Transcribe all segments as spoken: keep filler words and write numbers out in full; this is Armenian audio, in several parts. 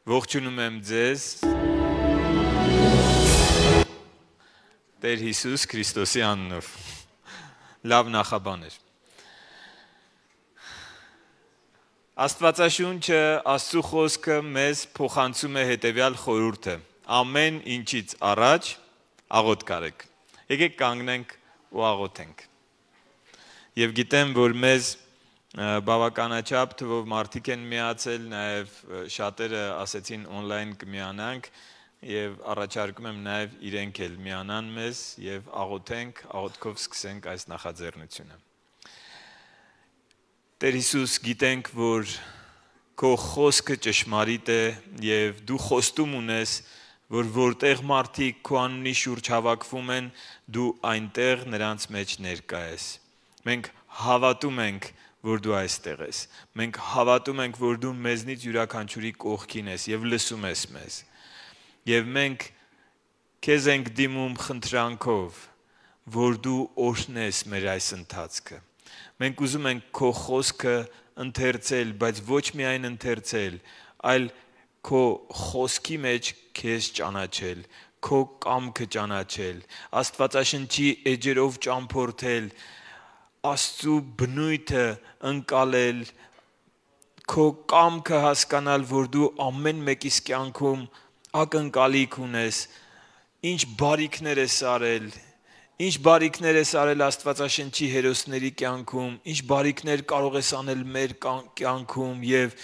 Ողջունում եմ ձեզ Տեր Հիսուս Քրիստոսի անունով։ Լավ նախաբաներ։ Աստվածաշունչը, Աստծո խոսքը մեզ փոխանցում է հետևյալ խորհուրդը. ամեն ինչից առաջ աղոթք արեք։ Եկեք կանգնենք ու աղոթենք։ Եվ գիտեմ, որ մեզ բավականաչափ թվով մարդիկ են միացել, նաև շատերը ասեցին on-line կմիանանք եւ առաջարկում եմ նաև իրենք էլ միանան մեզ եւ աղոթենք, աղոթքով սկսենք այս նախաձեռնությունը։ Տեր Հիսուս, գիտենք, որ քո խոսքը ճշմարիտ է եւ դու խոստում ունես, որ որտեղ մարդիկ քո անունի շուրջ հավաքվում են, դու այնտեղ նրանց մեջ ներկա ես։ Մենք հավատում ենք, որ դու այստեղ ես։ Մենք հավատում ենք, որ դու մեզնից յուրաքանչյուրի կողքին ես եւ լսում ես մեզ։ Եվ մենք քեզ ենք դիմում խնդրանքով, որ դու օրհնես մեր այս ընթացքը։ Մենք ուզում ենք քո խոսքը ընթերցել, բայց ոչ միայն ընթերցել, այլ քո խոսքի մեջ քեզ ճանաչել, քո կամքը ճանաչել, Աստվածաշնչի էջերով ճամփորդել, Աստծո բնույթը ընկալել, քո կամքը հասկանալ, որ դու ամեն մեկիս կյանքում ակնկալիք ունես, ինչ բարիքներ ես արել, ինչ բարիքներ ես արել Աստվածաշնչի հերոսների կյանքում, ինչ բարիքներ կարող ես անել մեր կյանքում եւ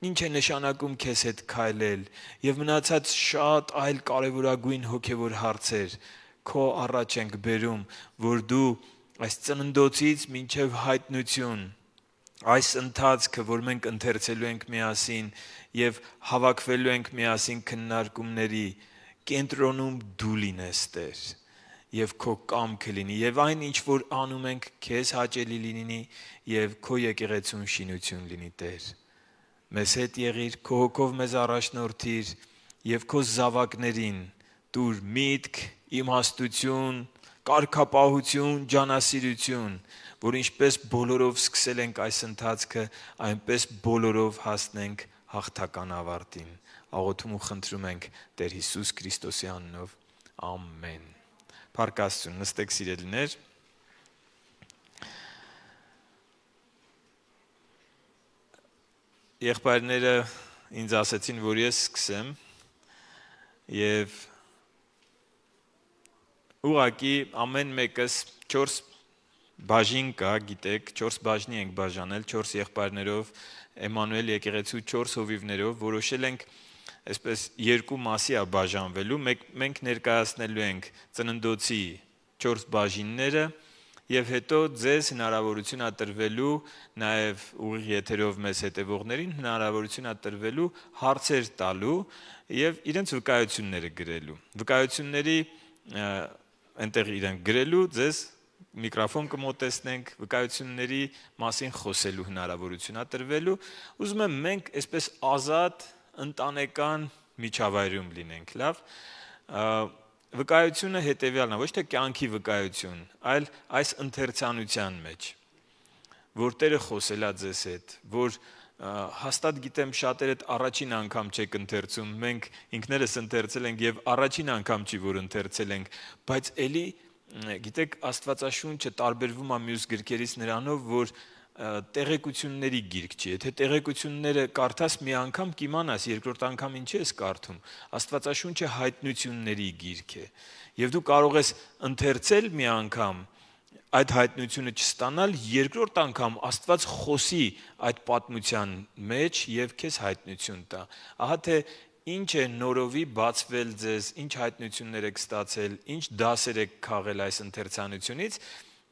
ինչ է նշանակում քեզ հետ քայլել եւ մնացած շատ այլ կարեւորագույն հոգեվոր հարցեր քո առաջ ենք բերում, որ դու այս ծննդոցից մինչև հայտնություն, այս ընթացքը, որ մենք ընթերցելու ենք միասին եւ հավաքվելու ենք միասին քննարկումների, կենտրոնում դու լինես, Տեր, եւ քո կամքը լինի, եւ այն ինչ որ անում ենք, քեզ հաճելի լինի եւ քո եկեղեցուն շինություն լինի, Տեր։ Մեզ հետ եղիր, քո հոգով մեզ առաջնորդիր եւ քո զավակներին տուր միտք, իմաստություն, կարգապահություն, ջանասիրություն, որ ինչպես բոլորով սկսել ենք այս ընթացքը, այնպես բոլորով հասնենք հաղթական ավարտին։ Աղոթում ու խնդրում ենք Տեր Հիսուս Քրիստոսի անունով։ Ամեն։ Փառք Աստծուն, նստեք սիրելիներ։ Եղբայրները ինձ ասեցին, որ ես սկսեմ եւ ուղղակի ամեն մեկս չորս բաժին կա, գիտեք, չորս բաժնի ենք բաժանել, չորս եղբայրներով, Էմանուել եկեղեցու չորս հովիվներով, որոշել ենք այսպես երկու մասի է բաժանվելու, մենք ներկայացնելու ենք ծննդոցի չորս բաժինները եւ հետո ձեզ հնարավորություն է տրվելու, նաեւ ուղիղ եթերով մեզ հետևողներին հնարավորություն է տրվելու հարցեր տալու եւ իրենց վկայությունները գրելու։ Վկայությունների այնտեղ իրենք գրելու, ձեզ միկրոֆոն կմոտեցնենք, վկայությունների մասին խոսելու հնարավորություն է տրվելու։ Ուզում եմ մենք այսպես ազատ ընտանեկան միջավայրում լինենք, լավ։ Վկայությունը հետևյալն է, ոչ թե կյանքի վկայություն, այլ այս ընթերցանության մեջ, որ Տերը խոսել է ձեզ հետ, որ հաստատ գիտեմ շատերը առաջին անգամ չեք ընթերցում, մենք ինքներս ընթերցել ենք եւ առաջին անգամ չի որ ընթերցել ենք, բայց էլի գիտեք Աստվածաշունչը տարբերվում է մյուս գրքերից նրանով, որ տեղեկությունների գիրք չի։ Եթե տեղեկությունները կարդաս մի անգամ կիմանաս, երկրորդ անգամ ինչ ես կարդում։ Աստվածաշունչը հայտնությունների գիրք է։ Եվ դու կարող ես ընթերցել մի անգամ այդ հայտնությունը չստանալ, երկրորդ անգամ Աստված խոսի այդ պատմության մեջ եւ քեզ հայտնություն տա։ Ահա թե ինչ է նորովի բացվել ձեզ, ինչ հայտնություններ եք ստացել, ինչ դասեր եք քաղել այս ընթերցանությունից,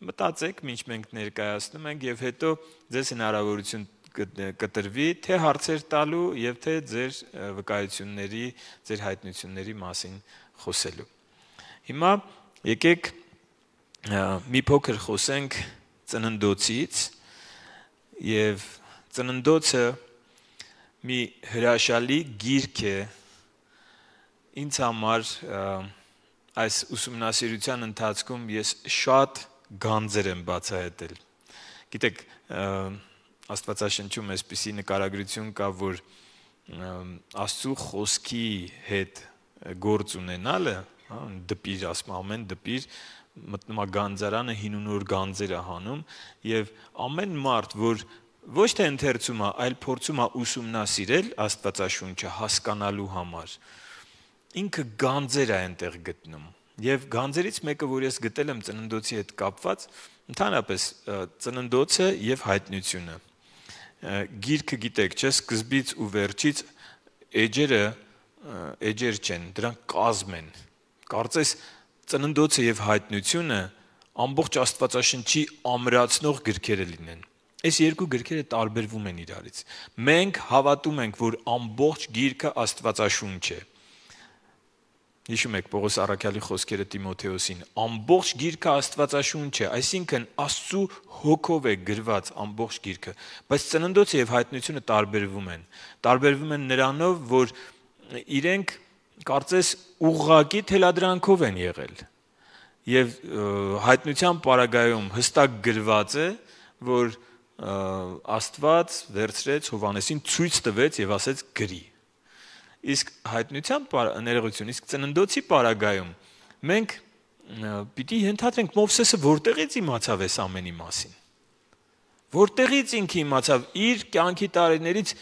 մտածեք, ինչ մենք ներկայացնում ենք եւ հետո ձեզ հնարավորություն կտրվի թե հարցեր տալու եւ թե ձեր վկայությունների, ձեր հայտնությունների մասին խոսելու։ Հիմա եկեք մի փոքր խոսենք ծննդոցից եւ ծննդոցը մի հրաշալի գիրք է ինձ համար այս ուսումնասիրության ընթացքում ես շատ գանձեր եմ բացահայտել։ Գիտեք, Աստվածաշնչում այսպիսի նկարագրություն կա, որ Աստծո խոսքի հետ գործ ունենալը, հա, դպիր ասում ամեն դպիր մտնում է գանձարանը հին ու նոր գանձեր է հանում եւ ամեն մարդ որ ոչ թե ընթերցում է, այլ փորձում է ուսումնասիրել Աստվածաշունչը հասկանալու համար ինքը գանձեր է այնտեղ գտնում եւ գանձերից մեկը որ ես գտել եմ ծննդոցի հետ կապված ընդհանրապես ծննդոցը եւ հայտնությունը գիրքը գիտեք չէ սկզբից ու վերջից էջերը էջեր չեն դրանք կազմ են կարծես ծննդոցը եւ հայտնությունը ամբողջ Աստվածաշնչի ամրացնող գրքերը լինեն այս երկու գրքերը տարբերվում են իրարից մենք հավատում ենք որ ամբողջ գիրքը Աստվածաշունչ է հիշում եք Պողոս առաքյալի խոսքերը Տիմոթեոսին ամբողջ գիրքը Աստվածաշունչ է այսինքն Աստծո հոգով է գրված ամբողջ գիրքը բայց ծննդոցը եւ հայտնությունը տարբերվում են տարբերվում են նրանով որ իրենք կարծես ուղղակի թելադրանքով են եղել եւ հայտնության պարագայում հստակ գրված է որ Աստված վերցրեց Հովհաննեսին ցույց տվեց եւ ասեց գրի իսկ հայտնության ներողություն իսկ ծննդոցի պարագայում մենք պիտի ենթադրենք Մովսեսը որտեղից իմացավ այս ամենի մասին որտեղից ինքը իմացավ իր կյանքի տարիներից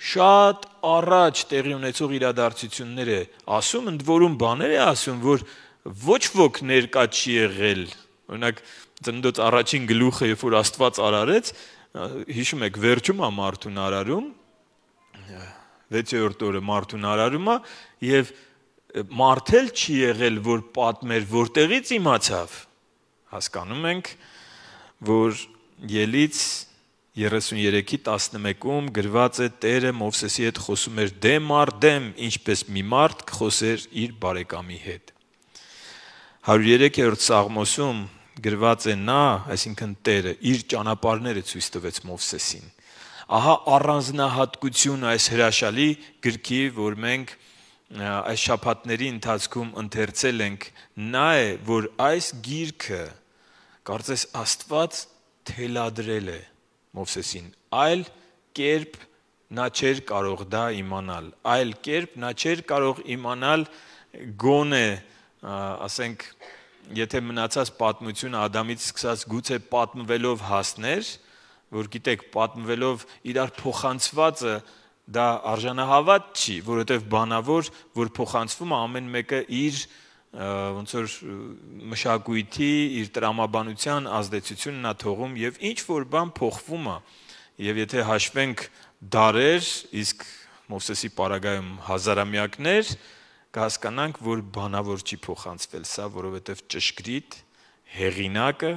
շատ առաջ տեղի ունեցող իրադարձություններ է ասում ընդ որում բաներ է ասում որ ոչ ոք ներկա չի եղել օրինակ ծննդոց առաջին գլուխը երբ որ Աստված արարեց հիշում եք վերջում է մարդուն արարում վեցերորդ օրը մարդուն արարում է եւ մարդել չի եղել որ պատմեր որտեղից իմացավ հասկանում ենք որ Ելից երեսուներեքի տասնմեկում գրված է Տերը Մովսեսի հետ խոսում էր դեմ առ դեմ ինչպես մի մարդ կխոսեր իր բարեկամի հետ հարյուր երեքերորդ Սաղմոսում գրված է նա այսինքն Տերը իր ճանապարհները ցույց տվեց Մովսեսին ահա առանձնահատկություն այս հրաշալի գրքի որ մենք այս շաբաթների ընթացքում ընթերցել ենք նա է որ այս գիրքը կարծես Աստված թելադրել է Մովսեսին այլ կերպ նա չէր կարող դա իմանալ այլ կերպ նա չէր կարող իմանալ գոնե ասենք եթե մնացած պատմությունը Ադամից սկսած գուցե պատմվելով հասներ որ գիտեք պատմվելով իրար փոխանցվածը դա արժանահավատ չի որովհետև բանավոր որ փոխանցվում է ամեն մեկը իր ոնց որ մշակույթի իր տրամաբանության ազդեցությունն է թողում եւ ինչ որ բան փոխվում է եւ եթե հաշվենք դարեր իսկ Մովսեսի պարագայում հազարամյակներ կհասկանանք որ բանավոր չի փոխանցվել սա որովհետև ճշգրիտ հեղինակը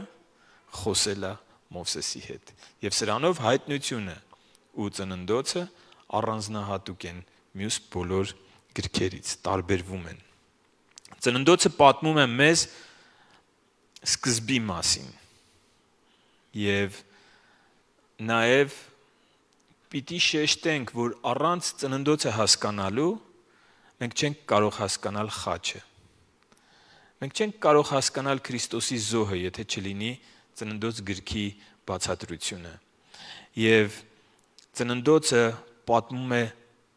խոսել է Մովսեսի հետ եւ սրանով հայտնությունը ու ծննդոցը առանձնահատուկ են մյուս բոլոր գրքերից տարբերվում են ծննդոցը պատմում է մեզ սկզբի մասին եւ նաեւ պիտի շեշտենք որ առանց ծննդոցը հասկանալու մենք չենք կարող հասկանալ խաչը մենք չենք կարող հասկանալ Քրիստոսի զոհը եթե չլինի ծննդոց գրքի բացատրությունը եւ ծննդոցը պատմում է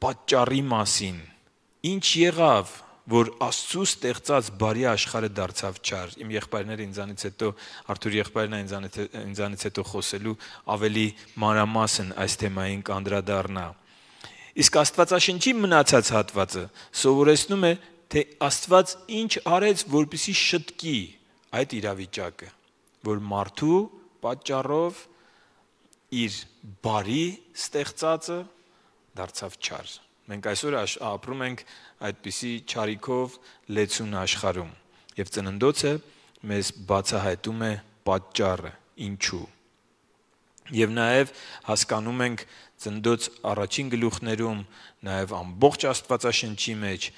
պատճառի մասին ինչ եղավ որ Աստծո ստեղծած բարի աշխարհը դարձավ չար իմ եղբայրները ինձանից հետո Արթուր եղբայրն ինձանից ինձանից հետո խոսելու ավելի մանրամասն այս թեմային կանդրադառնա իսկ Աստվածաշնչի մնացած հատվածը սովորեցնում է թե Աստված ինչ արեց որպեսզի շտկի այդ իրավիճակը որ մարդու պատճառով իր բարի ստեղծածը դարձավ չար մենք այսօր ապրում ենք այդպիսի չարիքով լեցուն աշխարհում եւ ծննդոցը մեզ բացահայտում է պատճառը ինչու եւ նաեւ հասկանում ենք ծննդոց առաջին գլուխներում նաեւ ամբողջ Աստվածաշնչի մեջ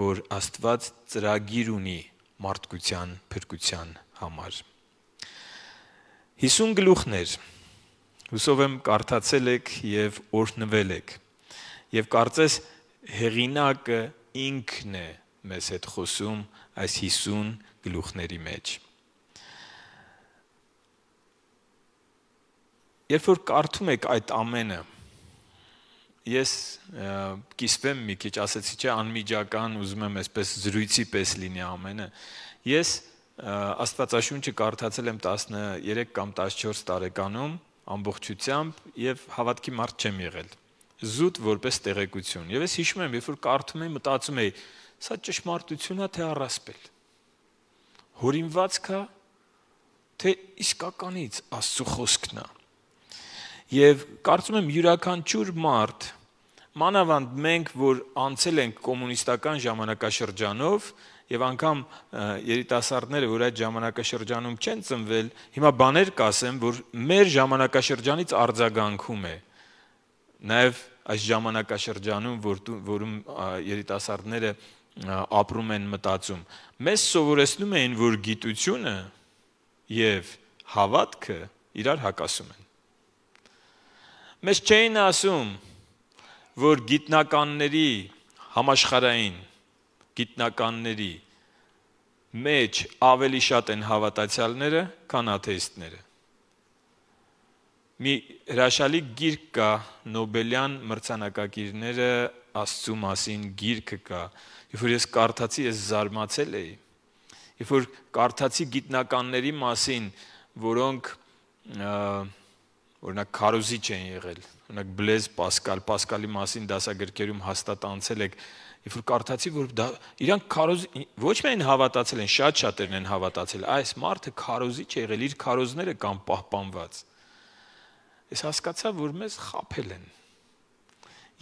որ Աստված ծրագիր ունի մարդկության փրկության համար հիսուն գլուխներ հուսով եմ կարդացել եք եւ օրհնվել եք եւ կարծես հեղինակը ինքն է մեզ հետ խոսում այս հիսուն գլուխների մեջ երբ որ կարդում եք այդ ամենը ես կիսվեմ մի քիչ, ասեցի չէ, անմիջական, ուզում եմ այսպես զրույցի պես լինի ամենը։ Ես Աստվածաշունչը կարդացել եմ տասներեք կամ տասնչորս տարեկանում ամբողջությամբ եւ հավատքի մարդ չեմ եղել։ Զուտ որպես տեղեկություն։ Եվ ես հիշում եմ, երբ որ կարդում էի, մտածում էի, սա ճշմարտություն է թե առասպել։ Հորինվածք է թե իսկականից Աստծո խոսքն է։ Եվ կարծում եմ յուրաքանչյուր մարդ, մանավանդ մենք, որ անցել ենք կոմունիստական ժամանակաշրջանով, եւ անգամ երիտասարդները, որ այդ ժամանակաշրջանում չեն ծնվել, հիմա բաներ կասեմ, որ մեր ժամանակաշրջանից արձագանքում է։ Նաեւ այս ժամանակաշրջանում, որում երիտասարդները ապրում են, մտածում, մեզ սովորեցնում էին, որ գիտությունը եւ հավատքը իրար հակասում են։ Մեզ չէին ասում, որ գիտնականների համաշխարհային գիտնականների մեջ ավելի շատ են հավատացյալները, քան աթեիստները։ Մի հրաշալի գիրք կա, Նոբելյան մրցանակակիրները Աստծու մասին գիրքը կա, երբ որ ես կարդացի, ես զարմացել էի։ Երբ որ կարդացի գիտնականների մասին, որոնք օրինակ քարոզիչ են եղել, օրինակ Բլեզ Պասկալ, Պասկալի մասին դասագրքերում հաստատ անցել եք, երբ որ կարդացի, որ դա իրանք քարոզ ոչ միայն հավատացել են, շատ-շատերն են հավատացել, այս մարդը քարոզիչ է եղել, իր քարոզները կան պահպանված։ Ես հասկացա, որ մեզ խաբել են։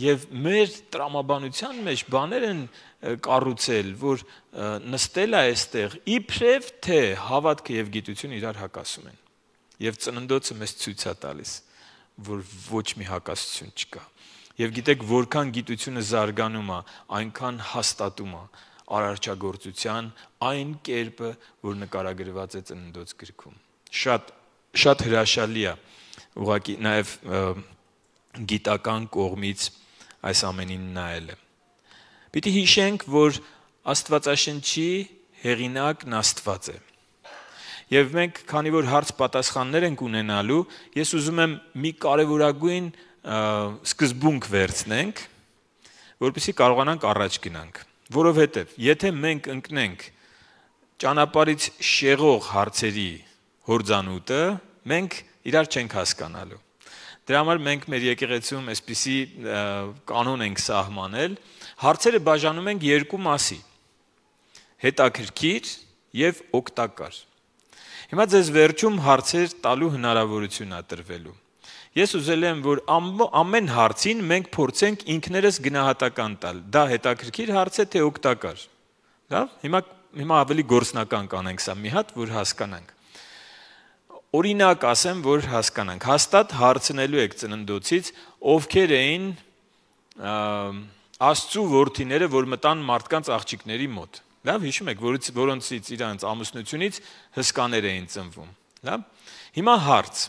Եվ մեր տրամաբանության մեջ բաներ են կառուցել, որ նստել է այստեղ, իբրև թե հավատքը եւ գիտությունը իրար հակասում են։ Եվ ծննդոցը մեզ ցույց է տալիս, որ ոչ մի հակասություն չկա։ Եվ գիտեք, որքան գիտությունը զարգանում է, այնքան հաստատում է արարչագործության այն կերպը, որ նկարագրված է ծննդոց գրքում։ Շատ շատ հրաշալի է, ուղղակի նաև գիտական կողմից այս ամենին նայելը։ Պիտի հիշենք, որ Աստվածաշնչի հեղինակն Աստված է։ Եվ մենք, քանի որ հարց պատասխաններ ենք ունենալու, ես ուզում եմ մի կարևորագույն սկզբունք վերցնենք, որպեսզի կարողանանք առաջ գնանք, որովհետև եթե մենք ընկնենք ճանապարհից շեղող հարցերի հորձանուտը, մենք իրար չենք հասկանալու։ Դրա համար մենք մեր եկեղեցում այսպիսի կանոն ենք սահմանել, հարցերը բաժանում ենք երկու մասի՝ հետաքրքիր եւ օգտակար։ Հիմա ձեզ վերջում հարցեր տալու հնարավորություն է տրվելու։ Ես ուզել եմ, որ ամեն հարցին մենք փորձենք ինքներս գնահատական տալ։ Դա հետաքրքիր հարց է, թե օգտակար։ Լավ, հիմա հիմա ավելի գործնական կանենք սա մի հատ, որ հասկանանք։ Օրինակ ասեմ, որ հասկանանք։ Հաստատ հարցնելու եք ծննդոցից, ովքեր էին Աստծու որդիները, որ մտան մարդկանց աղջիկների մոտ։ Լավ, հիշում եք, որոնցից իրանց ամուսնությունից հսկաներ էին ծնվում։ Լավ։ Հիմա հարց։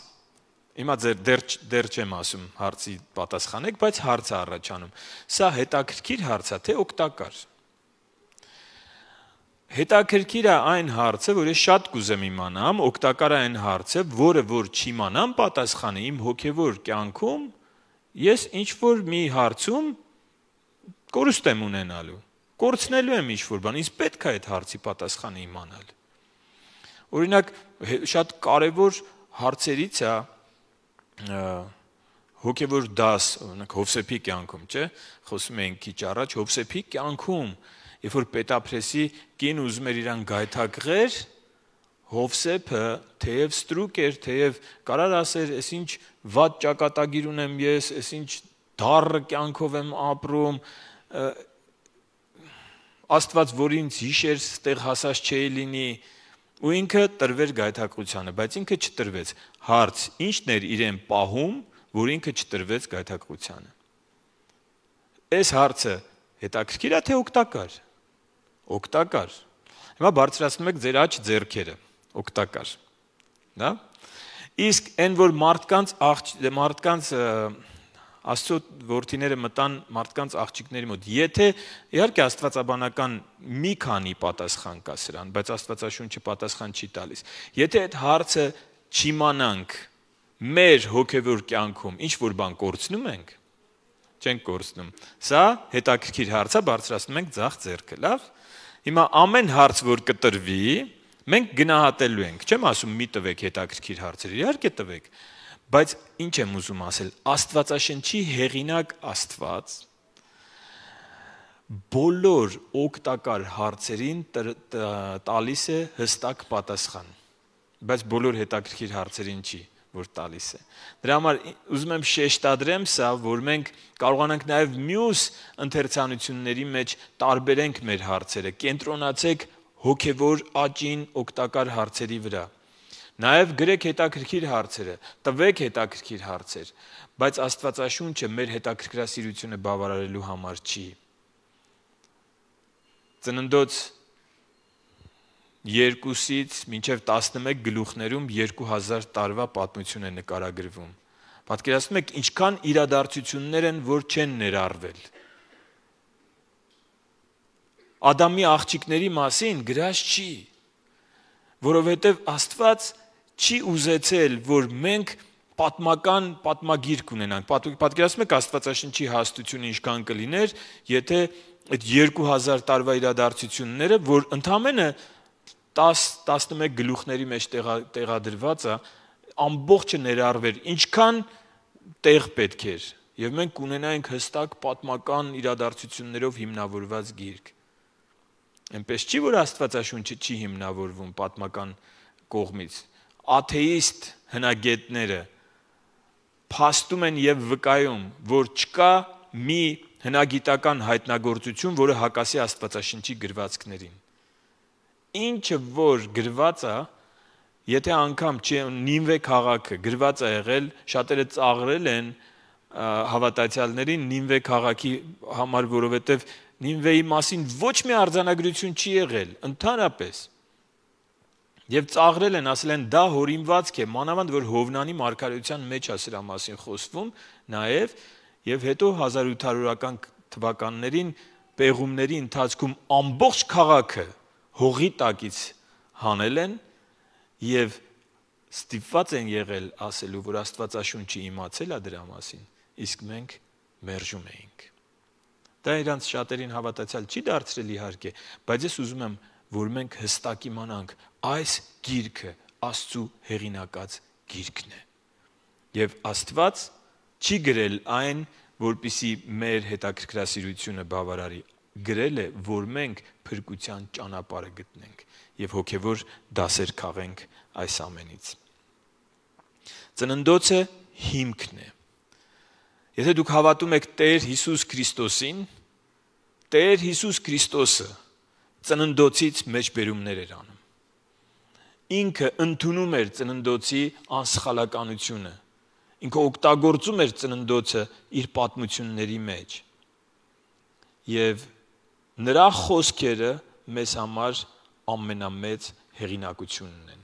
Հիմա ձեր դեռ դեռ չեմ ասում հարցի պատասխանեք, բայց հարց է առաջանում։ Սա հետաքրքիր հարց է, թե օգտակար։ Հետաքրքիր է այն հարցը, որ ես շատ կուզեմ իմանամ, օգտակար է այն հարցը, որը որ չիմանամ պատասխանը իմ հոգևոր կյանքում, ես ինչ որ մի հարցում կորուստ եմ ունենալու, կորցնելու եմ ինչ որ բան, ինձ պետք է այդ հարցի պատասխանը իմանալ։ Օրինակ, շատ կարևոր հարցերից է հոգևոր դաս, օրինակ Հովսեփի կյանքում, չէ՞, խոսում էինք քիչ առաջ, Հովսեփի կյանքում, երբ որ Պետափրեսի կին ուզում էր իրան գայթակղեր, Հովսեփը թեև ստրուկ էր, թեև կարար ասեր, «Էս ինչ վատ ճակատագիր ունեմ ես, էս ինչ դառը կյանքով եմ ապրում, Աստված, որ ինձ հիշեր, ստեղ հասած չէի լինի», ու ինքը տրվեր գայթակղությանը, բայց ինքը չտրվեց։ Հարց, ի՞նչն էր իրեն պահում, որ ինքը չտրվեց գայթակղությանը։ Այս հարցը հետաքրքիր է, թե օգտակար։ Օգտակար։ Հիմա բարձրացնում եք ձեր աջ ձեռքերը, օգտակար։ Դա։ Իսկ այն որ մարդկանց մարդկանց Աստծո որդիները մտան մարդկանց աղջիկների մոտ, եթե իհարկե աստվածաբանական մի քանի պատասխան կա սրան, բայց Աստվածաշունչը պատասխան չի տալիս։ Եթե այդ հարցը չիմանանք մեր հոգևոր կյանքում ինչ որ բան կորցնում ենք, չենք կորցնում։ Սա հետաքրքիր հարց է, բարձրացնում ենք ձախ ձեռքը, լավ։ Հիմա ամեն հարց, որ կտրվի, մենք գնահատելու ենք։ Չեմ ասում մի տվեք հետաքրքիր հարցեր, իհարկե տվեք, բայց ինչ եմ ուզում ասել, Աստվածաշնչի հեղինակ Աստված բոլոր օգտակար հարցերին տալիս է հստակ պատասխան, բայց բոլոր հետաքրքիր հարցերին չի, որ տալիս է։ Դրա համար ուզում եմ շեշտադրեմ սա, որ մենք կարողանանք նաև մյուս ընթերցանությունների մեջ տարբերենք մեր հարցերը, կենտրոնացեք հոգևոր աճին օգտակար հարցերի վրա։ Նաև գրեք հետաքրքիր հարցերը, տվեք հետաքրքիր հարցեր, բայց Աստվածաշունչը մեր հետաքրքրասիրությունը բավարարելու համար չի։ Ծննդոց երկուսից մինչև տասնմեկ գլուխներում երկու հազար տարվա պատմություն է նկարագրվում։ Պատկերացնում եք ինչքան իրադարձություններ են, որ չեն ներառվել։ Ադամի աղջիկների մասին գրած չի, որովհետև Աստված չի ուզեցել, որ մենք պատմական պատմագիրք ունենանք։ Պատկերացնում եք Աստվածաշնչի հաստությունը ինչքան կլիներ, եթե այդ երկու հազար տարվա իրադարձությունները, որ ընդամենը տաս տասնմեկ գլուխների մեջ տեղադրված է, ամբողջը ներառվեր, ինչքան տեղ պետք էր, եւ մենք ունենայինք հստակ պատմական իրադարձություններով հիմնավորված գիրք։ Այնպես չի, որ Աստվածաշունչը չի հիմնավորվում պատմական կողմից։ Աթեիստ հնագետները փաստում են եւ վկայում, որ չկա մի հնագիտական հայտնագործություն, որը հակասի Աստվածաշնչի գրվածքներին։ Ինչը որ գրված է, եթե անգամ Նինվե քաղաքը գրված է եղել, շատերը ծաղրել են հավատացյալներին Նինվե քաղաքի համար, որովհետև Նինվեի մասին ոչ մի արձանագրություն չի եղել, ընդհանրապես։ Եվ ծաղրել են, ասել են դա հորինվածք է, մանավանդ որ Հովնանի մարգարեության մեջ է սրա մասին խոսվում, նաև եւ հետո հազար ութ հարյուրական թվականներին պեղումների ընթացքում ամբողջ քաղաքը հողի տակից հանել են եւ ստիպված են եղել ասելու, որ Աստվածաշունչը իմացել է դրա մասին, իսկ մենք մերժում էինք։ Դա իրանց շատերին հավատացյալ չի դարձրել իհարկե, բայց ես ուզում եմ, որ մենք հստակ իմանանք, այս գիրքը Աստծո հեղինակած գիրքն է։ Եվ Աստված չի գրել այն, որպեսզի մեր հետաքրքրասիրությունը բավարարի, գրել է, որ մենք փրկության ճանապարհը գտնենք եւ հոգեվոր դասեր քաղենք այս ամենից։ Ծննդոցը հիմքն է։ Եթե դուք հավատում եք Տեր Հիսուս Քրիստոսին, Տեր Հիսուս Քրիստոսը ծննդոցից մեջբերումներ էր անում։ Ինքը ընդունում էր ծննդոցի անսխալականությունը։ Ինքը օգտագործում էր ծննդոցը իր պատմությունների մեջ։ Եվ նրա խոսքերը մեզ համար ամենամեծ հեղինակությունն են։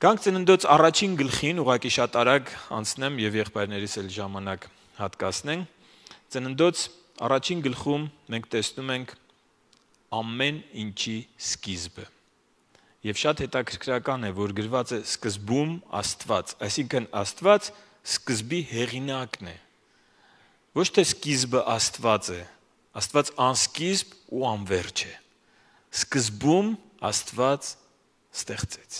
Գանք ծննդոց առաջին գլխին, ուղղակի շատ արագ անցնեմ եւ եղբայրներիս էլ ժամանակ հատկացնենք։ Ծննդոց առաջին գլխում մենք տեսնում ենք ամեն ինչի սկիզբը։ Եվ շատ հետաքրքրական է, որ գրված է սկզբում Աստված, այսինքն Աստված սկզբի հեղինակն է։ Ոչ թե սկիզբը Աստված է, Աստված անսկիզբ ու անվերջ է։ Սկզբում Աստված ստեղծեց։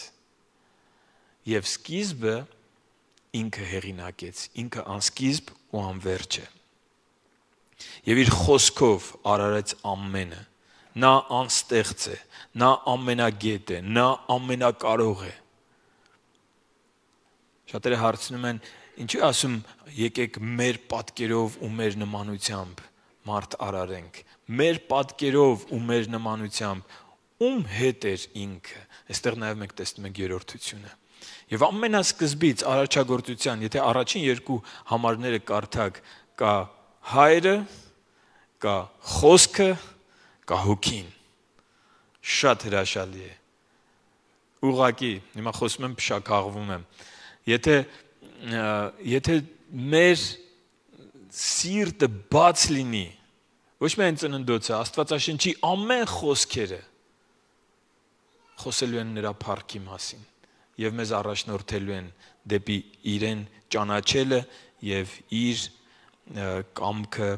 Եվ սկիզբը ինքը հեղինակեց, ինքը անսկիզբ ու անվերջ է։ Եվ իր խոսքով արարեց ամենը։ Նա անստեղծ է, նա ամենագետ է, նա ամենակարող է։ Շատերը հարցնում են, ինչու ասում եկեք մեր պատկերով ու մեր նմանությամբ մարդ արարենք, մեր պատկերով ու մեր նմանությամբ, ում հետ էր ինքը։ Այստեղ նաև մենք տեսնում ենք երրորդությունը։ Եվ ամենասկզբից արարչագործության, եթե առաջին երկու համարները կարդակ, կա հայրը, կա խոսքը, կա հոգին։ Շատ հրաշալի է։ Ուղղակի, հիմա խոսում եմ, փշաքաղվում եմ։ Եթե եթե մեր սիրտը բաց լինի, ոչ միայն ծննդոցը, Աստվածաշնչի ամեն խոսքերը խոսելու են նրա փառքի մասին եւ մեզ առաջնորդելու են դեպի իրեն ճանաչելը եւ իր կամքը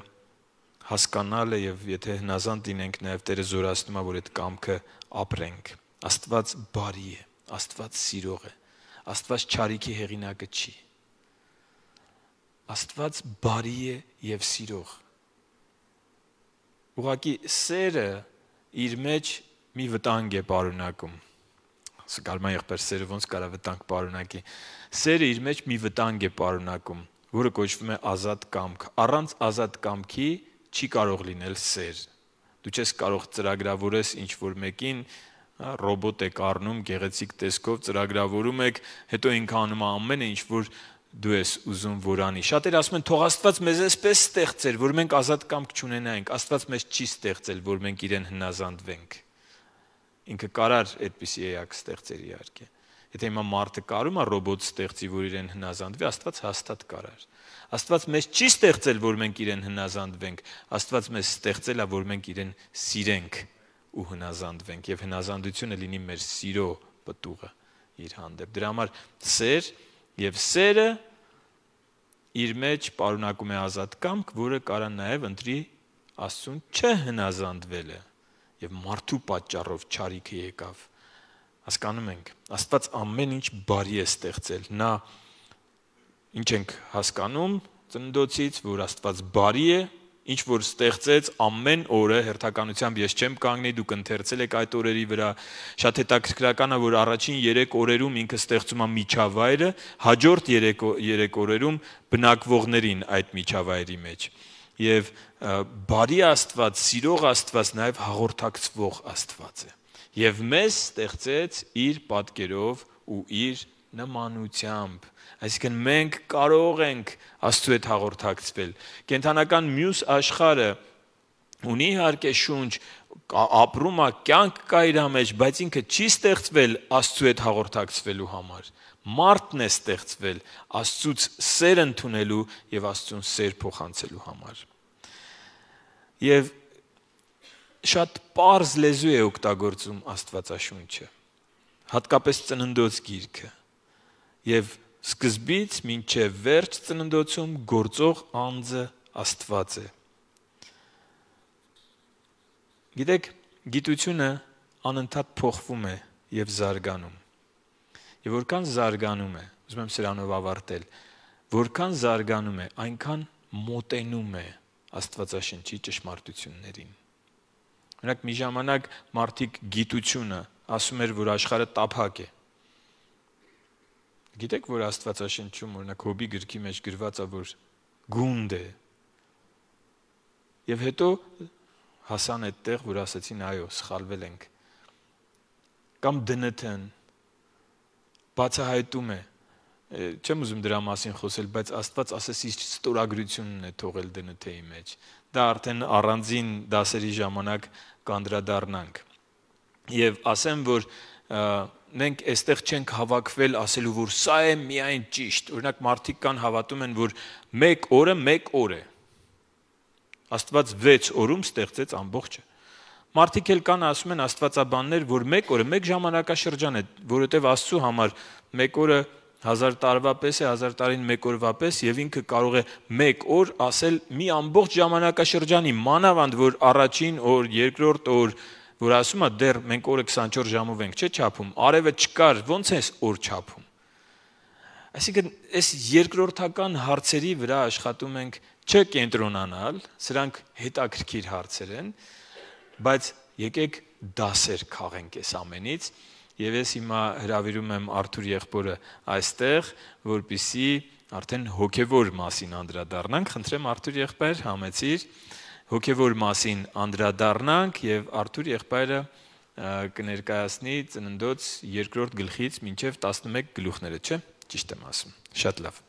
հասկանալը եւ եթե հնազանդ լինենք նաեւ Տերը զորացնում է որ այդ կամքը ապրենք։ Աստված բարի է, Աստված սիրող է, Աստված չարիքի հեղինակը չի։ Աստված բարի է եւ սիրող։ Ուղղակի սերը իր մեջ մի վտանգ է պարունակում։ Սկալման եղբայր սերը ոնց կարա վտանգ պարունակի։ Սերը իր մեջ մի վտանգ է պարունակում, որը կոչվում է ազատ կամք։ Առանց ազատ կամքի չի կարող լինել սեր։ Դու չես կարող ծրագրավորես ինչ-որ մեկին, ռոբոտ եք առնում, գեղեցիկ տեսքով ծրագրավորում եք, հետո ինքը անում է ամենը, ինչ որ դու ես ուզում որ անի։ Շատերը ասում են, թող Աստված մեզ էսպես ստեղծեր, որ մենք ազատ կամք չունենայինք։ Աստված մեզ չի ստեղծել, որ մենք իրեն հնազանդվենք։ Ինքը կարար այդպիսի էակ ստեղծեր իհարկե։ Եթե հիմա մարդը կարում է ռոբոտ ստեղծի, որ իրեն հնազանդվի, Աստված հաստատ կարար։ Աստված մեզ չի ստեղծել, որ մենք իրեն հնազանդվենք, Աստված մեզ ստեղծել է, որ մենք իրեն սիրենք ու հնազանդվենք, եւ հնազանդությունը լինի մեր սիրո պտուղը իր հանդեպ։ Դրա համար սեր եւ սերը իր մեջ պարունակում է ազատ կամք, որը կարա նաեւ ընտրի Աստծուն չհնազանդվելը, եւ մարդու պատճառով չարիքը եկավ։ Հասկանում ենք, Աստված ամեն ինչ բարի է ստեղծել։ Նա ինչ ենք հասկանում ծննդոցից, որ Աստված բարի է, ինչ որ ստեղծեց ամեն օրը հերթականությամբ ես չեմ կանգնի, դուք ընթերցել եք այդ օրերի վրա, շատ հետաքրքրական է, որ առաջին երեք օրերում ինքը ստեղծում է միջավայրը, հաջորդ երեք օրերում բնակվողներին այդ միջավայրի մեջ։ Եվ բարի Աստված, սիրող Աստված նաև հաղորդակցվող Աստված է։ Եվ մեզ ստեղծեց իր պատկերով ու իր նմանությամբ։ Այսինքն մենք կարող ենք Աստծու հետ հաղորդակցվել։ Կենդանական մյուս աշխարհը ունի իհարկե շունչ, ապրում է, կյանք կա իր մեջ, բայց ինքը չի ստեղծվել Աստծու հետ հաղորդակցվելու համար։ Մարդն է ստեղծվել Աստծուց սեր ընդունելու եւ Աստծուն սեր փոխանցելու համար։ Եվ շատ պարզ լեզու է օգտագործում Աստվածաշունչը, հատկապես ծննդոց գիրքը։ Եվ սկզբից մինչև վերջ ծննդոցում գործող անձը Աստված է։ Գիտեք, գիտությունը անընդհատ փոխվում է եւ զարգանում։ Եվ որքան զարգանում է, ուզում եմ սրանով ավարտել, որքան զարգանում է, այնքան մոտենում է Աստվածաշնչի ճշմարտություններին։ Օրինակ մի ժամանակ մարդիկ գիտությունը ասում էր, որ աշխարհը տափակ է։ Գիտեք, որ Աստվածաշնչում օրինակ Հոբի գրքի մեջ գրված է, որ գունդ է։ Եվ հետո հասան այդտեղ, որ ասացին, այո, սխալվել ենք։ Կամ դն թ-ն բացահայտում է։ Չեմ ուզում դրա մասին խոսել, բայց Աստված ասես իր ստորագրությունն է թողել դն թ-ի մեջ։ Դա արդեն առանձին դասերի ժամանակ կանդրադառնանք։ Եվ ասեմ, որ մենք այստեղ չենք հավաքվել ասելու, որ սա է միայն ճիշտ։ Օրինակ մարդիկ կան հավատում են, որ մեկ օրը մեկ օր է։ Աստված վեց օրում ստեղծեց ամբողջը։ Մարդիկ էլ կան ասում են աստվածաբաններ, որ մեկ օրը մեկ ժամանակաշրջան է, որովհետև Աստծու համար մեկ օրը հազար տարվա պես է, հազար տարին մեկ օրվա պես, եւ ինքը կարող է մեկ օր ասել մի ամբողջ ժամանակաշրջանի, մանավանդ որ առաջին օր, երկրորդ օր, որ ասում է դեռ մենք օրը քսանչորս ժամով ենք, չէ՞ չափում, արևը չկար, ոնց է օր չափում։ Այսինքն, այս երկրորդական հարցերի վրա աշխատում ենք չկենտրոնանալ, սրանք հետաքրքիր հարցեր են, բայց եկեք դասեր քաղենք այս ամենից, եւ ես հիմա հրավիրում եմ Արթուր եղբորը այստեղ, որպեսզի արդեն հոգևոր մասին անդրադառնանք, խնդրեմ Արթուր եղբայր, համեցիր, հոգևոր մասին անդրադառնանք եւ Արթուր եղբայրը կներկայացնի ծննդոց երկրորդ գլխից մինչեւ տասնմեկ գլուխները, չէ՞, ճիշտ եմ ասում։ Շատ լավ։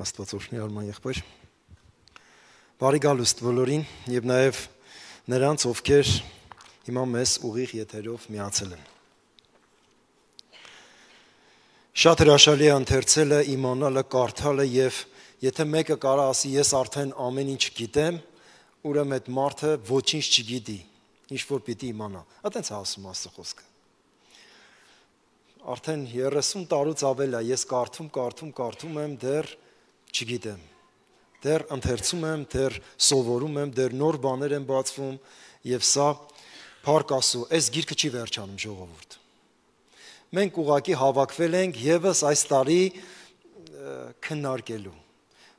Աստված օրհնի Արման եղբայր։ Բարի գալուստ բոլորին եւ նաեւ նրանց, ովքեր հիմա մեզ ուղիղ եթերով միացել են։ Շատ հրաշալի է ընթերցելը, իմանալը, կարդալը եւ եթե մեկը կարա ասի ես արդեն ամեն ինչ գիտեմ, ուրեմն այդ մարդը ոչինչ չգիտի, ինչ որ պիտի իմանա։ Այդտենց է ասում Աստծո խոսքը։ արդեն երեսուն տարուց ավել է, ես կարդում, կարդում, կարդում եմ, դեռ չգիտեմ, դեռ ընթերցում եմ, դեռ սովորում եմ, դեռ նոր բաներ եմ բացվում և սա փառք Աստծո, այս գիրքը չի վերջանում ժողովուրդ։ Մենք ուղղակի հավաքվել ենք ևս այս տարի քննարկելու։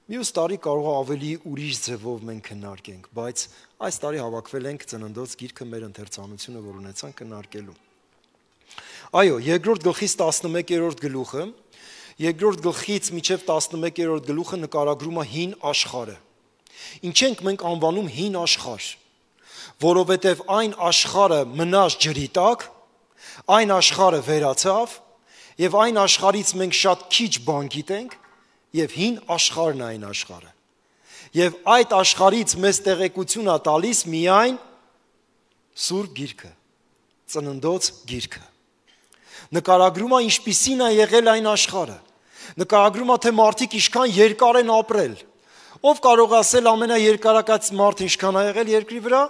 Մյուս տարի կարող է ավելի ուրիշ ձևով մենք քննարկենք, բայց այս տարի հավաքվել ենք Ծննդոց գիրքը մեր ընթերցանությունը, որ ունեցանք քննարկելու։ Այո, երկրորդ գլխից տասնմեկերորդ գլուխը, երկրորդ գլխից մինչև տասնմեկերորդ գլուխը նկարագրում է հին աշխարհը։ Ինչ ենք մենք անվանում հին աշխարհ, որովհետև այն աշխարհը մնաց ջրի տակ, այն աշխարհը վերացավ, եւ այն աշխարհից մենք շատ քիչ բան գիտենք, եւ հին աշխարհն է այն աշխարհը։ Եվ այդ աշխարհից մեզ տեղեկություն է տալիս միայն Սուրբ գիրքը, Ծննդոց գիրքը։ Նկարագրում է ինչպիսին է եղել այն աշխարհը։ Նկարագրում է, թե մարդիկ ինչքան երկար են ապրել։ Ով կարող է ասել ամենաերկարակած մարդը ինչքան է եղել երկրի վրա։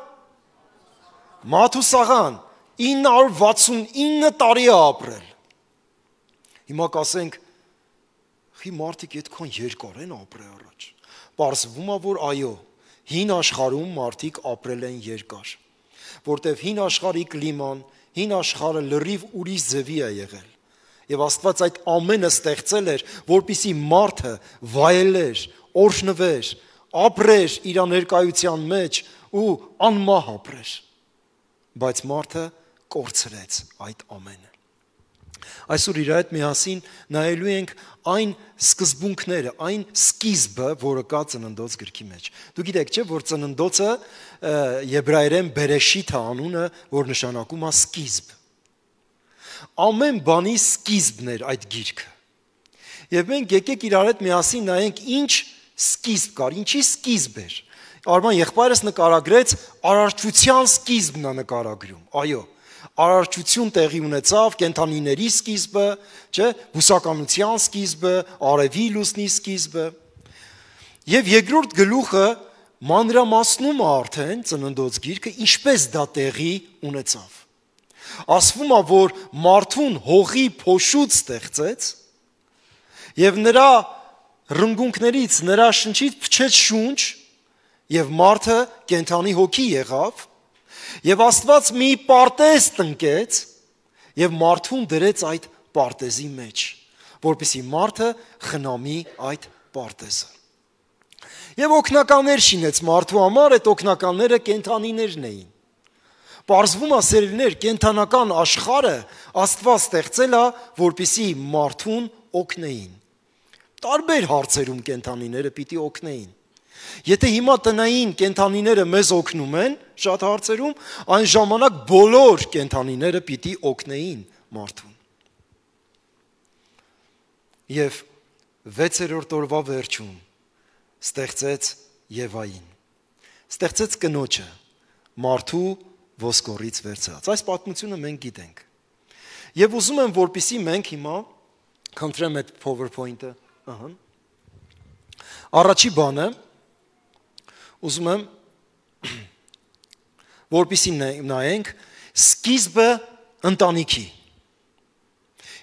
Մաթուսաղան ինը հարյուր վաթսունինը տարի է ապրել։ Հիմա կասենք, խի մարդիկ այդքան երկար են ապրել առաջ։ Պարզվում է, որ այո, հին աշխարհում մարդիկ ապրել են երկար, որտեղ հին աշխարհի կլիման, հին աշխարհը լրիվ ուրիշ ձևի է եղել։ Եվ Աստված այդ ամենը ստեղծել էր, որպեսզի մարդը վայելեր, օրհնվեր, ապրեր իր ներկայության մեջ ու անմահ ապրեր։ Բայց մարդը կորցրեց այդ ամենը։ Այսօր իր հետ միասին նայելու ենք այն սկզբունքները, այն սկիզբը, որը կա Ծննդոց գրքի մեջ։ Դու գիտեք, չէ՞, որ Ծննդոցը եբրայերեն Բերեշիթ է անունը, որ նշանակում է սկիզբ։ Ամեն բանի սկիզբն էր այդ գիրքը։ Եվ մենք եկեք իրար հետ միասին նայենք ինչ սկիզբ կար, ինչի սկիզբ էր։ Արման եղբայրս նկարագրեց արարչության սկիզբն է նկարագրում։ Այո, արարչություն տեղի ունեցավ, կենդանիների սկիզբը, չէ, բուսականության սկիզբը, արևի լուսնի սկիզբը։ Եվ երկրորդ գլուխը մանրամասնում է արդեն Ծննդոց գիրքը, ինչպես դա տեղի ունեցավ։ Ասվում է, որ մարդուն հողի փոշուց ստեղծեց եւ նրա ռնգունքներից, նրա շնչից փչեց շունչ եւ մարդը կենդանի հոգի եղավ եւ Աստված մի պարտեզ տնկեց եւ մարդուն դրեց այդ պարտեզի մեջ, որպեսզի մարդը խնամի այդ պարտեզը։ Եվ օգնականներ շինեց մարդու համար, այդ օգնականները կենդանիներն էին։ Պարզվում է, սերելիներ, կենդանական աշխարհը Աստված ստեղծել է, որպեսզի մարդուն օգնեին։ Տարբեր հարցերում կենդանիները պիտի օգնեին։ Եթե հիմա տնային կենդանիները մեզ օգնում են շատ հարցերում, այն ժամանակ բոլոր կենդանիները պիտի օգնեին մարդուն։ Եվ վեցերորդ օրվա վերջում ստեղծեց Եվային, ստեղծեց կնոջը, մարդու ոսկորից վերցած։ Այս պատմությունը մենք գիտենք։ Եվ ուզում եմ, որպեսզի մենք հիմա խնդրեմ այդ PowerPoint-ը, ահա։ Առաջի բանը ուզում եմ, որպեսզի նայենք սկիզբը ընտանիքի։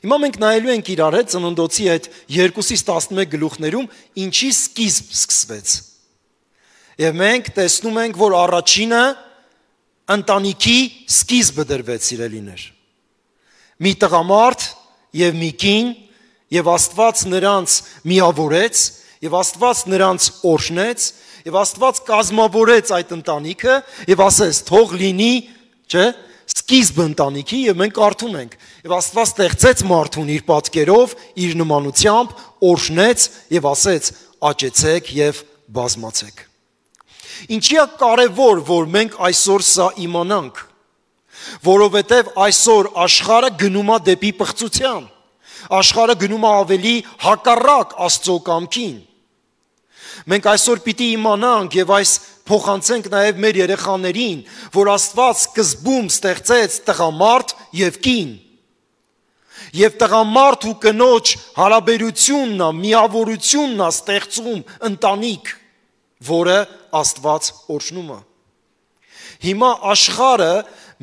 Հիմա մենք նայելու ենք իրար հետ Ծննդոցի այդ երկուսից տասնմեկ գլուխներում ինչի սկիզբ սկսվեց։ Եվ մենք տեսնում ենք, որ առաջինը ընտանիքի սկիզբը դրվեց, սիրելիներ։ Մի տղամարդ եւ մի կին, եւ Աստված նրանց միավորեց, եւ Աստված նրանց օրհնեց, եւ Աստված կազմավորեց այդ ընտանիքը եւ ասեց թող լինի, չէ՞, սկիզբը ընտանիքի եւ մենք կարդում ենք եւ Աստված ստեղծեց մարդուն իր պատկերով, իր նմանությամբ, օրհնեց եւ ասեց աճեցեք եւ բազմացեք։ Ինչի է կարևոր, որ մենք այսօր սա իմանանք, որովհետև այսօր աշխարհը գնում է դեպի պղծության, աշխարհը գնում է ավելի հակառակ Աստծո կամքին։ Մենք այսօր պիտի իմանանք եւ այս փոխանցենք նաեւ մեր երեխաներին, որ Աստված սկզբում ստեղծեց տղամարդ եւ կին։ Եվ տղամարդ ու կնոջ հարաբերությունն է, միավորությունն է ստեղծում ընտանիք, որը Աստված օրհնում է։ Հիմա աշխարհը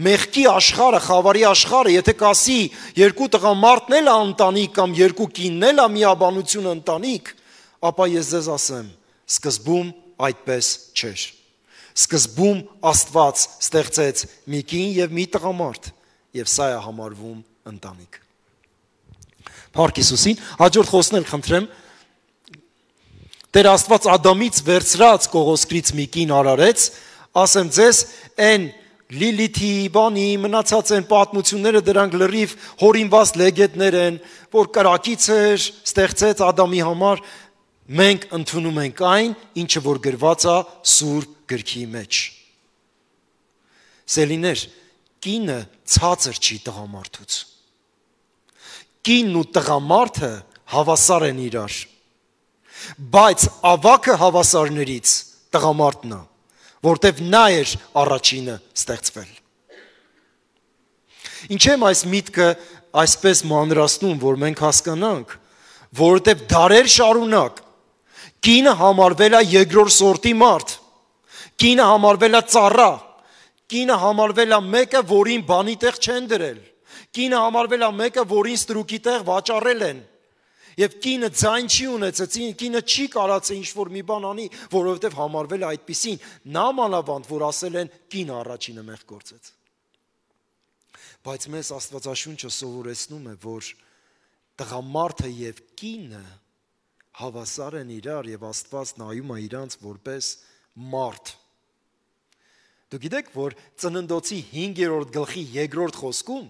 մեղքի աշխարհը, խավարի աշխարհը, եթե կասի երկու տղամարդն էլ ընտանիք կամ երկու կինն էլ միաբանություն ընտանիք, ապա ես ձեզ ասեմ, սկզբում այդպես չէր։ Սկզբում Աստված ստեղծեց մի կին եւ մի տղամարդ, եւ սա է համարվում ընտանիք։ Փառք Հիսուսին, հաջորդ խոսքն էլ խնդրեմ։ Տեր Աստված Ադամից վերցրած կողոսկրից մի կին արարեց, ասեմ ձեզ, այն Լիլիթի, բանի, մնացած են պատմությունները, դրանք լրիվ հորինված լեգենդներ են, որ կրակից էր, ստեղծեց Ադամի համար, մենք ընդունում ենք այն, ինչը որ գրված է Սուրբ գրքի մեջ։ Սելիներ, կինը ցածր չի տղամարդուց։ Կինն ու տղամարդը հավասար են իրար, բայց ավագը հավասարներից տղամարդն է, որտև նա էր առաջինը ստեղծվել։ Ինչ եմ այս միտքը այսպես մանրացնում, որ մենք հասկանանք, որովհետև դարեր շարունակ կինը համարվել է երկրորդ սորտի մարդ, կինը համարվել է ծառա, կինը համարվել է մեկը, որին բանի տեղ չեն դրել, կինը համարվել է մեկը, որին ստրուկի տեղ վաճառել են, եւ կինը ձայն չի ունեցած, կինը չի կարած ինչ-որ մի բան անի, որովհետեւ համարվել է այդպիսին, նա մանավանդ, որ ասել են կինը առաջինը մեղք գործեց։ Բայց մեզ Աստվածաշունչը սովորեցնում է, որ տղամարդը եւ կինը հավասար են իրար եւ Աստված նայում է իրանց որպես մարդ։ Դուք գիտեք, որ Ծննդոցի հինգերորդ գլխի երկրորդ խոսքում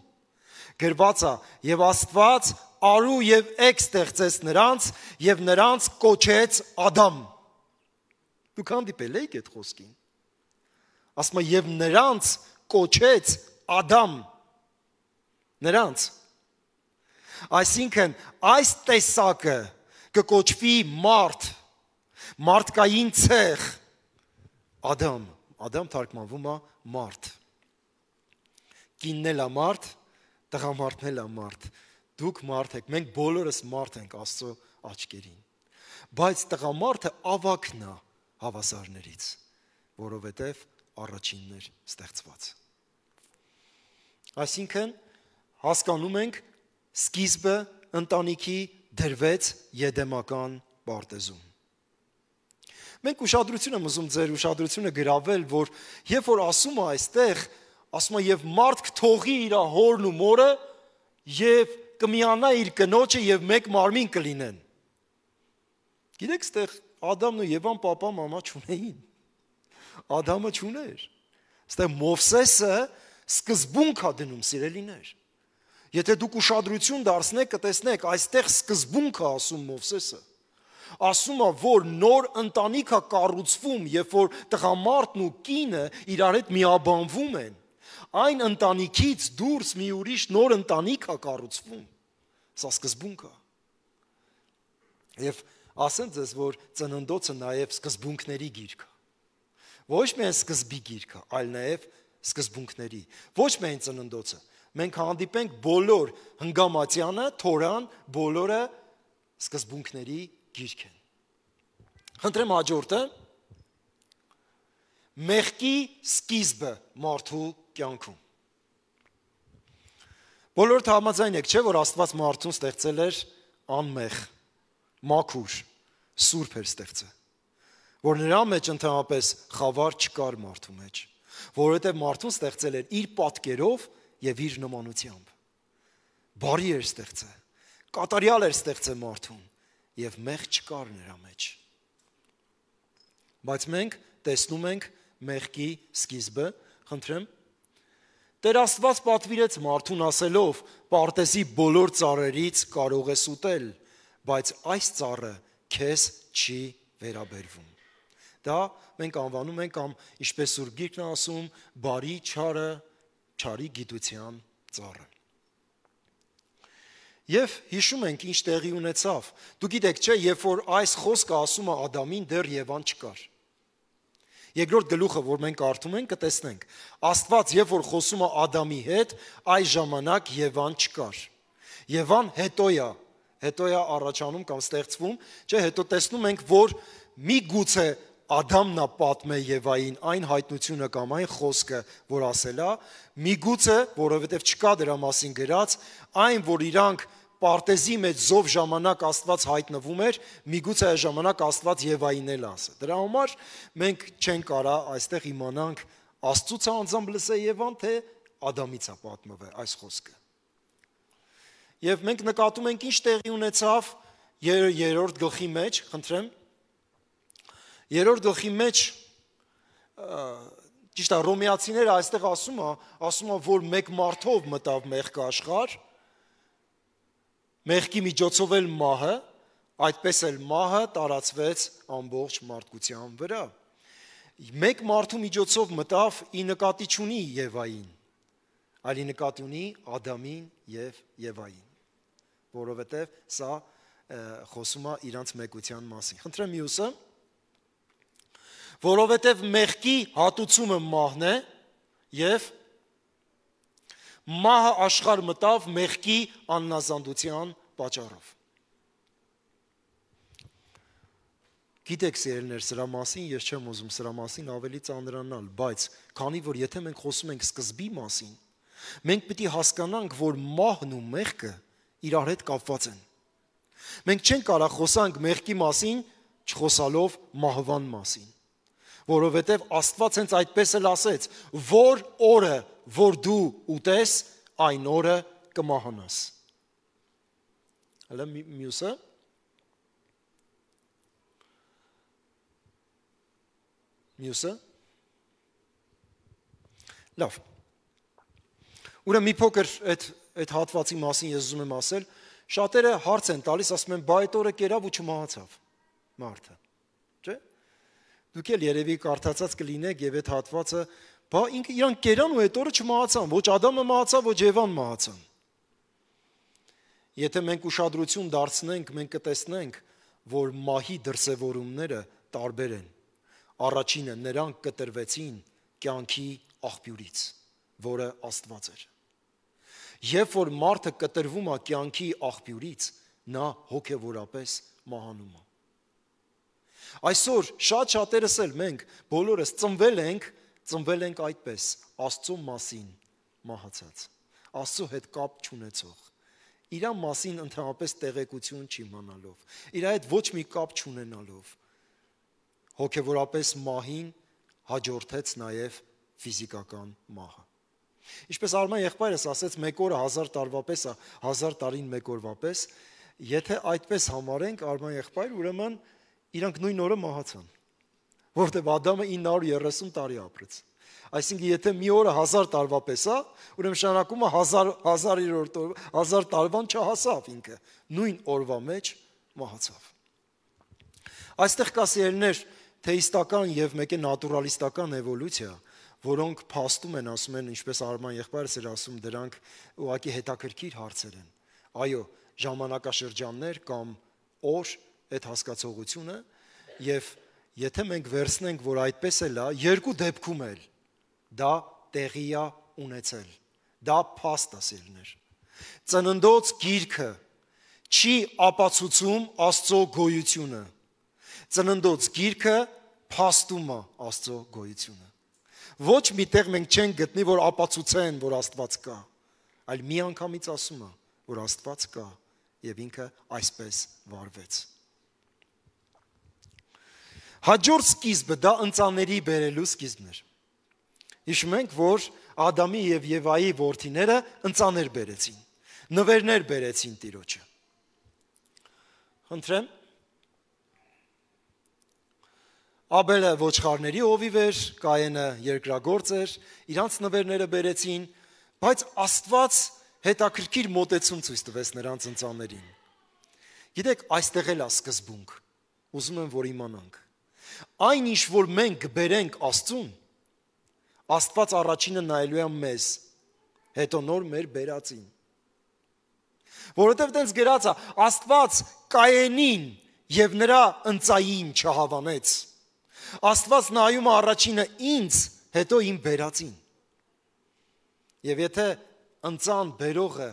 գրված է եւ Աստված արու եւ էգ ստեղծեց նրանց եւ նրանց կոչեց Ադամ։ Դուք հանդիպել եք այդ խոսքին։ Ասում է եւ նրանց կոչեց Ադամ։ Նրանց։ Այսինքն այս տեսակը կկոչվի մարդ, մարդկային ցեղ, Ադամ, Ադամ թարգմանվում է մարդ։ Կինն էլ է մարդ, տղամարդն էլ է մարդ։ Դուք մարդ եք, մենք բոլորս մարդ ենք Աստծո աչքերին։ Բայց տղամարդը ավագն է հավասարներից, որովհետև առաջինն էր ստեղծված։ Այսինքն հասկանում ենք սկիզբը ընտանիքի դրվեց եդեմական պարտեզում։ Մենք ուշադրություն եմ ուզում ձեր ուշադրությունը գրավել, որ երբ որ ասում է այստեղ, ասում է եւ մարդ կթողի իր հորն ու մորը եւ կմիանա իր կնոջը եւ մեկ մարմին կլինեն։ Գիտեք, այստեղ Ադամն ու Եվան պապա մամա չունեին։ Ադամը չուներ։ Այստեղ Մովսեսը սկզբունք է դնում, սիրելիներ։ Եթե դուք ուշադրություն դարձնեք, կտեսնեք, այստեղ սկզբունք է ասում Մովսեսը։ Ասում է, որ նոր ընտանիք է կառուցվում, երբ որ տղամարդն ու կինը իրար հետ միաբանվում են, այն ընտանիքից դուրս մի ուրիշ նոր ընտանիք է կառուցվում։ Սա սկզբունք է։ Եվ ասեմ ձեզ, որ Ծննդոցը նաև սկզբունքների գիրք է։ Ոչ միայն սկզբի գիրք է, այլ նաև սկզբունքների։ Ոչ միայն Ծննդոցը։ Մենք հանդիպենք բոլոր Հնգամատյանը, Թորան, բոլորը սկզբունքների գիրք են։ Խնդրեմ հաջորդը մեղքի սկիզբը մարդու կյանքում։ Բոլորդ համաձայն եք, չէ՞, որ Աստված մարդուն ստեղծել էր անմեղ, մաքուր, սուրբ էր ստեղծել, որ նրա մեջ ընդհանրապես խավար չկար մարդու մեջ, որովհետև մարդուն ստեղծել էր իր պատկերով եւ իր նմանությամբ։ Բարի էր ստեղծել, կատարյալ էր ստեղծել մարդուն եւ մեղ չկար նրա մեջ։ Բայց մենք տեսնում ենք մեղքի սկիզբը, խնդրեմ, Տեր Աստված պատվիրեց մարդուն ասելով. «Պարտեզի բոլոր ծառերից կարող ես ուտել, բայց այս ծառը քեզ չի վերաբերվում»։ Դա մենք անվանում ենք, կամ ինչպես Սուրբ Գիրքն է ասում, բարի չարը, չարի գիտության ծառը։ Եվ հիշում ենք ինչ տեղի ունեցավ։ Դուք գիտեք, չէ, երբ որ այս խոսքը ասում է Ադամին, դեռ Եվան չկար։ Երկրորդ գլուխը, որ մենք կարդում ենք, կտեսնենք։ Աստված, երբ որ խոսում է Ադամի հետ, այս ժամանակ Եվան չկար։ Եվան հետո է, հետո է առաջանում կամ ստեղծվում, չէ, հետո տեսնում ենք, որ մի գուցե Ադամն է պատմե Եվային այն հայտնությունը կամ այն խոսքը, որ ասել է, միգուցե, որովհետև չկա դրա մասին գրած, այն, որ իրանք պարտեզի մեջ զով ժամանակ Աստված հայտնվում էր, միգուցե այս ժամանակ Աստված Եվային էլ ասը։ Դրա համար մենք չենք կարա այստեղ իմանանք Աստծուց է անձամբ լսե Եվան, թե Ադամից է պատմվել այս խոսքը։ Եվ մենք նկատում ենք ինչ տեղի ունեցավ երրորդ գլխի մեջ, խնդրեմ, երրորդ գլխի մեջ ճիշտ է Հռոմեացիները այստեղ ասում է, ասում է, որ մեկ մարդով մտավ մեղքը աշխարհ, մեղքի միջոցով էլ մահը, այդպես էլ մահը տարածվեց ամբողջ մարդկության վրա։ Մեկ մարդու միջոցով մտավ ի նկատի չունի Եվային, այլ ի նկատի ունի Ադամին եւ Եվային, որովհետեւ սա խոսում է իրանց մեկության մասին։ Խնդրեմ մյուսը, որովհետև մեղքի հատուցումը մահն է և մահը աշխարհ մտավ մեղքի աննազանդության պատճառով։ Գիտեք սիրելիներ, սրա մասին ես չեմ ուզում սրա մասին ավելի ծանրանալ, բայց քանի որ եթե մենք խոսում ենք սկզբի մասին, մենք պիտի հասկանանք, որ մահն ու մեղքը իրար հետ կապված են։ Մենք չենք կարող խոսանք մեղքի մասին, չխոսալով մահվան մասին, որովհետև Աստված հենց այդպես էլ ասեց, որ օրը, որ դու ուտես, այն օրը կմահանաս։ Հələ մյուսը Մյուսը Լավ։ Ուրեմն մի փոքր այդ այդ հատվածի մասին ես ուզում եմ ասել, շատերը հարց են տալիս, ասում են, բա այդ օրը կերավ ու չմահացավ մարդը, չէ՞։ Դուք էլ երևի կարդացած կլինեք եւ այդ հատվածը, բա ինքը իրանք կերան ու այդ օրը չմահացան, ոչ Ադամը մահացավ, ոչ Եվան մահացան։ Եթե մենք ուշադրություն դարձնենք, մենք կտեսնենք, որ մահի դրսևորումները տարբեր են։ Առաջինը նրանք կտրվեցին կյանքի աղբյուրից, որը Աստված էր։ Երբ որ մարդը կտրվում է կյանքի աղբյուրից, նա հոգևորապես մահանում է։ Այսօր շատ շատերս էլ մենք բոլորս ծնվել ենք, ծնվել ենք այդպես, Աստծո մասին մահացած, Աստծո հետ կապ չունեցող, իր մասին ընդհանրապես տեղեկություն չիմանալով, իր հետ ոչ մի կապ չունենալով, հոգևորապես մահին հաջորդեց նաև ֆիզիկական մահը։ Ինչպես Արման եղբայրս ասեց, մեկ օրը հազար տարվա պես է, հազար տարին մեկ օրվա պես, եթե այդպես համարենք Արման եղբայր, ուրեմն իրանք նույն օրը մահացան, որտեղ Ադամը ինը հարյուր երեսուն տարի ապրեց։ Այսինքն եթե մի օրը հազար տարվա պես է, ուրեմն նշանակում է հազար տարվան չհասավ ինքը, նույն օրվա մեջ մահացավ։ Այստեղ կա սիրելիներ թեիստական եւ մեկ է նատուրալիստական էվոլյուցիա, որոնք փաստում են, ասում են, ինչպես Արման եղբայրս էր ասում, դրանք ուղղակի հետաքրքիր հարցեր են։ Այո, ժամանակաշրջաններ կամ օր այդ հասկացողությունը եւ եթե մենք վերցնենք, որ այդպես էլ է, երկու դեպքում էլ դա տեղի է ունեցել։ Դա փաստ է սիրելիներ։ Ծննդոց գիրքը չի ապացուցում Աստծո գոյությունը։ Ծննդոց գիրքը փաստում է Աստծո գոյությունը։ Ոչ միտեղ մենք չենք գտնի, որ ապացուցեն, որ Աստված կա, այլ մի անգամից ասում է, որ Աստված կա եւ ինքը այսպես վարվեց։ Հաջորդ սկիզբը դա ընծաների բերելու սկիզբն էր։ Հիշում ենք, որ Ադամի եւ Եվայի որդիները ընծաներ բերեցին, նվերներ բերեցին Տիրոջը։ Խնդրեմ Աբելը ոչխարների հովիվ էր, Կայենը երկրագործ էր, իրանց նվերները բերեցին, բայց Աստված հետաքրքիր մոտեցում ցույց տվեց նրանց ընծաներին։ Գիտեք, այստեղ էլ է սկզբունք, ուզում եմ, որ իմանանք։ Այն ինչ, որ մենք կբերենք Աստծուն, Աստված առաջինը նայելու է մեզ, հետո նոր մեր բերածին։ Որովհետև դենց գրած է, Աստված Կայենին եւ նրա ընծային չհավանեց։ Աստված նայում է առաջինը ինձ, հետո իմ բերածին։ Եվ եթե ընծան բերողը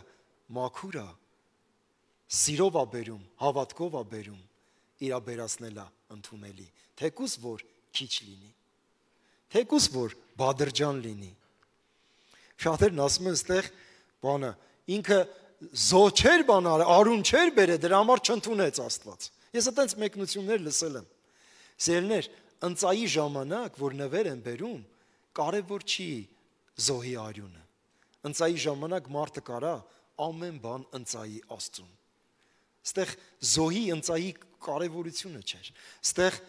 մաքուր է, սիրով է բերում, հավատքով է բերում, իր բերածն էլ է ընդունելի, թեկուզ որ քիչ լինի։ Թեկուզ որ բادرջան լինի։ Շատերն ասում են այստեղ բանը ինքը զո չեր բանալ, արուն չեր բերե, դրա համար չընդունեց Աստված։ Ես այդպես մեկնություններ լսել եմ։ Սերներ, ընծայի ժամանակ, որ նվեր են բերում, կարևոր չի զոհի արյունը։ Ընծայի ժամանակ մարդը կարա ամեն բան ընծայի Աստծուն։ Այստեղ զոհի ընծայի կարևորությունը չէր։ Այստեղ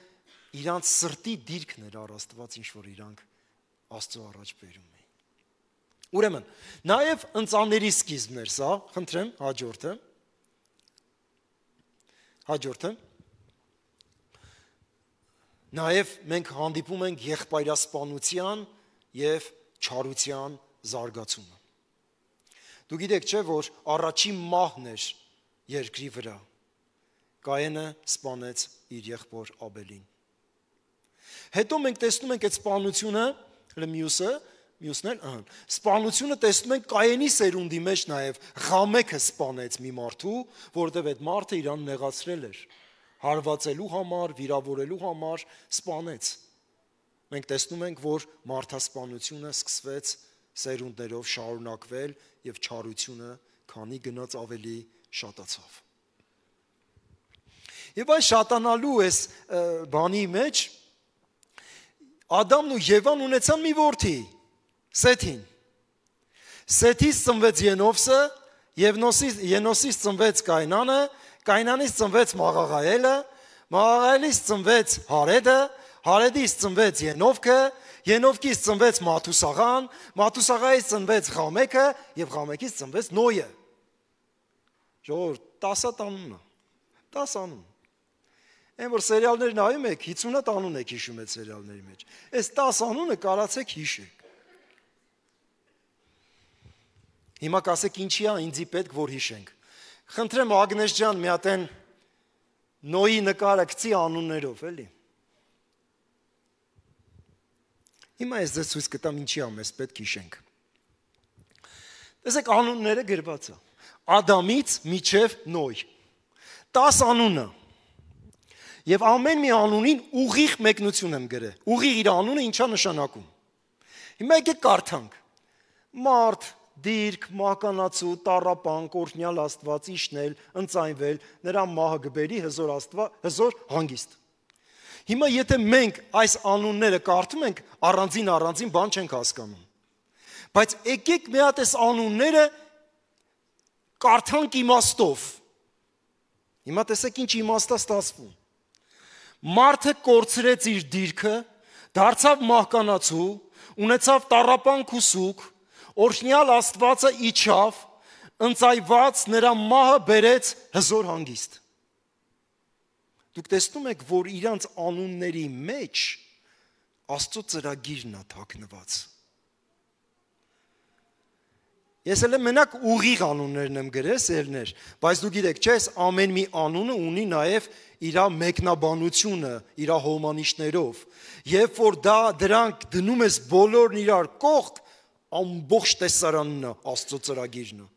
իրանց սրտի դիրքն էր առ Աստված, ինչ որ իրանք Աստծո առաջ բերում էին։ Ուրեմն, նաև ընծաների սկիզբներ սա, խնդրեմ, հաջորդը։ Հաջորդը։ Նաև մենք հանդիպում ենք եղբայրասպանության եւ չարության զարգացումը։ Դու գիտեք չէ, որ առաջին մահն էր երկրի վրա։ Կայենը սպանեց իր եղբոր Աբելին։ Հետո մենք տեսնում ենք այդ սպանությունը, մյուսը, մյուսն էլ, ահա, սպանությունը տեսնում ենք Կայենի սերունդի մեջ նաև Ղամեքը սպանեց մի մարդու, որովհետև այդ մարդը իրան նեղացրել էր, հարվածելու համար, վիրավորելու համար սպանեց։ Մենք տեսնում ենք, որ մարդասպանությունը սկսվեց սերունդներով շարունակվել եւ չարությունը քանի գնաց ավելի շատացավ։ Եվ այս շատանալու այս բանի մեջ Ադամն ու Եվան ունեցան մի որդի, Սեթին։ Սեթից ծնվեց Ենովսը, Ենոսից ծնվեց Կայնանը, Կայնանից ծնվեց Մաղաղայելը, Մաղաղայելից ծնվեց Հարեդը, Հարեդից ծնվեց Ենովքը, Ենովքից ծնվեց Մաթուսաղան, Մաթուսաղայից ծնվեց Ղամեքը եւ Ղամեքից ծնվեց Նոյը։ Ժողովուրդ, տասը անուն է։ տասը անուն։ Այն որ սերիալներ նայում եք, հինգ անուն եք հիշում այդ սերիալների մեջ։ Այս տասը անունը կարացեք հիշեք։ Հիմա կասեք ինչի է ինձի պետք որ հիշենք։ Խնդրեմ Ագնես ջան, մի հատ են Նոյի նկարը գցի անուններով, էլի։ Հիմա ես ձեզ ցույց կտամ ինչի է մեզ պետք հիշենք։ Տեսեք անունները գրված է։ Ադամից մինչև Նոյ։ տասը անունը։ Եվ ամեն մի անունին ուղիղ մեկնություն եմ գրել։ Ուղիղ իր անունը ինչա նշանակում։ Հիմա եկեք կարդանք։ Մարդ, դիրք, մահկանացու, տառապան, կորնյալ Աստված, իշնել, ընծայնվել, նրա մահը գբերի հզոր Աստված, հզոր հանգիստ։ Հիմա եթե մենք այս անունները կարդում ենք, առանձին առանձին բան չենք հասկանում։ Բայց եկեք մի հատ այս անունները կարդանք իմաստով։ Հիմա տեսեք ինչ իմաստ է ստացվում։ Մարդը կորցրեց իր դիրքը, դարձավ մահկանացու, ունեցավ տառապան քուսուկ, օրհնյալ Աստվածը իջավ, ընծայված նրա մահը բերեց հզոր հանգիստ։ Դուք տեսնում եք, որ իրանց անունների մեջ Աստծո ծրագիրն է թաքնված։ Ես էլ մենակ ուղիղ անուններն եմ գրել, սերներ, բայց դու գիտեք, չէ՞, ամեն մի անունը ունի նաև իր մեկնաբանությունը, իր հոմանիշներով։ Երբ որ դա դրանք դնում ես բոլորն իրար կողք, ամբողջ տեսարանն է Աստծո ծրագիրն է։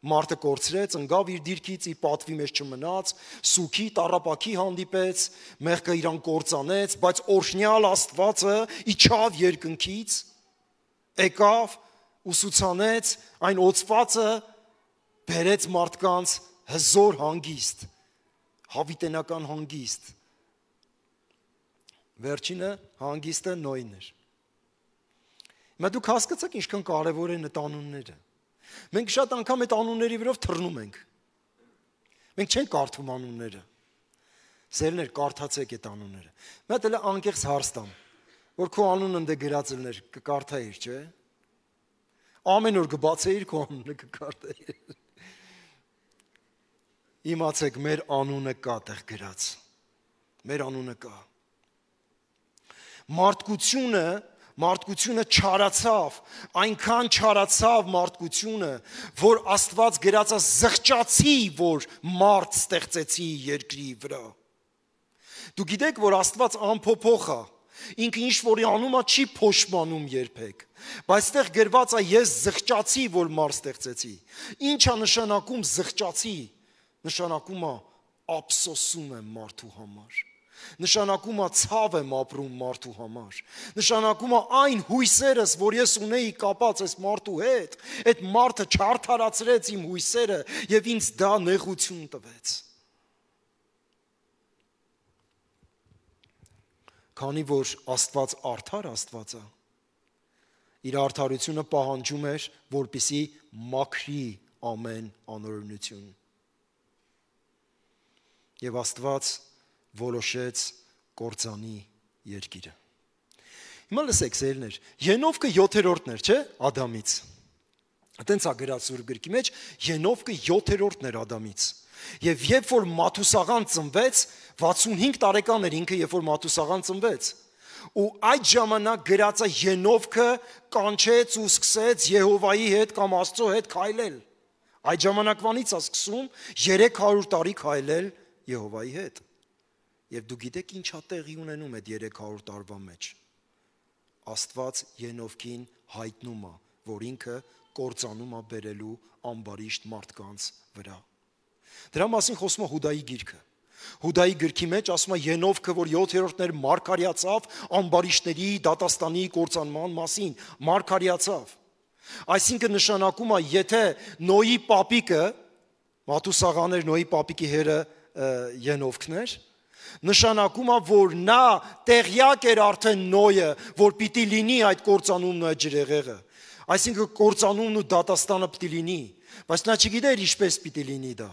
Մարդը կորցրեց, ընկավ իր դիրքից, իր պատվի մեջ չմնաց, սուքի, տառապակի հանդիպեց, մեղքը իրան կործանեց, բայց օրհնյալ Աստվածը իջավ երկնքից, եկավ, ուսուցանեց, այն օծվածը բերեց մարդկանց հզոր հանգիստ, հավիտենական հանգիստ։ Վերջինը հանգիստը Նոյն էր։ Հիմա դուք հասկացաք ինչքան կարևոր են այդ անունները։ Մենք շատ անգամ այդ անունների վրով թռնում ենք։ Մենք չենք կարդում անունները։ Սերներ, կարդացեք այդ անունները։ Մի հատ էլ անկեղծ հարց տամ, որ քո անունը ընդ գրած լիներ, կկարդայիր, չէ՞։ Ամեն օր կբացեիր քո անունը կկարդայիր։ Իմացեք, մեր անունը կա տեղ գրած։ Մեր անունը կա։ Մարդկությունը Մարդկությունը չարացավ, այնքան չարացավ մարդկությունը, որ Աստված գրածա զղջացի, որ մարդ ստեղծեցի երկրի վրա։ Դու գիտեք, որ Աստված անփոփոխ է, ինքը ինչ որի անումը չի փոշմանում երբեք, բայց այդտեղ գրված է ես զղջացի, որ մարդ ստեղծեցի։ Ինչ է նշանակում զղջացի։ Նշանակում է ափսոսում եմ մարդու համար։ Նշանակում է ցավ եմ ապրում մարդու համար։ Նշանակում է այն հույսերս, որ ես ունեի կապած այս մարդու հետ, այդ մարդը չարդարացրեց իմ հույսերը եւ ինձ դա նեղություն տվեց։ Քանի որ Աստված արդար Աստված է, իր արդարությունը պահանջում էր, որպեսզի մաքրի ամեն անօրենություն։ Եվ Աստված որոշեց կործանի երկիրը։ Հիմա լսեք սերներ, Ենովկը յոթերորդն էր, չէ՞, Ադամից։ Այտենց է գրած Սուրբ գրքի մեջ, Ենովկը յոթերորդն էր Ադամից։ Եվ երբ որ Մաթուսաղան ծնվեց, վաթսունհինգ տարեկան էր ինքը, երբ որ Մաթուսաղան ծնվեց։ Ու այդ ժամանակ գրած է Ենովկը կանչեց ու սկսեց Եհովայի հետ կամ Աստծո հետ քայլել։ Այդ ժամանակվանից է սկսում երեք հարյուր տարի քայլել Եհովայի հետ։ Եվ դու գիտեք ինչ է տեղի ունենում այդ երեք հարյուր տարվա մեջ։ Աստված Ենովկին հայտնում է, որ ինքը կործանում է բերելու ամբարիշտ մարդկանց վրա։ Դրա մասին խոսում է Հուդայի գիրքը։ Հուդայի գրքի մեջ ասում է Ենովկը, որ յոթերորդն էր, մարգարյացավ ամբարիշտների դատաստանի կործանման մասին, մարգարյացավ։ Այսինքն նշանակում է, եթե Նոյի պապիկը, Մաթուսաղան էր Նոյի պապիկի հերը Ենովկն էր, նշանակում է, որ նա տեղյակ էր արդեն Նոյը, որ պիտի լինի այդ կործանումն ու այդ ջրեղեղը։ Այսինքն կործանումն ու դատաստանը պիտի լինի, բայց նա չգիտեր ինչպես պիտի լինի դա։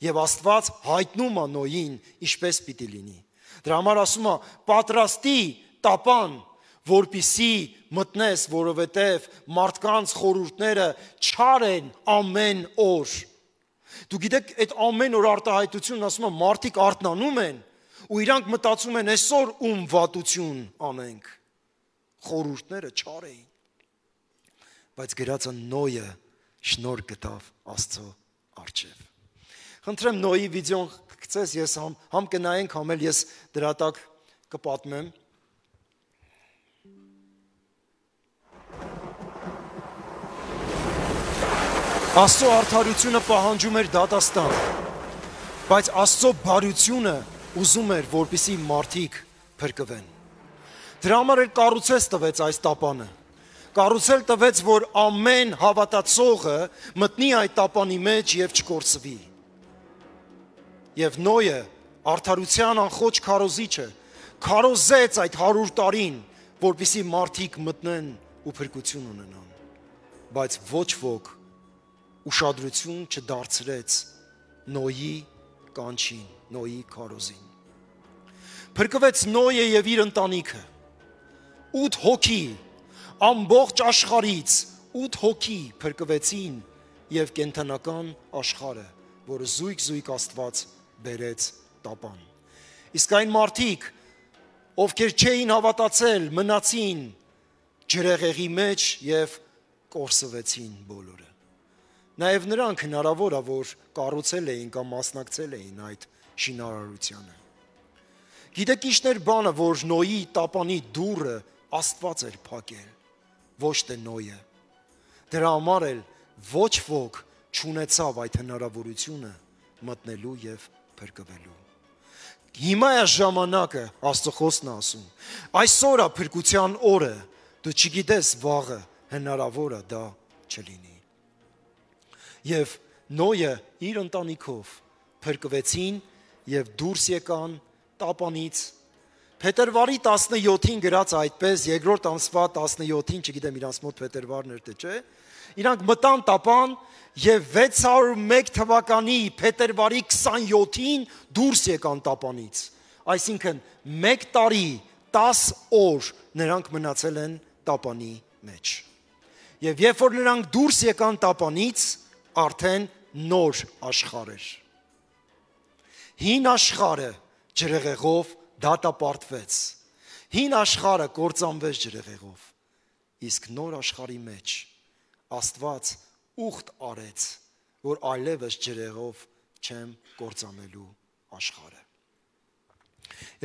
Եվ Աստված հայտնում է Նոյին ինչպես պիտի լինի։ Դրա համար ասում է պատրաստի տապան, որպիսի մտնես, որովհետև մարդկանց խորհուրդները չար են ամեն օր։ Դու գիտեք, այդ ամեն օր արտահայտությունն ասում է մարդիկ արթնանում են ու իրանք մտածում են այսօր ում վատություն անենք։ Խորհուրդները չար էին։ Բայց գրածը Նոյը շնորհ գտավ Աստծո առջև։ Խնդրեմ Նոյի վիդեոն գցես, ես համ, համ կնայենք, համ էլ ես դրա տակ կպատմեմ։ Աստծո արդարությունը պահանջում էր դատաստան, բայց Աստծո բարությունը ուզում էր, որպեսզի մարդիկ փրկվեն։ Դրա համար էլ կառուցես տվեց այս տապանը։ Կառուցել տվեց, որ ամեն հավատացողը մտնի այդ տապանի մեջ եւ չկորսվի։ Եվ Նոյը արդարության անխոչ քարոզիչը քարոզեց այդ հարյուր տարին, որպեսզի մարդիկ մտնեն ու փրկություն ունենան, բայց ոչ ոք ուշադրություն չդարձրեց Նոյի կանչին, Նոյի քարոզին։ Փրկվեց Նոյը եւ իր ընտանիքը։ ութ հոգի ամբողջ աշխարհից ութ հոգի փրկվեցին եւ կենթանական աշխարհը, որը զույգ-զույգ Աստված բերեց տապան։ Իսկ այն մարդիկ, ովքեր չէին հավատացել, մնացին ջրեղեղի մեջ եւ կորսվեցին բոլորը։ Նաեւ նրանք հնարավոր է, որ կառուցել էին կամ մասնակցել էին այդ շինարարությանը։ Գիտեք ինչն էր բանը, որ Նոյի տապանի դուռը Աստված էր փակել, ոչ թե Նոյը։ Դրա համար էլ ոչ ոք չունեցավ այդ հնարավորությունը մտնելու եւ փրկվելու։ Հիմա է ժամանակը, Աստծո խոսքն է ասում։ Այսօր է փրկության օրը, դու չգիտես վաղը հնարավոր է դա չլինի։ Եվ Նոյը իր ընտանիքով փրկվեցին եւ դուրս եկան տապանից։ Փետրվարի տասնյոթին գրած այդպես, երկրորդ ամսվա տասնյոթին, չգիտեմ իրանց մոտ փետրվարն էր թե չէ, իրանք մտան տապան եւ վեց հարյուր ու մեկ թվականի փետրվարի քսանյոթին դուրս եկան տապանից։ Այսինքն մեկ տարի տաս օր նրանք մնացել են տապանի մեջ։ Եվ երբ որ նրանք դուրս եկան տապանից, արդեն նոր աշխարհ էր։ Հին աշխարհը ջրեղեղով դատապարտվեց։ Հին աշխարհը կործանվեց ջրեղեղով։ Իսկ նոր աշխարհի մեջ Աստված ուխտ արեց, որ այլևս ջրեղով չեմ կործանելու աշխարհը։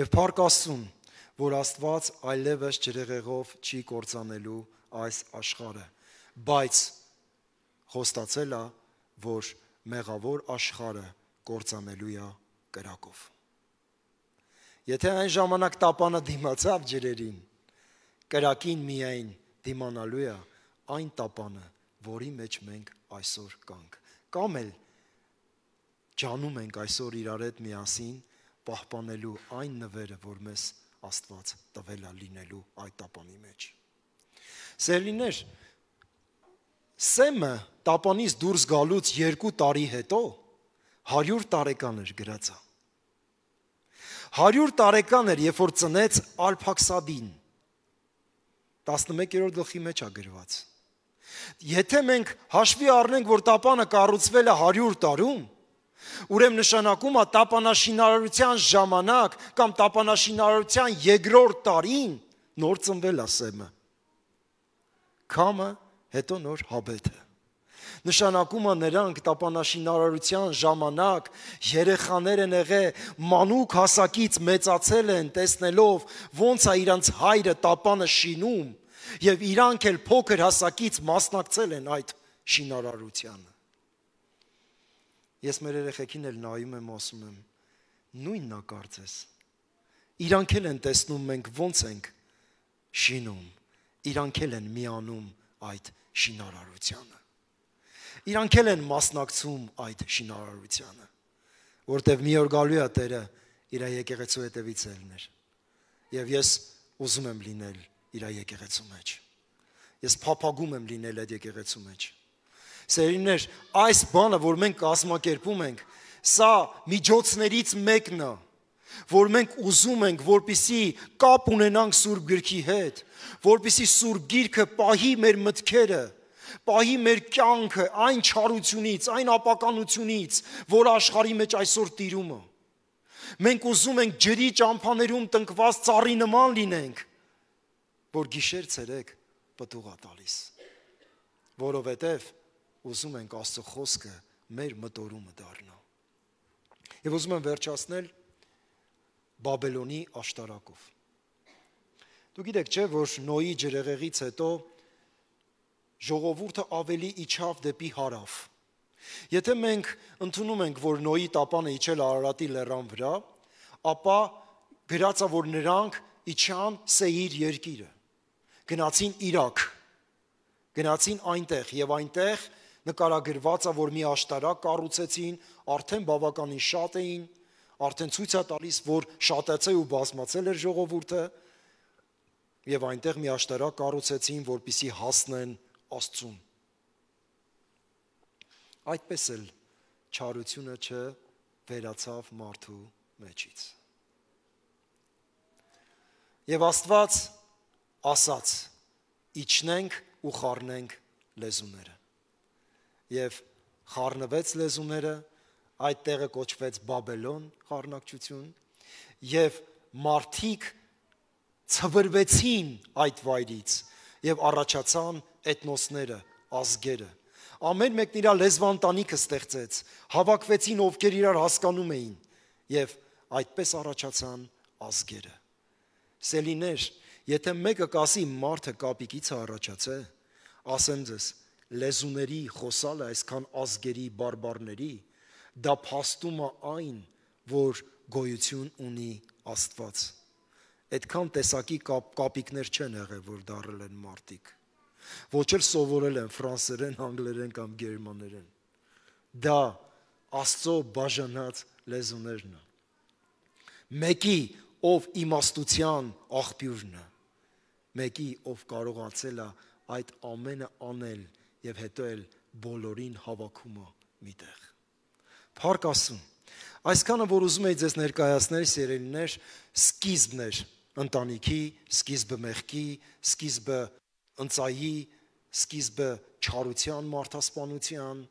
Եվ փառք Աստծուն, որ Աստված այլևս ջրեղեղով չի կործանելու այս աշխարհը, բայց խոստացել է, որ մեղավոր աշխարհը կործանելու է կրակով։ Եթե այն ժամանակ տապանը դիմացավ ջրերին, կրակին միայն դիմանալու է այն տապանը, որի մեջ մենք այսօր կանք։ Կամ էլ ջանում ենք այսօր իրար հետ միասին պահպանելու այն նվերը, որ մեզ Աստված տվել է լինելու այդ տապանի մեջ։ Սիրելիներ, Սեմը տապանից դուրս գալուց երկու տարի հետո հարյուր տարեկան էր գրածա։ հարյուր տարեկան էր, երբ որ ծնեց Արփաքսադին։ տասնմեկերորդ գլխի մեջ է գրված։ Եթե մենք հաշվի առնենք, որ տապանը կառուցվել է հարյուր տարում, ուրեմն նշանակում է տապանաշինարարության ժամանակ կամ տապանաշինարարության երկրորդ տարին նոր ծնվել է Սեմը։ Քամը, հետո նոր Հաբեթը։ Նշանակում է նրանք տապանաշինարարության ժամանակ երեխաներ են եղել, մանուկ հասակից մեծացել են, տեսնելով ոնց է իրանց հայրը տապանը շինում, եւ իրանք էլ փոքր հասակից մասնակցել են այդ շինարարությանը։ Ես մեր երեխեքին էլ նայում եմ, ասում եմ, նույնն է կարծես։ Իրանք էլ են տեսնում մենք ոնց ենք շինում, իրանք էլ են միանում այդ շինարարությանը։ Իրանք էլ են մասնակցում այդ շինարարությանը, որտեվ մի օր գալու է Տերը իր եկեղեցու հետևից ելներ։ Եվ ես ուզում եմ լինել իր եկեղեցու մեջ։ Ես փափագում եմ լինել այդ եկեղեցու մեջ։ Սերիներ, այս բանը, որ մենք կազմակերպում ենք, սա միջոցներից մեկն է, որ մենք ուզում ենք, որպիսի կապ ունենանք Սուրբ Գրքի հետ, որպիսի Սուրբ Գիրքը պահի մեր մտքերը, պահի մեր կյանքը այն չարությունից, այն ապականությունից, որ աշխարհի մեջ այսօր տիրում է։ Մենք ուզում ենք ջրի ճամփաներում տնկված ծառի նման լինենք, որ գիշեր ցերեկ պտուղ է տալիս, որովհետև ուզում ենք Աստծո խոսքը մեր մտորումը դառնա։ Եվ ուզում եմ վերջացնել Բաբելոնի աշտարակով։ Դու գիտեք չէ, որ Նոյի ջրեղեղից հետո ժողովուրդը ավելի իջավ դեպի հարավ։ Եթե մենք ընդունում ենք, որ Նոյի տապանը իջել Արարատի լեռան վրա, ապա գրած է, որ նրանք իջան Սեիր երկիրը, գնացին Իրաք, գնացին այնտեղ եւ այնտեղ նկարագրված է, որ մի աշտարակ կառուցեցին, արդեն բավականին շատ էին, արդեն ցույց է տալիս, որ շատացել ու բազմացել էր ժողովուրդը, եւ այնտեղ մի աշտարակ կառուցեցին, որպիսի հասնեն Աստծուն։ Այդպես էլ չարությունը չվերացավ մարդու մեջից։ Եվ Աստված ասաց. իջնենք ու խառնենք լեզուները։ Եվ խառնվեց լեզուները, այդ տեղը կոչվեց Բաբելոն խառնակչություն, եւ մարդիկ ցվրվեցին այդ վայրից եւ առաջացան էթնոսները, ազգերը։ Ամեն մեկն իր լեզվանտանիքը ստեղծեց, հավաքվեցին ովքեր իրար հասկանում էին եւ այդպես առաջացան ազգերը։ Սելիներ, եթե մեկը կասի մարդը կապիկից է առաջացել, ասեմ ձեզ, լեզուների խոսալը այսքան ազգերի բարբարների, դա փաստում է այն, որ գոյություն ունի Աստված։ Այդքան տեսակի կապ, կապիկներ չեն եղել, որ դարել են մարդիկ։ Ոչ էլ սովորել են ֆրանսերեն, անգլերեն կամ գերմաներեն։ Դա Աստծո բաժանած լեզուներն են։ Մեկի, ով իմաստության աղբյուրն է, մեկի, ով կարողացել է այդ ամենը անել եւ հետո էլ բոլորին հավաքում է միտեղ։ Փառք Աստծուն։ Այսքանը, որ ուզում եի ձեզ ներկայացնել, սիրելիներ, սկիզբն էր ընտանիքի, սկիզբը մեղքի, սկիզբը ընծայի, սկիզբը չարության, մարդասպանության,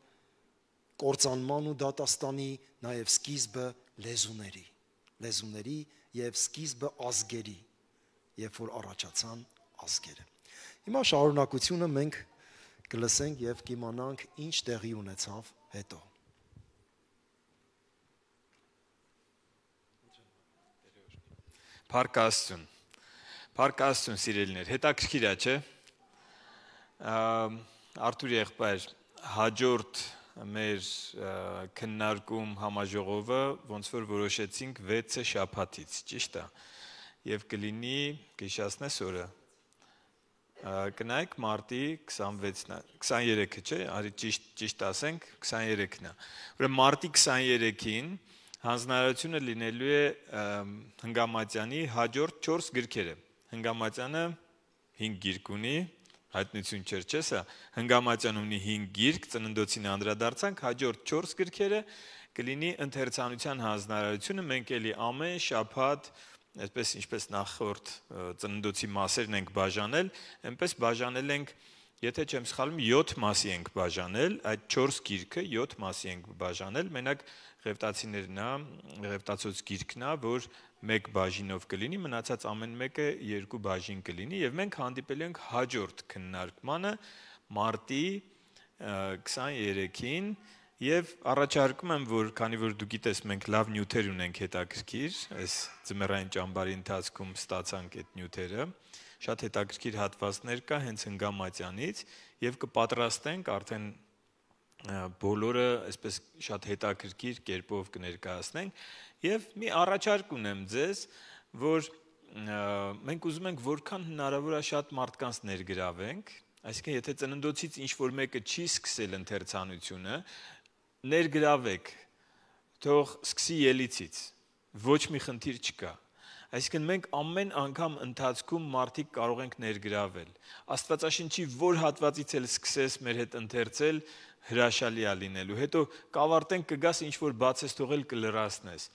կործանման ու դատաստանի, նաև սկիզբը լեզուների, լեզուների եւ սկիզբը ազգերի, երբ որ առաջացան ազգերը։ Հիմա շարունակությունը մենք կլսենք եւ կիմանանք ինչ տեղի ունեցավ հետո։ Փառք Աստծուն։ Փառք Աստծուն, սիրելիներ, հետաքրքիր է, չէ՞։ Արթուր եղբայր հաջորդ մեր քննարկում համաժողովը ոնց որ որոշեցինք վեցը շաբաթից, ճիշտ է։ Եվ կլինի, կհիշացնես օրը։ Կնայեք մարտի քսանվեցն է, քսաներեքը, չէ՞, արի ճիշտ ճիշտ ասենք, քսաներեքն է։ Ուրեմն մարտի քսաներեքին հանձնարարությունը լինելու է Հնգամատյանի հաջորդ չորս գրքերը։ Հնգամատյանը հինգ գիրք ունի, հայտնություն չէր, չէ՞ սա։ Հնգամատյանը ունի հինգ գիրք, ծննդոցին անդրադարձանք, հաջորդ չորս գրքերը կլինի ընթերցանության հանձնարարությունը, մենք էլի ամեն շաբաթ այսպես ինչպես նախորդ ծննդոցի մասերն ենք բաժանել, այնպես բաժանել ենք, եթե չեմ սխալվում, յոթ մասի ենք բաժանել, այդ չորս գիրքը յոթ մասի ենք բաժանել, մենակ Ղևտացիներն է, Ղևտացոց գիրքն է, որ մեկ բաժինով կլինի, մնացած ամեն մեկը երկու բաժին կլինի, եւ մենք հանդիպել ենք հաջորդ քննարկմանը մարտի քսաներեքին. Եվ առաջարկում եմ, որ քանի որ դու գիտես, մենք լավ նյութեր ունենք հետաքրքիր, այս ձմեռային ճամբարի ընթացքում ստացանք այդ նյութերը, շատ հետաքրքիր հատվածներ կա հենց Հնգամատյանից եւ կպատրաստենք արդեն բոլորը այսպես շատ հետաքրքիր կերպով կներկայացնենք եւ մի առաջարկ ունեմ ձեզ, որ մենք ուզում ենք որքան հնարավոր է շատ մարդկանց ներգրավենք, այսինքն եթե ծննդոցից ինչ որ մեկը չի սկսել ընթերցանությունը, ներգրավեք, թող սկսի ելիցից, ոչ մի խնդիր չկա։ Այսինքն մենք ամեն անգամ ընթացքում մարդիկ կարող ենք ներգրավել։ Աստվածաշնչի որ հատվածից էլ սկսես մեր հետ ընթերցել, հրաշալի է լինելու։ Հետո կավարտենք, կգաս ինչ որ բացես թողել կլրացնես։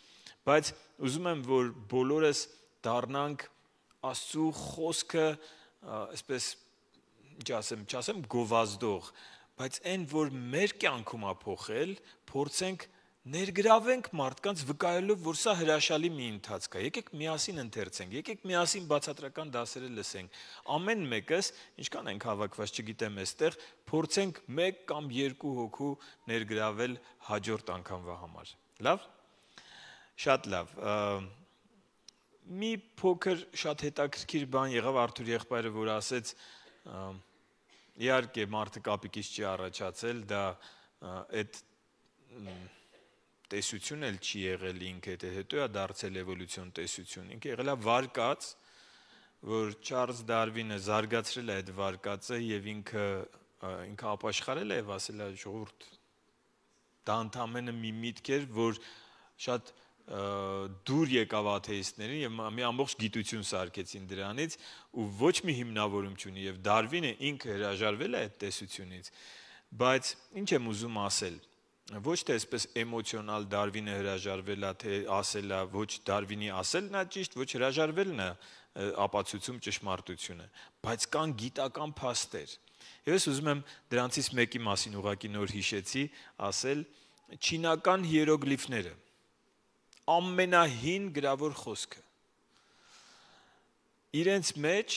Բայց ուզում եմ, որ բոլորս դառնանք Աստծո խոսքը, այսպես ինչ ասեմ, չասեմ գովազդող, բայց այն, որ մեր կյանքում է փոխել, փորձենք ներգրավենք մարդկանց վկայելով, որ սա հրաշալի մի ընթացք է։ Եկեք միասին ընթերցենք, եկեք միասին բացատրական դասերը լսենք։ Ամեն մեկս, ինչքան ենք հավաքված, չգիտեմ, այստեղ փորձենք մեկ կամ երկու հոգու ներգրավել հաջորդ անգամվա համար։ Լավ։ Շատ լավ։ Մի փոքր շատ հետաքրքիր բան եղավ Արթուր եղբայրը, որ ասեց, իհարկե մարդը կապիկից չի առաջացել, դա այդ տեսություն էլ չի եղել ինքը, հետո է դարձել էվոլյուցիոն տեսություն։ Ինքը եղել է վարկած, որ Չարլզ Դարվինը զարգացրել է այդ վարկածը եւ ինքը ինքը ապաշխարել է եւ ասել է ժողովուրդ, դա ընդամենը մի միտք էր, որ շատ դուր եկավ աթեիստներին եւ մի ամբողջ գիտություն սարքեցին դրանից ու ոչ մի հիմնավորում չունի եւ Դարվինը ինքը հրաժարվել է այդ տեսությունից, բայց ինչ եմ ուզում ասել, ոչ թե այսպես էմոցիոնալ Դարվինը հրաժարվել է, թե ասել է, ոչ Դարվինի ասելն է ճիշտ, ոչ հրաժարվելն է ապացուցում ճշմարտությունը, բայց կան գիտական փաստեր։ Եվ ես ուզում եմ դրանցից մեկի մասին ուղղակի նոր հիշեցի, ասել չինական հիերոգլիֆները, ամենահին գրավոր խոսքը։ Իրենց մեջ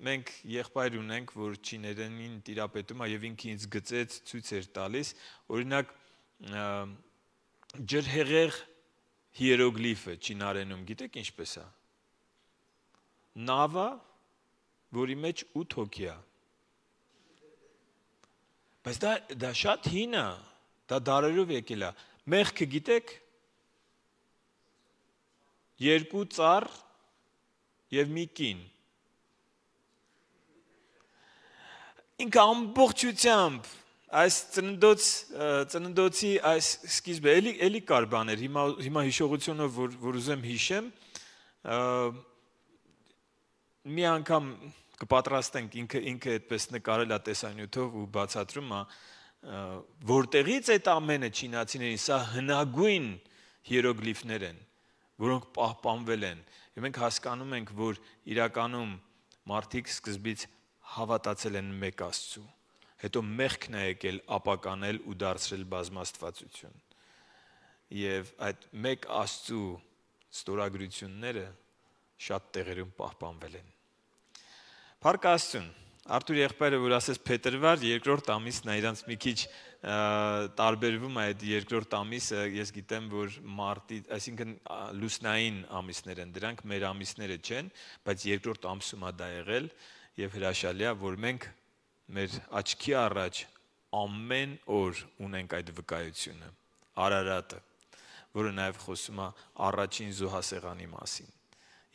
մենք եղբայր ունենք, որ չիներենին տիրապետում է եւ ինքը ինձ գծեց ցույց էր տալիս, օրինակ ջրհեղեղ հիերոգլիֆը չինարենում, գիտեք ինչպես է։ Նավա, որի մեջ ութ հոգի է։ Բայց դա դա շատ հին է, դա դարերով եկել է։ Մեղքը գիտեք։ Երկու ծառ եւ մի կին։ Ինքը ամբողջությամբ այս ծննդոց ծննդոցի այս սկիզբը էլի էլի կար բաներ, հիմա հիմա հիշողությունով որ որ ուզեմ հիշեմ, մի անգամ կպատրաստենք, ինքը ինքը այդպես նկարել է տեսանյութով ու բացատրում է, որտեղից այդ ամենը չինացիներին, սա հնագույն հիերոգլիֆներ են, որոնք պահպանվել են։ Եվ մենք հասկանում ենք, որ իրականում մարդիկ սկզբից հավատացել են մեկ Աստծու, հետո մեղքն է եկել ապականել ու դարձրել բազմաստվածություն։ Եվ այդ մեկ Աստծու ստորագրությունները շատ տեղերում պահպանվել են։ Փառք Աստծուն։ Արթուր եղբայրը որ ասես փետրվար, երկրորդ ամիսն է, իրանց մի քիչ տարբերվում է այդ երկրորդ ամիսը, ես գիտեմ, որ մարտի, այսինքն լուսնային ամիսներ են դրանք, մեր ամիսները չեն, բայց երկրորդ ամսում է դա եղել եւ հրաշալի է, որ մենք մեր աչքի առաջ ամեն օր ունենք այդ վկայությունը, Արարատը, որը նաև խոսում է առաջին զոհասեղանի մասին։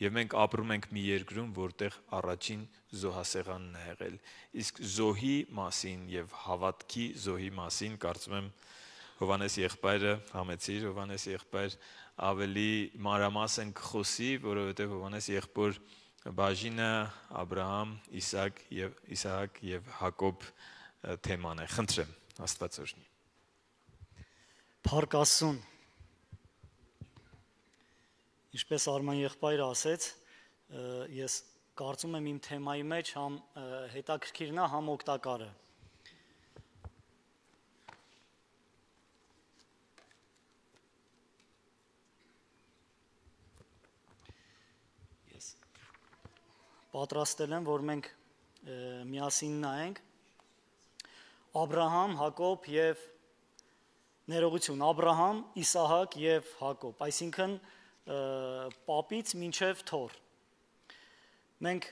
Եվ մենք ապրում ենք մի երկրում, որտեղ առաջին զոհասեղանն է եղել։ Իսկ զոհի մասին եւ հավատքի զոհի մասին կարծում եմ Հովանես եղբայրը, համեցիր Հովանես եղբայր, ավելի մանրամասն կխոսի, որովհետեւ Հովանես եղբոր բաժինը Աբրահամ, Իսահակ եւ Իսահակ եւ Հակոբ թեման է։ Խնդրեմ, Աստված օրհնի։ Փառք Աստծուն։ Ինչպես Արման եղբայրը ասեց, ես կարծում եմ իմ թեմայի մեջ համ հետաքրքիրն է, համ օգտակար է։ Ես պատրաստել եմ, որ մենք միասին նայենք Աբրահամ, Հակոբ եւ ներողություն, Աբրահամ, Իսահակ եւ Հակոբ, այսինքն պապից մինչև թոր։ Մենք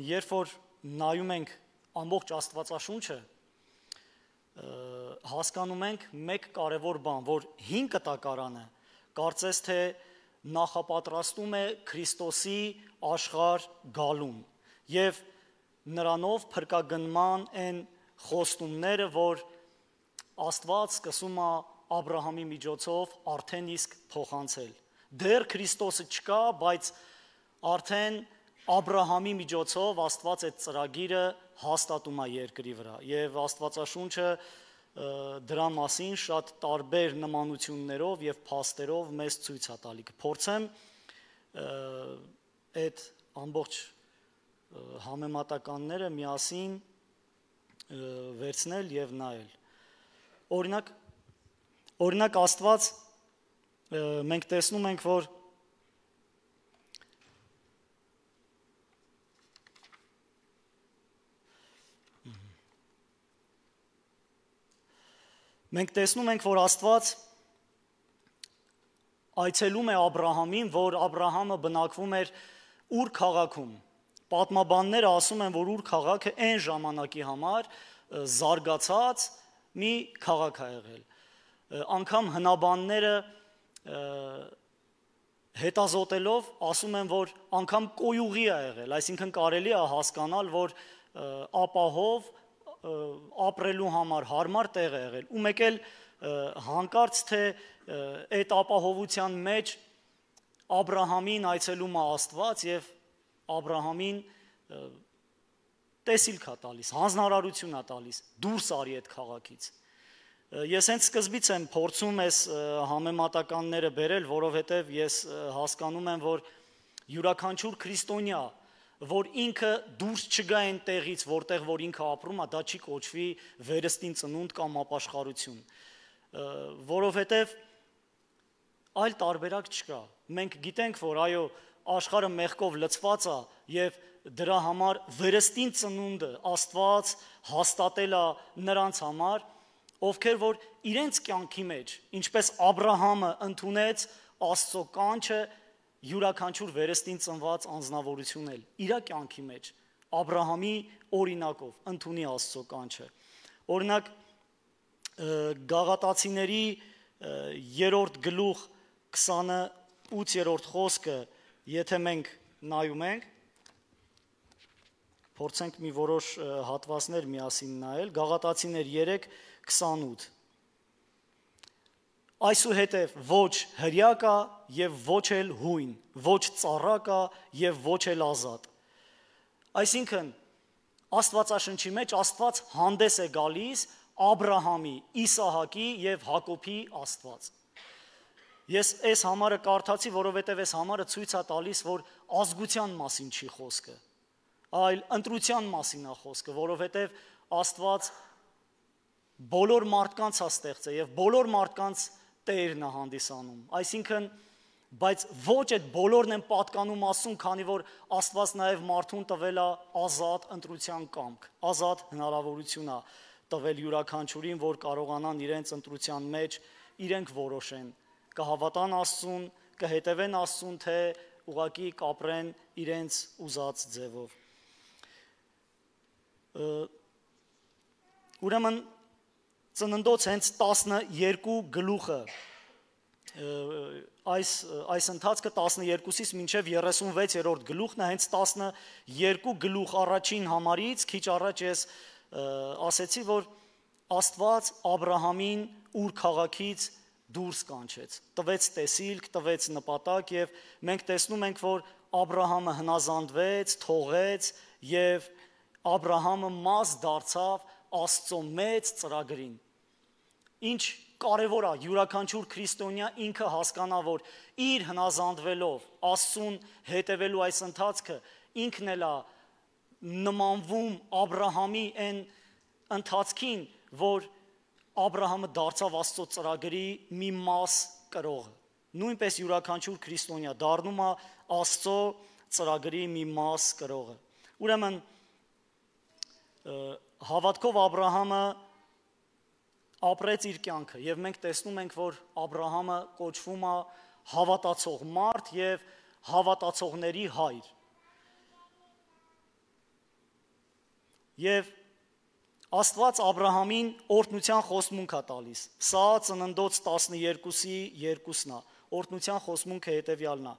երբ որ նայում ենք ամբողջ Աստվածաշունչը, հասկանում ենք մեկ կարևոր բան, որ հին կտակարանը կարծես թե նախապատրաստում է Քրիստոսի աշխարհ գալուն եւ նրանով փրկագնման են խոստումները, որ Աստված սկսում է Աբրահամի միջոցով արդեն իսկ փոխանցել։ Դեռ Քրիստոսը չկա, բայց արդեն Աբրահամի միջոցով Աստված այդ ծրագիրը հաստատում է երկրի վրա։ Եվ Աստվածաշունչը դրա մասին շատ տարբեր նմանություններով եւ փաստերով մեզ ցույց է տալի։ Կփորձեմ այդ ամբողջ համեմատականները միասին վերցնել եւ նայել։ Օրինակ Օրինակ Աստված մենք տեսնում ենք, որ մենք տեսնում ենք, որ Աստված այցելում է Աբրահամին, որ Աբրահամը բնակվում էր Ուր քաղաքում։ Պատմաբանները ասում են, որ Ուր քաղաքը այն ժամանակի համար զարգացած մի քաղաք է եղել։ Անգամ հնաբանները հետազոտելով ասում են, որ անգամ կոյուղի է եղել, այսինքն կարելի է հասկանալ, որ ապահով ապրելու համար հարմար տեղ է եղել։ Ու մեկ էլ հանկարծ թե այդ ապահովության մեջ Աբրահամին այցելում է Աստված եւ Աբրահամին տեսիլք է տալիս, հանձնարարություն է տալիս, դուրս արի այդ քաղաքից։ Ես հենց սկզբից եմ փորձում այս համեմատականները բերել, որովհետև ես հասկանում եմ, որ յուրաքանչյուր քրիստոնյա, որ ինքը դուրս չգա այն տեղից, որտեղ որ ինքը ապրում է, դա չի կոչվի վերստին ծնունդ կամ ապաշխարություն, որովհետև այլ տարբերակ չկա։ Մենք գիտենք, որ այո, աշխարհը մեղքով լցված է եւ դրա համար վերստին ծնունդը Աստված հաստատել է նրանց համար, ովքեր որ իրենց կյանքի մեջ, ինչպես Աբրահամը ընդունեց Աստծո կանչը, յուրաքանչյուր վերստին ծնված անձնավորություն էլ իր կյանքի մեջ Աբրահամի օրինակով ընդունի Աստծո կանչը։ Օրինակ Գաղատացիների երրորդ գլուխ քսանութ խոսքը, եթե մենք նայում ենք, փորձենք մի որոշ հատվածներ միասին նայել, Գաղատացիներ երեք քսանութ։ Այսուհետև ոչ հրյա կա եւ ոչ էլ հույն, ոչ ծառա կա եւ ոչ էլ ազատ։ Այսինքն Աստվածաշնչի մեջ Աստված հանդես է գալիս Աբրահամի, Իսահակի եւ Հակոբի Աստված։ Ես այս համարը կարդացի, որովհետև այս համարը ցույց է տալիս, որ ազգության մասին չի խոսքը, այլ ընտրության մասին է խոսքը, որովհետև Աստված բոլոր մարդկանց է ստեղծել եւ բոլոր մարդկանց Տերն է հանդիսանում։ Այսինքն, բայց ոչ այդ բոլորն են պատկանում Աստծուն, քանի որ Աստված նաեւ մարդուն տվել է ազատ ընտրության կամք, ազատ հնարավորություն է տվել յուրաքանչյուրին, որ կարողանան իրենց ընտրության մեջ իրենք որոշեն, կհավատան Աստծուն, կհետևեն Աստծուն, թե ուղղակի կապրեն իրենց ուզած ձևով։ Ուրեմն ծննդոց հենց տասներկու գլուխը այս այս ընթացքը տասներկուսից մինչև երեսունվեցերորդ գլուխն է, հենց տասներկու գլուխ առաջին համարից քիչ առաջ ես ասեցի, որ Աստված Աբրահամին Ուր քաղաքից դուրս կանչեց, տվեց տեսիլք, տվեց նպատակ եւ մենք տեսնում ենք, որ Աբրահամը հնազանդվեց, թողեց եւ Աբրահամը մաս դարձավ Աստծո մեծ ծրագրին։ Ինչ կարևոր է յուրաքանչյուր քրիստոնյա ինքը հասկանա, որ իր հնազանդվելով Աստծուն հետևելու այս ընթացքը ինքն էլ է նմանվում Աբրահամի այն ընթացքին, որ Աբրահամը դարձավ Աստծո ծրագրի մի մաս կրողը։ Նույնպես յուրաքանչյուր քրիստոնյա դառնում է Աստծո ծրագրի մի մաս կրողը։ Ուրեմն հավատքով Աբրահամը ապրեց իր կյանքը եւ մենք տեսնում ենք, որ Աբրահամը կոչվում է հավատացող մարդ եւ հավատացողների հայր։ Եվ Աստված Աբրահամին օրհնության խոստմունք է տալիս։ Սա ծննդոց տասներկուսի երկուսն է։ Օրհնության խոստմունքը հետևյալն է.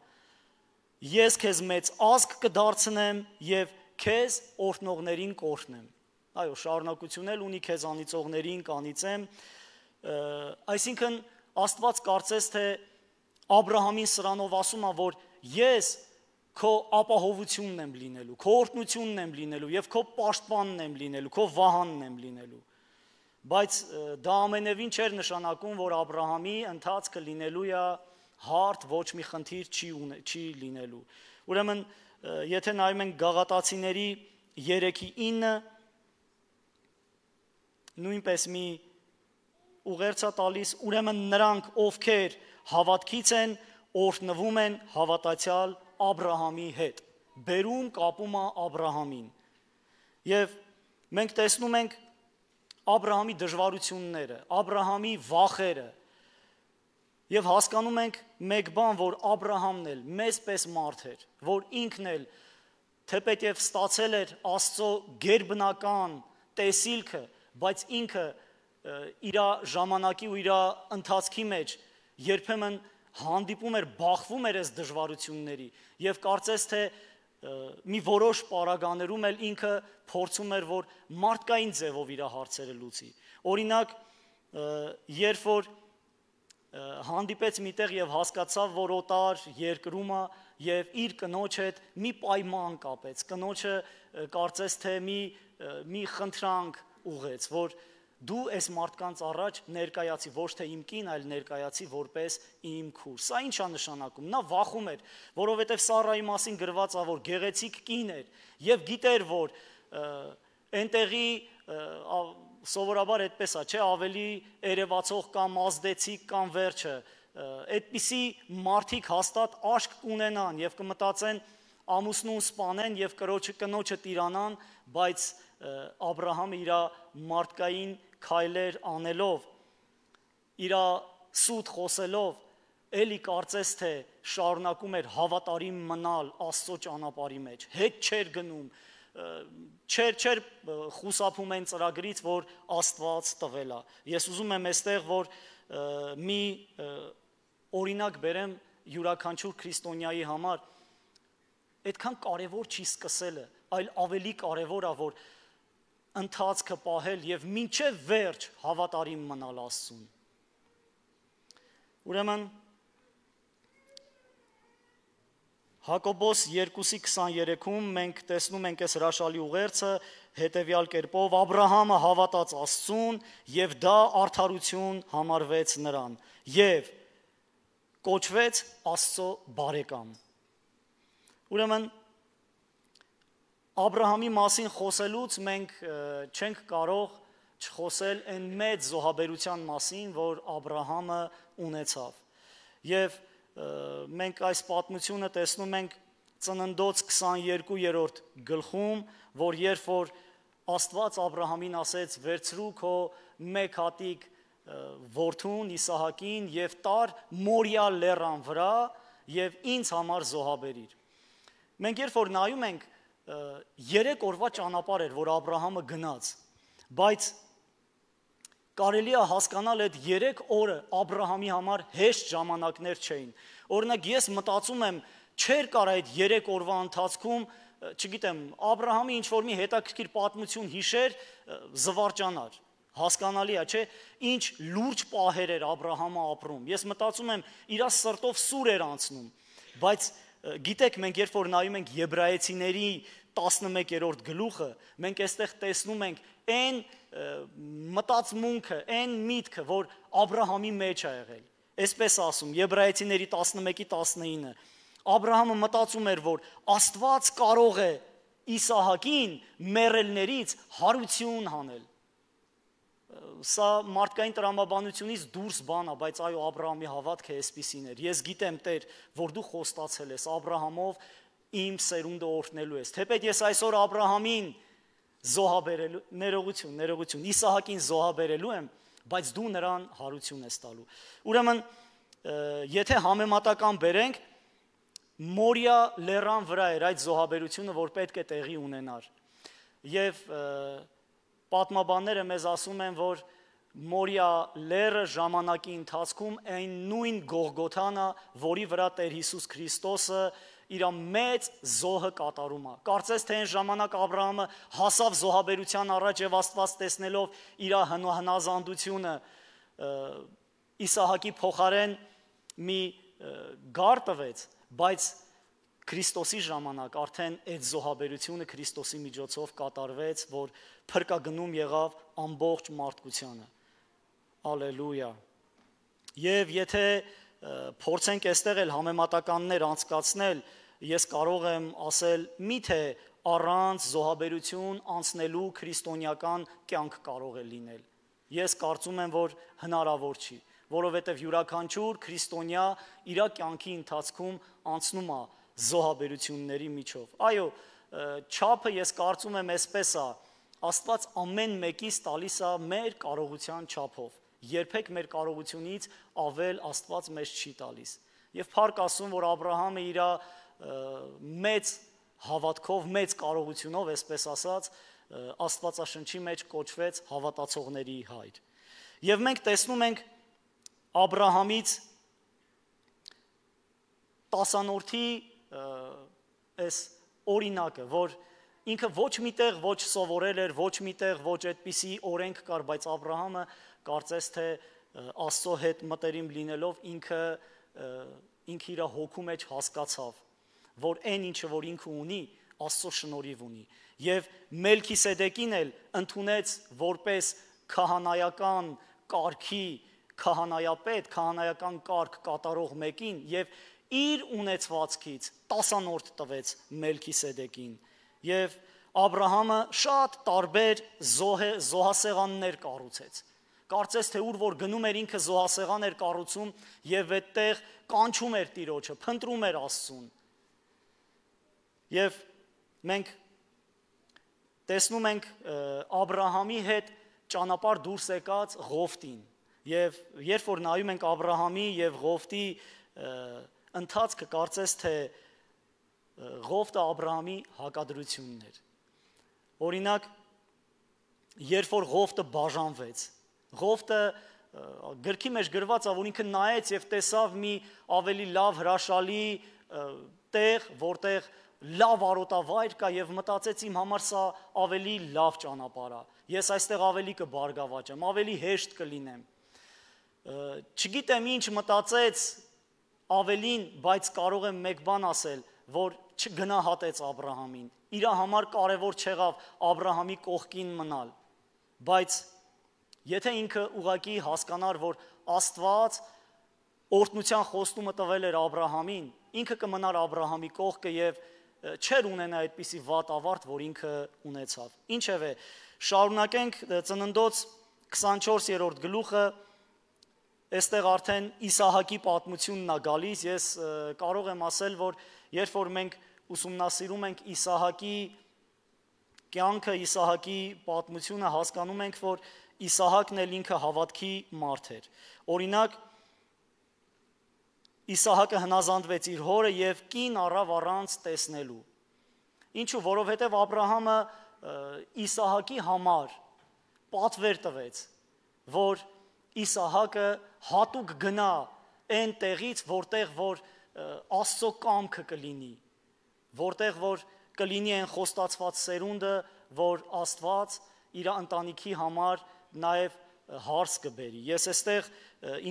Ես քեզ մեծ ազգ կդարձնեմ եւ քեզ օրհնողներին կօրհնեմ։ Այո, շարունակություն էլ ունի քեզ անիծողներին կանիծեմ։ Այսինքն Աստված կարծես թե Աբրահամին սրանով ասում է, որ ես քո ապահովությունն եմ լինելու, քո օրհնությունն եմ լինելու եւ քո պաշտպանն եմ լինելու, քո վահանն եմ լինելու։ Բայց դա ամենևին չէր նշանակում, որ Աբրահամի ընթացքը լինելու է հարթ, ոչ մի խնդիր չի չի լինելու։ Ուրեմն, եթե նայում ենք Գաղատացիների երեքի ինը, նույնպես մի ուղերձ է տալիս, ուրեմն նրանք, ովքեր հավատքից են, օրհնվում են հավատացյալ Աբրահամի հետ, բերում կապում է Աբրահամին։ Եվ մենք տեսնում ենք Աբրահամի դժվարությունները, Աբրահամի վախերը, եւ հասկանում ենք մեկ բան, որ Աբրահամն էլ մեզպես մարդ էր, որ ինքն էլ թեպետև ստացել էր Աստծո գերբնական տեսիլքը, բայց ինքը իր ժամանակի ու իր ընթացքի մեջ երբեմն հանդիպում էր, բախվում էր այս դժվարությունների եւ կարծես թե մի որոշ պարագաներում էլ ինքը փորձում էր, որ մարդկային ձևով իր հարցերը լուծի։ Օրինակ, երբ որ հանդիպեց միտեղ եւ հասկացավ, որ օտար երկրում է եւ իր կնոջ հետ մի պայման կապեց, կնոջը կարծես թե մի մի խնդրանք ուղեց, որ դու այս մարդկանց առաջ ներկայացի, ոչ թե իմ կին, այլ ներկայացի որպես իմ քուր։ Սա ինչ է նշանակում։ Նա վախում էր, որովհետև Սարայի մասին գրված է, որ գեղեցիկ կին էր եւ գիտեր, որ այնտեղի սովորաբար այդպես է, չէ, ավելի երևացող կամ ազդեցիկ կամ վերջը, այդպիսի մարդիկ հաստատ աշկ կունենան եւ կմտածեն ամուսնուն սպանեն եւ կրոջը կնոջը տիրանան, բայց Աբրահամը իր մարդկային քայլեր անելով, իր սուտ խոսելով, էլի կարծես թե շարունակում էր հավատարիմ մնալ Աստծո ճանապարհի մեջ, հետ չէր գնում, չէր չէր խուսափում այն ծրագրից, որ Աստված տվել է։ Ես ուզում եմ այստեղ, որ մի օրինակ բերեմ յուրաքանչյուր քրիստոնյայի համար, այդքան կարևոր չի սկսելը, այլ ավելի կարևոր է, որ ընթացքը պահել եւ մինչեւ վերջ հավատարիմ մնալ Աստծուն։ Ուրեմն Հակոբոս երկուսի քսաներեքում մենք տեսնում ենք այս հրաշալի ուղերձը հետևյալ կերպով. Աբրահամը հավատաց Աստծուն եւ դա արդարություն համարվեց նրան եւ կոչվեց Աստծո բարեկամ։ Ուրեմն Աբրահամի մասին խոսելուց մենք չենք կարող չխոսել այն մեծ զոհաբերության մասին, որ Աբրահամը ունեցավ։ Եվ մենք այս պատմությունը տեսնում ենք Ծննդոց քսաներկուերորդ գլխում, որ երբ որ Աստված Աբրահամին ասեց. «Վերցրու քո մեկ հատիկ որդուն Իսահակին եւ տար Մորիա լեռան վրա եւ ինձ համար զոհաբերիր»։ Մենք երբ որ նայում ենք երեք օրվա ճանապարհ էր, որ Աբրահամը գնաց, բայց կարելի է հասկանալ այդ երեք օրը Աբրահամի համար հեշտ ժամանակներ չէին։ Օրինակ ես մտածում եմ, չէր կար այդ երեք օրվա ընթացքում, չգիտեմ, Աբրահամի ինչ-որ մի հետաքրքիր պատմություն հիշեր, զվարճանար։ Հասկանալի է, չէ՞, ինչ լուրջ պահեր էր Աբրահամը ապրում։ Ես մտածում եմ, իր սրտով սուր էր անցնում, բայց գիտեք, մենք երբ որ նայում ենք Եբրայեցիների տասնմեկերորդ գլուխը, մենք այստեղ տեսնում ենք այն մտածմունքը, այն միտքը, որ Աբրահամի մեջ է եղել։ Այսպես ասում Եբրայեցիների տասնմեկի տասնինը, Աբրահամը մտածում էր, որ Աստված կարող է Իսահակին մեռելներից հարություն հանել։ Սա մարդկային տրամաբանությունից դուրս բան է, բայց այո, Աբրահամի հավատքը այսպիսին էր։ Ես գիտեմ, Տեր, որ դու խոստացել ես Աբրահամով իմ սերունդը օրհնելու ես։ Թեպետ ես այսօր Աբրահամին զոհաբերելու, ներողություն, ներողություն, Իսահակին զոհաբերելու եմ, բայց դու նրան հարություն ես տալու։ Ուրեմն, եթե համեմատական բերենք, Մորիա լեռան վրա էր այդ զոհաբերությունը, որ պետք է տեղի ունենար։ Եվ պատմաբանները մեզ ասում են, որ Մորիա լեռը ժամանակի ընթացքում այն նույն Գողգոթան է, որի վրա Տեր Հիսուս Քրիստոսը իր մեծ զոհը կատարում է։ Կարծես թե այն ժամանակ Աբրահամը հասավ զոհաբերության առաջ եւ Աստված տեսնելով իր հնազանդությունը Իսահակի փոխարեն մի գար տվեց, բայց Քրիստոսի ժամանակ արդեն այդ զոհաբերությունը Քրիստոսի միջոցով կատարվեց, որ փրկագնում եղավ ամբողջ մարդկությանը։ Ալելույա։ Եվ եթե փորձենք այստեղ էլ համեմատականներ անցկացնել, ես կարող եմ ասել, միթե առանց զոհաբերություն անցնելու քրիստոնեական կյանք կարող է լինել։ Ես կարծում եմ, որ հնարավոր չի, որովհետև յուրաքանչյուր քրիստոնյա իր կյանքի ընթացքում անցնում է զոհաբերությունների միջով։ Այո, չափը ես կարծում եմ այսպես է, Աստված ամեն մեկից տալիս է մեր կարողության չափով։ Երբեք մեր կարողությունից ավել Աստված մեզ չի տալիս։ Եվ փառք ասում, որ Աբրահամը իր մեծ հավատքով, մեծ կարողությունով, այսպես ասած, Աստվածաշնչի մեջ կոչվեց հավատացողների հայր։ Եվ մենք տեսնում ենք Աբրահամից տասանորդի այս օրինակը, որ ինքը ոչ միտեղ ոչ սովորել էր, ոչ միտեղ ոչ այդպիսի օրենք կար, բայց Աբրահամը կարծես թե Աստծո հետ մտերիմ լինելով ինքը ինքը իր հոգու մեջ հասկացավ, որ այն ինչը որ ինքը ունի, Աստծո շնորհիվ ունի, եւ Մելքիսեդեկին էլ ընդունեց որպես քահանայական կարգի քահանայապետ, քահանայական կարգ կատարող մեկին եւ իր ունեցվածքից տասանորդ տվեց Մելքիսեդեկին եւ Աբրահամը շատ տարբեր զոհ զոհասեղաններ կառուցեց։ Կարծես թե ուր որ գնում էր ինքը զոհասեղան էր կառուցում եւ այդտեղ կանչում էր Տիրոջը, փնտրում էր Աստծուն։ Եվ մենք տեսնում ենք Աբրահամի հետ ճանապարհ դուրս եկած Ղովտին։ Եվ երբ որ նայում ենք Աբրահամի եւ Ղովտի ընթացքը, կարծես թե Ղովտը Աբրահամի հակադրությունն էր։ Օրինակ, երբ որ Ղովտը բաժանվեց, Ղովտը գրքի մեջ գրված է, որ ինքը նայեց եւ տեսավ մի ավելի լավ հրաշալի տեղ, որտեղ լավ արոտավայր կա եւ մտածեց իմ համար սա ավելի լավ ճանապարհ է։ Ես այստեղ ավելի կբարգավաճեմ, ավելի հեշտ կլինեմ։ Չգիտեմ ինչ մտածեց ավելին, բայց կարող եմ մեկ բան ասել, որ չգնահատեց Աբրահամին։ Իր համար կարևոր չեղավ Աբրահամի կողքին մնալ, բայց եթե ինքը ուղղակի հասկանար, որ Աստված օրհնության խոստումը տվել էր Աբրահամին, ինքը կմնար Աբրահամի կողքը եւ չեր ունենա այդպիսի վատ ավարտ, որ ինքը ունեցավ։ Ինչևէ, շարունակենք Ծննդոց քսանչորսերորդ գլուխը, այստեղ արդեն Իսահակի պատմությունն է գալիս։ Ես կարող եմ ասել, որ երբ որ մենք ուսումնասիրում ենք Իսահակի կյանքը, Իսահակի պատմությունը, հասկանում ենք, որ Իսահակն էլ ինքը հավատքի մարդ էր։ Օրինակ, Իսահակը հնազանդվեց իր հորը եւ կին առավ առանց տեսնելու։ Ինչու, որովհետեւ Աբրահամը Իսահակի համար պատվեր տվեց, որ Իսահակը հատուկ գնա այն տեղից, որտեղ որ Աստծո կամքը կլինի, որտեղ որ կլինի այն խոստացված սերունդը, որ Աստված իր ընտանիքի համար նաև հարց կբերի։ Ես այստեղ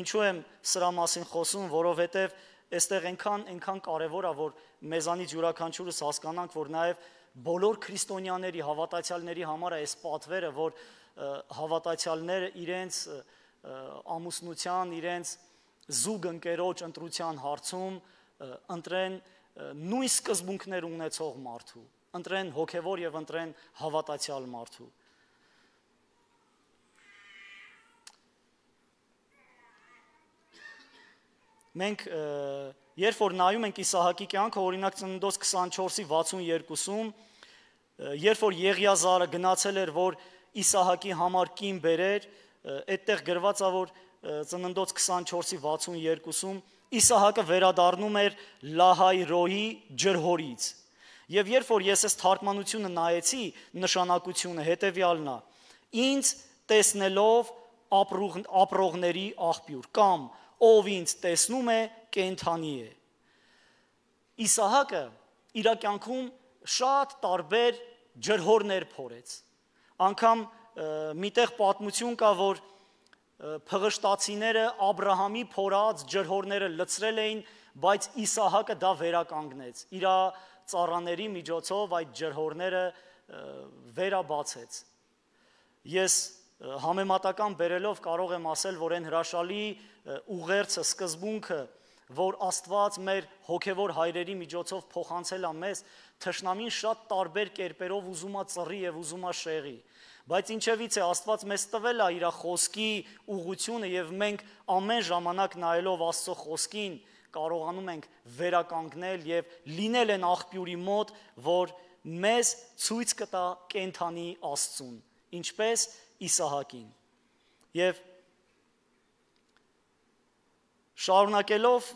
ինչու եմ սրա մասին խոսում, որովհետև այստեղ այնքան այնքան կարևոր է, որ մեզանից յուրաքանչյուրս հասկանանք, որ նաև բոլոր քրիստոնյաների, հավատացյալների համար է այս պատվերը, որ հավատացյալները իրենց ամուսնության, իրենց զուգ ընկերոջ ընտրության հարցում ընտրեն նույն սկզբունքներ ունեցող մարդու, ընտրեն հոգևոր եւ ընտրեն հավատացյալ մարդու։ Մենք երբ որ նայում ենք Իսահակի կյանքը, օրինակ Ծննդոց քսանչորսի վաթսուններկուսում, երբ որ Եղիազարը գնացել էր, որ Իսահակի համար կին բերեր, այդտեղ գրված է, որ Ծննդոց քսանչորսի վաթսուններկուսում Իսահակը վերադառնում էր Լահայրոյի ջրհորից։ Եվ երբ որ ես այս թարգմանությունը նայեցի, նշանակությունը հետևյալն է. ինձ տեսնելով ապրողների աղբյուր, կամ ով ինձ տեսնում է, կենդանի է։ Իսահակը իր կյանքում շատ տարբեր ջրհորներ փորեց։ Անգամ միտեղ պատմություն կա, որ փղշտացիները Աբրահամի փորած ջրհորները լցրել էին, բայց Իսահակը դա վերականգնեց։ Իր ծառաների միջոցով այդ ջրհորները վերաբացեց։ Ես համեմատական բերելով կարող եմ ասել, որ այն հրաշալի ուղերձը, սկզբունքը, որ Աստված մեր հոգևոր հայրերի միջոցով փոխանցել է մեզ, թշնամին շատ տարբեր կերպերով ուզում է ծռի եւ ուզում է շեղի, բայց ինչևից է Աստված մեզ տվել է իր խոսքի ուղղությունը եւ մենք ամեն ժամանակ նայելով Աստծո խոսքին կարողանում ենք վերականգնել եւ լինել այն աղբյուրի մոտ, որ մեզ ցույց կտա կենդանի Աստծուն, ինչպես Իսահակին։ Եվ շարունակելով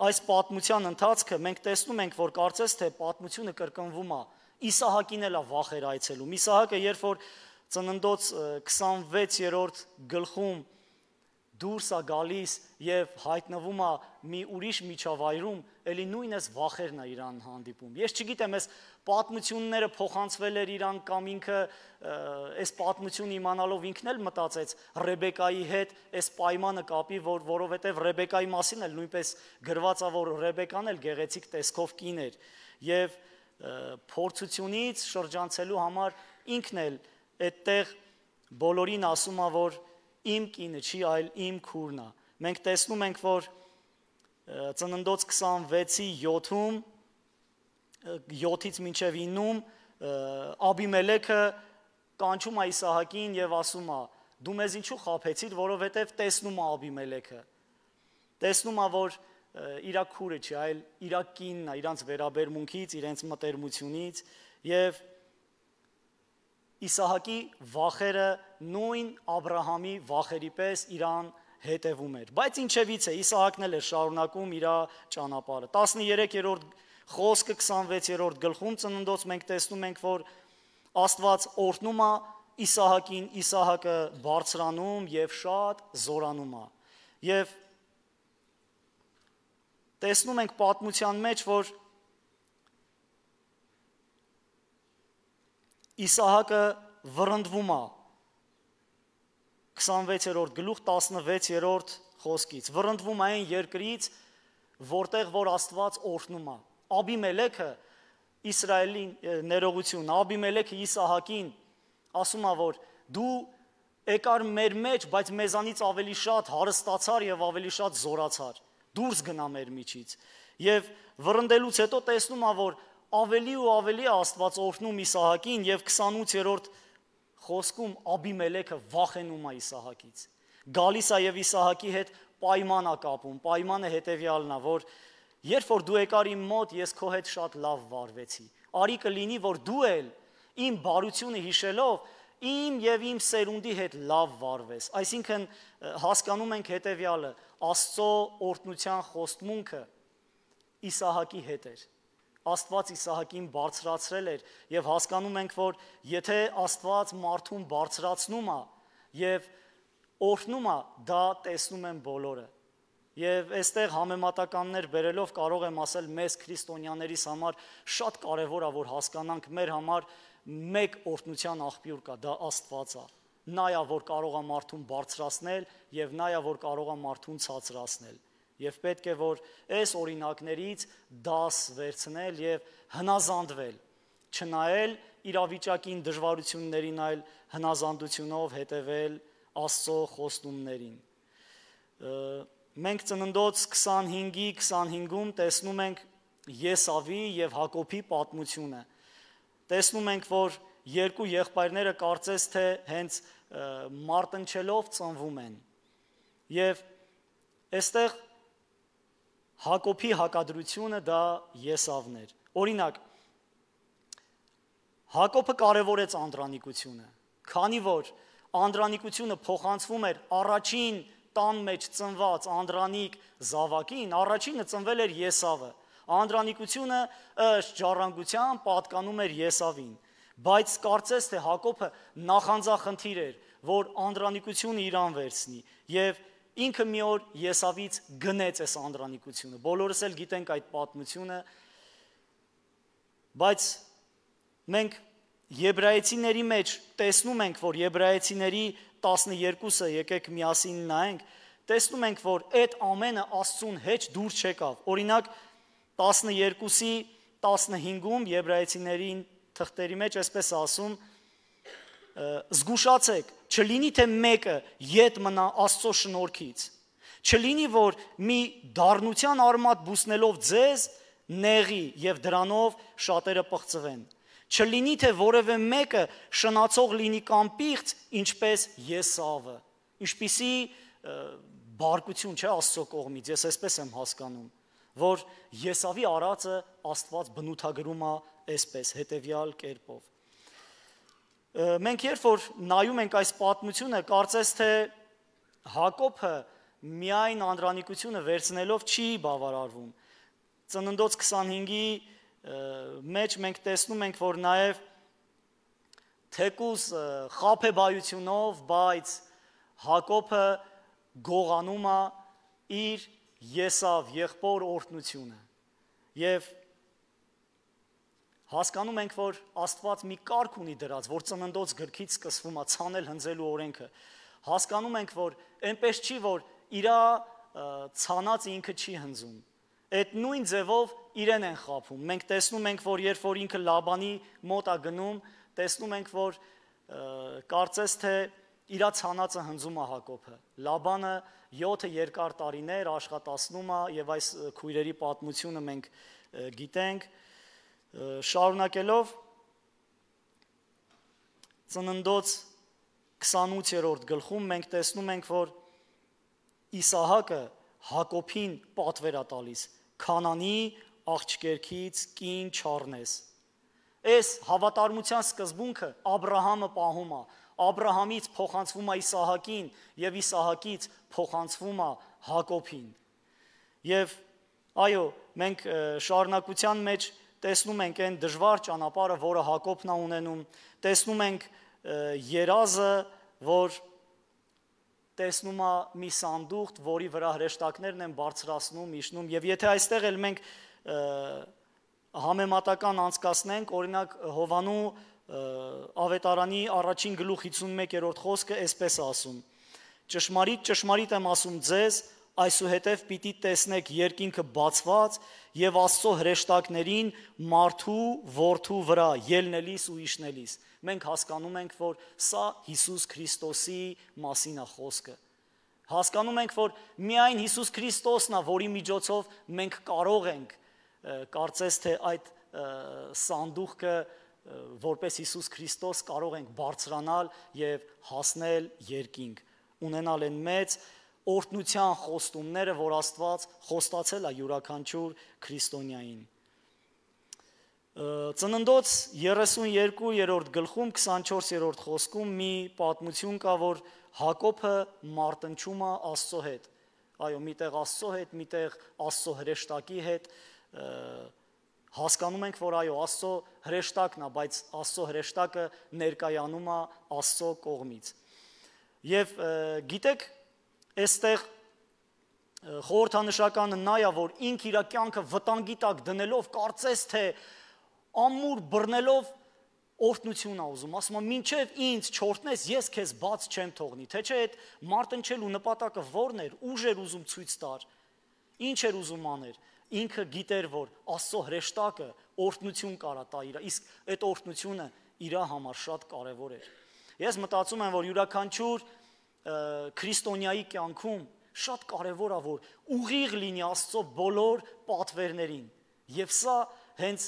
այս պատմության ընթացքը մենք տեսնում ենք, որ կարծես թե պատմությունը կրկնվում է, Իսահակին էլ է վախեր այցելում։ Իսահակը երբ որ Ծննդոց քսանվեցերորդ գլխում դուրս է գալիս եւ հայտնվում է մի ուրիշ միջավայրում, ելի նույնս վախերն է իրան հանդիպում։ Ես չգիտեմ, այս պատմությունները փոխանցվել էր իրան կամ ինքը այս պատմությունը իմանալով ինքն էլ մտածեց Ռեբեկայի հետ այս պայմանը կապի, որ որովհետեւ Ռեբեկայի մասին էլ նույնպես գրված է, որ Ռեբեկան էլ գեղեցիկ տեսքով կին էր եւ փորձությունից շրջանցելու համար ինքն էլ այդտեղ բոլորին ասում է, որ իմ կինը չի, այլ իմ քուրն է։ Մենք տեսնում ենք, որ Ծննդոց քսանվեցի յոթում, յոթից մինչև իննում Աբիմելեքը կանչում է Իսահակին եւ ասում է. դու մեզ ինչու խաբեցիր, որովհետեւ տեսնում է Աբիմելեքը։ Տեսնում է, որ իր քուրը չի, այլ իր կինն է, իրանց վերաբերմունքից, իրենց մտերմությունից եւ Իսահակի վախերը նույն Աբրահամի վախերի պես իրան հետևում էր։ Բայց ինչևից է, Իսահակն էլ էր շարունակում իր ճանապարհը։ տասներեքերորդ խոսքը քսանվեցերորդ գլխում Ծննդոց մենք տեսնում ենք, որ Աստված օրհնում է Իսահակին, Իսահակը բարձրանում եւ շատ զորանում է։ Եվ տեսնում ենք պատմության մեջ, որ Իսահակը վռնդվում է քսանվեցերորդ գլուխ տասնվեցերորդ խոսքից, վռնդվում է այն երկրից, որտեղ որ Աստված օրհնում է։ Աբիմելեքը Իսրայելի ներողություն, Աբիմելեքը Իսահակին ասում է, որ դու եկար մեր մեջ, բայց մեզանից ավելի շատ հարստացար եւ ավելի շատ զորացար, դուրս գնա մեր միջից։ Եվ վռնդելուց հետո տեսնում է, որ ավելի ու ավելի Աստված օրհնում Իսահակին եւ քսանութերորդ խոսքում Աբիմելեքը վախենում է Իսահակից։ Գալիս է եւ Իսահակի հետ պայման է կապում։ Պայմանը հետեւյալն է, որ երբ որ դու եկար իմ մոտ, ես քո հետ շատ լավ վարվեցի։ Արի կլինի, որ դու էլ իմ բարությունը հիշելով իմ եւ իմ սերունդի հետ լավ վարվես։ Այսինքն հասկանում ենք հետեւյալը. Աստծո օրհնության խոստմունքը Իսահակի հետ էր։ Աստված Իսահակին բարձրացրել էր եւ հասկանում ենք, որ եթե Աստված մարդուն բարձրացնում է եւ օրհնումը դա տեսնում են բոլորը։ Եվ այստեղ համեմատականներ բերելով կարող եմ ասել մեզ քրիստոնյաներիս համար շատ կարևոր է, որ հասկանանք մեր համար մեկ օրհնության աղբյուր կա, դա Աստված է։ Նա է, որ կարող է մարդուն բարձրացնել եւ նա է, որ կարող է մարդուն ցածրացնել։ Եվ պետք է որ այս օրինակներից դաս վերցնել եւ հնազանդվել, չնայել իրավիճակին դժվարություններին, այլ հնազանդությունով հետևել Աստծո խոստումներին։ Մենք Ծննդոց քսանհինգի քսանհինգում տեսնում ենք Եսավի եւ Հակոբի պատմությունը։ Տեսնում ենք, որ երկու եղբայրները կարծես թե հենց մարտնչելով ծնվում են։ Եվ այստեղ Հակոբի հակադրությունը դա Եսավն էր։ Օրինակ, Հակոբը կարևորեց անդրանիկությունը, քանի որ անդրանիկությունը փոխանցվում էր առաջին տան մեջ ծնված անդրանիկ զավակին, առաջինը ծնվել էր Եսավը։ Անդրանիկությունը ըստ ժառանգության պատկանում էր Եսավին, բայց կարծես թե Հակոբը նախանձախնդիր էր, որ անդրանիկությունը իրան վերցնի, եւ ինքը մի օր Եսավից գնեց այս անդրանիկությունը։ Բոլորս էլ գիտենք այդ պատմությունը, բայց մենք Եբրայեցիների մեջ տեսնում ենք, որ Եբրայեցիների տասներկուսը, եկեք միասին նայենք, տեսնում ենք, որ այդ ամենը Աստծուն հետ դուր չեկավ։ Օրինակ տասներկուսի տասնհինգում Եբրայեցիներին թղթերի մեջ այսպես ասում. զգուշացեք, չլինի թե մեկը ետ մնա Աստծո շնորհքից, չլինի որ մի դառնության արմատ բուսնելով ձեզ նեղի եւ դրանով շատերը պղծվեն, չլինի թե որևէ մեկը շնացող լինի կամ պիղծ, ինչպես Եսավը։ Ինչպիսի բարկություն չէ Աստծո կողմից, ես այսպես եմ հասկանում, որ Եսավի արածը Աստված բնութագրում է այսպես հետևյալ կերպով։ Մենք երբ որ նայում ենք այս պատմությունը, կարծես թե Հակոբը միայն անդրանիկությունը վերցնելով չի բավարարվում։ Ծննդոց քսանհինգի մեջ մենք տեսնում ենք, որ նաև թեկուզ խաբեբայությունով, բայց Հակոբը գողանում է իր Եսավ եղբոր օրհնությունը։ Եվ հասկանում ենք, որ Աստված մի կարգ ունի դրած, որ Ծննդոց գրքից սկսվում է ցանել հնձելու օրենքը։ Հասկանում ենք, որ այնպես չի, որ իրա ցանածը ինքը չի հնձում։ Այդ նույն ձևով իրեն են խաբում։ Մենք տեսնում ենք, որ երբ որ ինքը Լաբանի մոտ է գնում, տեսնում ենք, որ կարծես թե իրա ցանածը հնձում է Հակոբը։ Լաբանը յոթ երկար տարիներ աշխատացնում է եւ այս քույրերի պատմությունը մենք գիտենք։ Շարունակելով Ծննդոց քսանութերորդ գլխում մենք տեսնում ենք, որ Իսահակը Հակոբին պատվեր է տալիս. Քանանի աղջկերքից կին չառնես։ Այս հավատարմության սկզբունքը Աբրահամը պահում է։ Աբրահամից փոխանցվում է Իսահակին եւ Իսահակից փոխանցվում է Հակոբին։ Եվ այո, մենք շարունակության մեջ տեսնում ենք այն դժվար ճանապարհը, որը Հակոբն է ունենում, տեսնում ենք երազը, որ տեսնում է մի սանդուղք, որի վրա հրեշտակներն են բարձրացնում, իջնում, եւ եթե այստեղ էլ մենք համեմատական անցկացնենք, օրինակ Հովանու ավետարանի առաջին գլուխ հիսունմեկերորդ խոսքը այսպես ասում. Ճշմարիտ, ճշմարիտ եմ ասում ձեզ, այսուհետև պիտի տեսնեք երկինքը բացված եւ Աստծո հրեշտակներին մարդու որդու վրա ելնելիս ու իջնելիս։ Մենք հասկանում ենք, որ սա Հիսուս Քրիստոսի մասին է խոսքը։ Հասկանում ենք, որ միայն Հիսուս Քրիստոսն է, որի միջոցով մենք կարող ենք կարծես թե այդ սանդուղքը որպես Հիսուս Քրիստոս կարող ենք բարձրանալ եւ հասնել երկինք, ունենալ այն մեծ օրհնության խոստումները, որ Աստված խոստացել է յուրաքանչյուր քրիստոնյային։ Ծննդոց երեսունյերկուերորդ գլխում քսանչորսերորդ խոսքում մի պատմություն կա, որ Հակոբը մարտնչում է Աստծո հետ։ Այո, միտեղ Աստծո հետ, միտեղ Աստծո հրեշտակի հետ, հասկանում ենք, որ այո, Աստծո հրեշտակն է, բայց Աստծո հրեշտակը ներկայանում է Աստծո կողմից։ Եվ գիտեք, այստեղ խորհրդանշականը նա է, որ ինք իր կյանքը վտանգի տակ դնելով կարծես թե ամուր բռնելով օրհնություն ա ուզում, ասում է մինչև ինձ չորտնես, ես քեզ բաց չեմ թողնի, թե չէ այդ մարտնչելու նպատակը որն էր, ուժ էր ուզում ցույց տար, ինչ էր ուզում աներ, ինքը գիտեր, որ Աստծո հրեշտակը օրհնություն կարա տա իր, իսկ այդ օրհնությունը իր համար շատ կարևոր էր։ Ես մտածում եմ, որ յուրաքանչյուր քրիստոնյայի կյանքում շատ կարևոր է, որ ուղիղ լինի Աստծո բոլոր պատվերներին, եւ սա հենց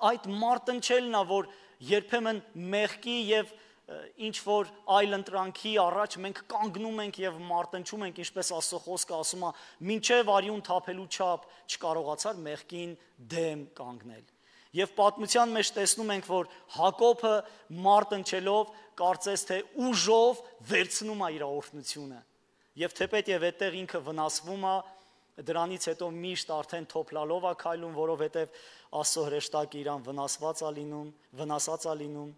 այդ մարտնչելն է, որ երբեմն մեղքի եւ ինչ որ այլ ընտրանքի առաջ մենք կանգնում ենք եւ մարտնչում ենք, ինչպես Աստծո խոսքը ասում է, մինչեւ արյուն թափելու չափ չկարողացար մեղքին դեմ կանգնել։ Եվ պատմության մեջ տեսնում ենք, որ Հակոբը մարտնչելով կարծես թե ուժով վերցնում է իր օրհնությունը։ Եվ թեպետև այդտեղ ինքը վնասվում է, դրանից հետո միշտ արդեն թոփլալով է քայլում, որովհետև Աստծո հրեշտակը իրան վնասված է լինում, վնասած է լինում։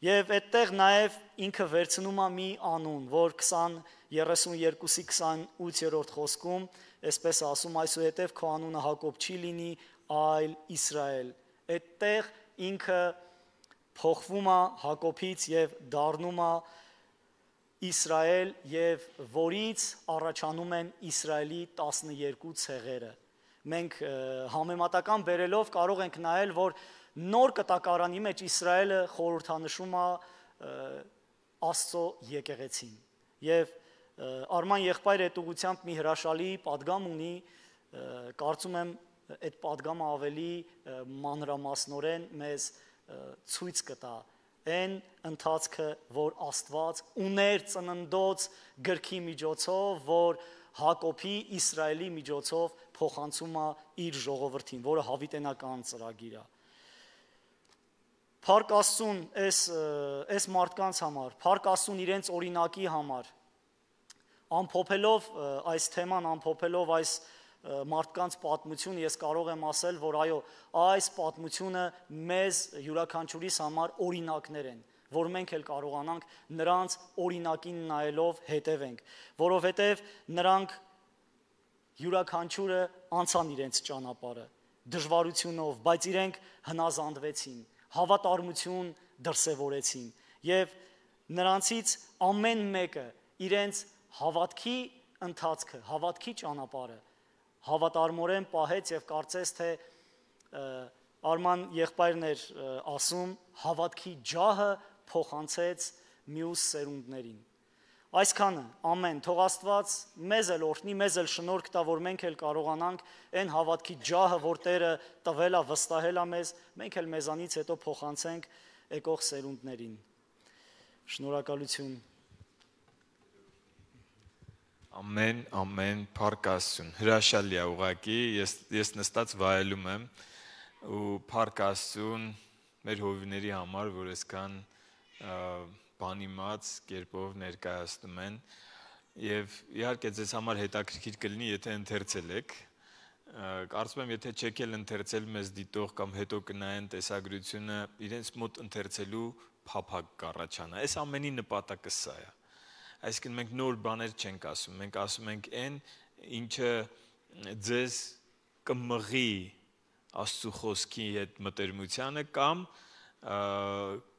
Եվ այդտեղ նաև ինքը վերցնում է մի անուն, որ երեսունյոթի քսանութերորդ խոսքում այսպես ասում, այսուհետև քո անունը Հակոբ չի լինի, այլ Իսրայել։ Այդտեղ ինքը փոխվում է Հակոբից եւ դառնում է Իսրայել, եւ որից առաջանում են Իսրայելի տասնյոթ ցեղերը։ Մենք համեմատական բերելով կարող ենք նայել, որ նոր կտակարանի մեջ Իսրայելը խորհրդանշում է Աստծո եկեղեցին։ Եվ Արման եղբայրը այդ ուղղությամբ մի հրաշալի պատգամ ունի, կարծում եմ այդ պատգամը ավելի մանրամասնորեն մեզ ցույց կտա այն ընթացքը, որ Աստված ուներ ծննդոց գրքի միջոցով, որ Հակոբի Իսրայելի միջոցով փոխանցում է իր ժողովրդին, որը հավիտենական ծրագիր է։ Փառք Աստծուն այս այս մարդկանց համար, փառք Աստծուն իրենց օրինակի համար, ամփոփելով այս թեման, ամփոփելով այս մարդկանց պատմություն, ես կարող եմ ասել, որ այո, այս պատմությունը մեզ յուրաքանչյուրիս համար օրինակներ են, որ մենք էլ կարողանանք նրանց օրինակին նայելով հետևենք, որովհետև նրանք յուրաքանչյուրը անցան իրենց ճանապարհը դժվարությունով, բայց իրենք հնազանդվեցին, հավատարմություն դրսևորեցին եւ նրանցից ամեն մեկը իրենց հավատքի ընթացքը, հավատքի ճանապարհը հավատարմորեն պահեց եւ կարծես թե Արման եղբայրն էր ասում, հավատքի ջահը փոխանցեց մյուս սերունդներին։ Այսքանը, ամեն, թող Աստված մեզ էլ օրհնի, մեզ էլ շնորհք տա, որ մենք էլ կարողանանք այն հավատքի ջահը, որ Տերը տվել է, վստահել է մեզ, մենք էլ մեզանից հետո փոխանցենք եկող սերունդներին։ Շնորհակալություն։ Ամեն, ամեն, փառք Աստծուն։ Հրաշալի է ուղղակի, ես ես նստած վայելում եմ ու փառք Աստծուն մեր հովիների համար, որ այսքան բանիմաց կերպով ներկայացնում են եւ իհարկե ձեզ համար հետաքրքիր կլինի, եթե ընթերցել եք։ Կարծում եմ, եթե չեք էլ ընթերցել, մեզ դիտող կամ հետո կնայեն տեսագրությունը, իրենց մոտ ընթերցելու փափակ կառաջանա։ Այս ամենի նպատակը սա է։ Այսինքն մենք նոր բաներ չենք ասում, մենք ասում ենք այն, ինչը ձեզ կմղի Աստծո խոսքի հետ մտերմությանը կամ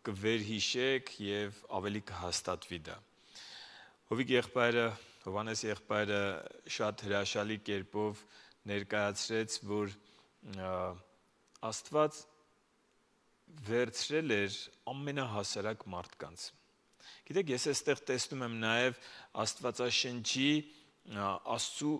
կվերհիշեք եւ ավելի կհաստատվի դա։ Հովիկ եղբայրը, Հովանես եղբայրը շատ հրաշալի կերպով ներկայացրեց, որ Աստված վերցրել էր ամենահասարակ մարդկանց։ Գիտեք, ես այստեղ տեսնում եմ նաև Աստվածաշնչի Աստծու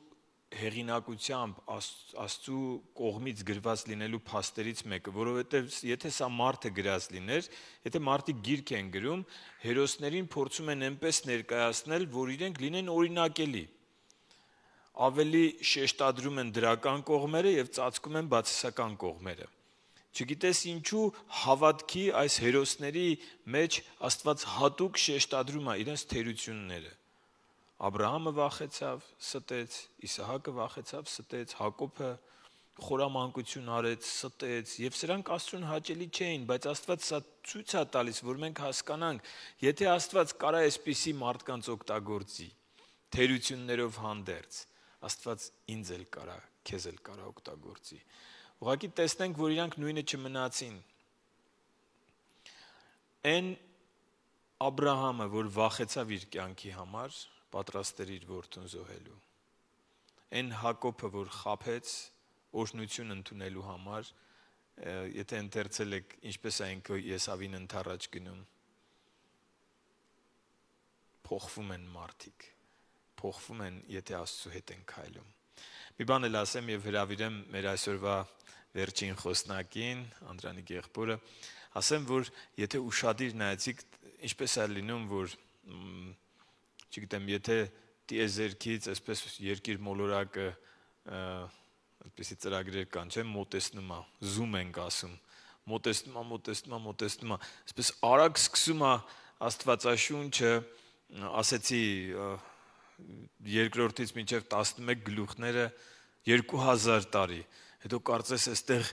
հեղինակությամբ, Աստծու կողմից գրված լինելու փաստերից մեկը, որովհետև եթե սա մարդը գրած լիներ, եթե մարդիկ գիրք են գրում, հերոսներին փորձում են այնպես ներկայացնել, որ իրենք լինեն օրինակելի։ Ավելի շեշտադրում են դրական կողմերը եւ ծածկում են բացասական կողմերը։ Չգիտես ինչու հավատքի այս հերոսների մեջ Աստված հատուկ շեշտադրում է իրենց թերությունները։ Աբրահամը վախեցավ, ստեց, Իսահակը վախեցավ, ստեց, Հակոբը խորամանկություն արեց, ստեց, եւ սրանք Աստծուն հաճելի չէին, բայց Աստված սա ցույց է տալիս, որ մենք հասկանանք, եթե Աստված կարա այսպիսի մարդկանց օգտագործի, թերություններով հանդերձ, Աստված ինձ էլ կարա, քեզ էլ կարա օգտագործի։ Ուղղակի տեսնենք, որ իրանք նույնը չմնացին։ Այն Աբրահամը, որ վախեցավ իր կյանքի համար, պատրաստ էր իր որդուն զոհելու։ Այն Հակոբը, որ խաբեց օրհնություն ընդունելու համար, եթե ընթերցել եք, ինչպես այն Եսավին ընթառաջ գնում, փոխվում են մարդիկ, փոխվում են, եթե Աստծո հետ են քայլում։ Մի բան էլ ասեմ եւ հրավիրեմ մեր այսօրվա վերջին խոսնակին, Անդրանիկ եղբորը, ասեմ, որ եթե ուշադիր նայեցիք, ինչպես է լինում, որ չգիտեմ, եթե տիեզերքից այսպես երկիր մոլորակը այդպիսի ծրագրեր կան, չէ՞, մոտեցնում է, զում ենք ասում, մոտեցնում է, մոտեցնում է, մոտեցնում է, այսպես արագ սկսում է Աստվածաշունչը, ասեցի երկրորդից մինչև տասնմեկ գլուխները երկու հազար տարի, հետո կարծես այստեղ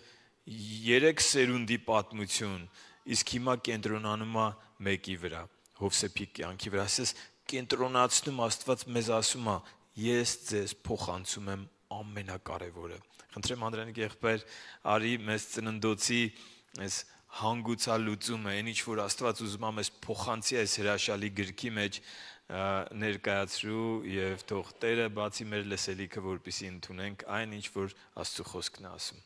երեք սերունդի պատմություն, իսկ հիմա կենտրոնանում է մեկի վրա, Հովսեփի կյանքի վրա, ասես կենտրոնացնում Աստված մեզ ասում է, ես ձեզ փոխանցում եմ ամենակարևորը։ Խնդրեմ Անդրանիկ եղբայր, արի մեզ ծննդոցի այս հանգուցալուծումը, այն ինչ որ Աստված ուզում է մեզ փոխանցի այս հրաշալի գրքի մեջ ներկայացրու եւ թող Տերը բացի մեր լսելիքը, որպեսզի ընդունենք այն ինչ որ Աստծո խոսքն է ասում։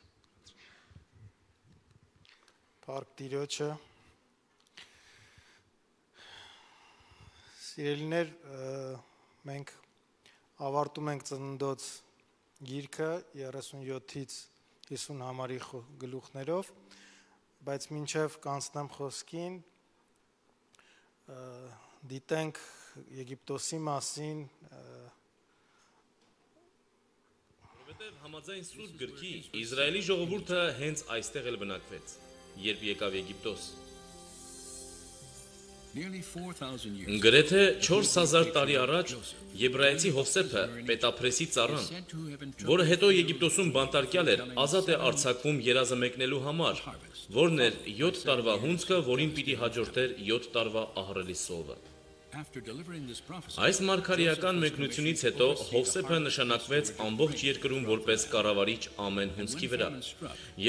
Փառք Տիրոջը։ Սիրելիներ, մենք ավարտում ենք ծննդոց գիրքը երեսունյոթից հիսուն համարի գլուխներով, բայց մինչև կանցնեմ խոսքին, դիտենք Եգիպտոսի մասին, որովհետև համաձայն Սուրբ գրքի Իսրայելի ժողովուրդը հենց այստեղ էլ բնակվեց, երբ եկավ Եգիպտոս։ Գրեթե չորս հազար տարի առաջ եբրայեցի Հովսեփը, պետափրեսի ծառան, որը հետո Եգիպտոսում բանտարկյալ էր, ազատ է արձակվում երազը մեկնելու համար, որն էր յոթ տարվա հունձքը, որին պիտի հաջորդեր յոթ տարվա ահռելի սովը։ Այս մարգարեական մեկնությունից հետո Հովսեփը նշանակվեց ամբողջ երկրում որպես կառավարիչ ամեն հունձքի վրա,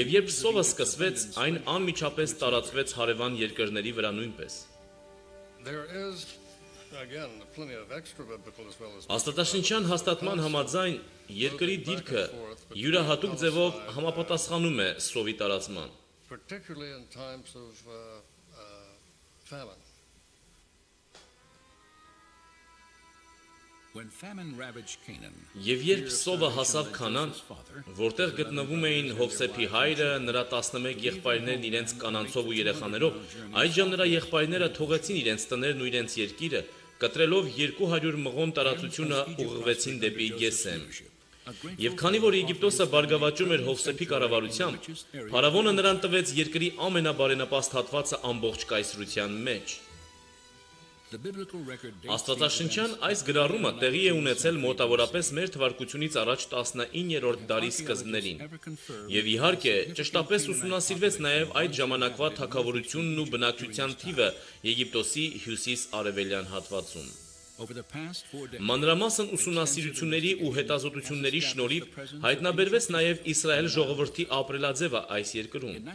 եւ երբ սովը սկսվեց, այն անմիջապես տարածվեց հարևան երկրների վրա նույնպես։ Աստվածաշնչյան հաստատման համաձայն երկրի դիրքը յուրահատուկ ձևով համապատասխանում է սովի տարածման։ Եվ երբ սովը հասավ Քանան, որտեղ գտնվում էին Հովսեփի հայրը, նրա տասնմեկ եղբայրներն իրենց կանանցով ու երեխաներով, այդժամ նրա եղբայրները թողեցին իրենց տներն ու իրենց երկիրը, կտրելով երկու հարյուր մղոն տարածությունը ուղղվեցին դեպի Գեսեմ։ Եվ քանի որ Եգիպտոսը բարգավաճում էր Հովսեփի կառավարությամբ, փարավոնը նրան տվեց երկրի ամենաբարենապաստ հատվածը ամբողջ կայսրության մեջ։ Աստվածաշնչյան այս գրառումը տեղի է ունեցել մոտավորապես մեր թվարկությունից առաջ տասնիններորդ դարի սկզբներին, եւ իհարկե ճշտապես ուսումնասիրվեց նաեւ այդ ժամանակվա թագավորությունն ու բնակչության թիվը Եգիպտոսի հյուսիս-արևելյան հատվածում։ Մանրամասն ուսումնասիրությունների ու հետազոտությունների շնորհիվ հայտնաբերվեց նաև Իսրայել ժողովրդի ապրելաձևը այս երկրում։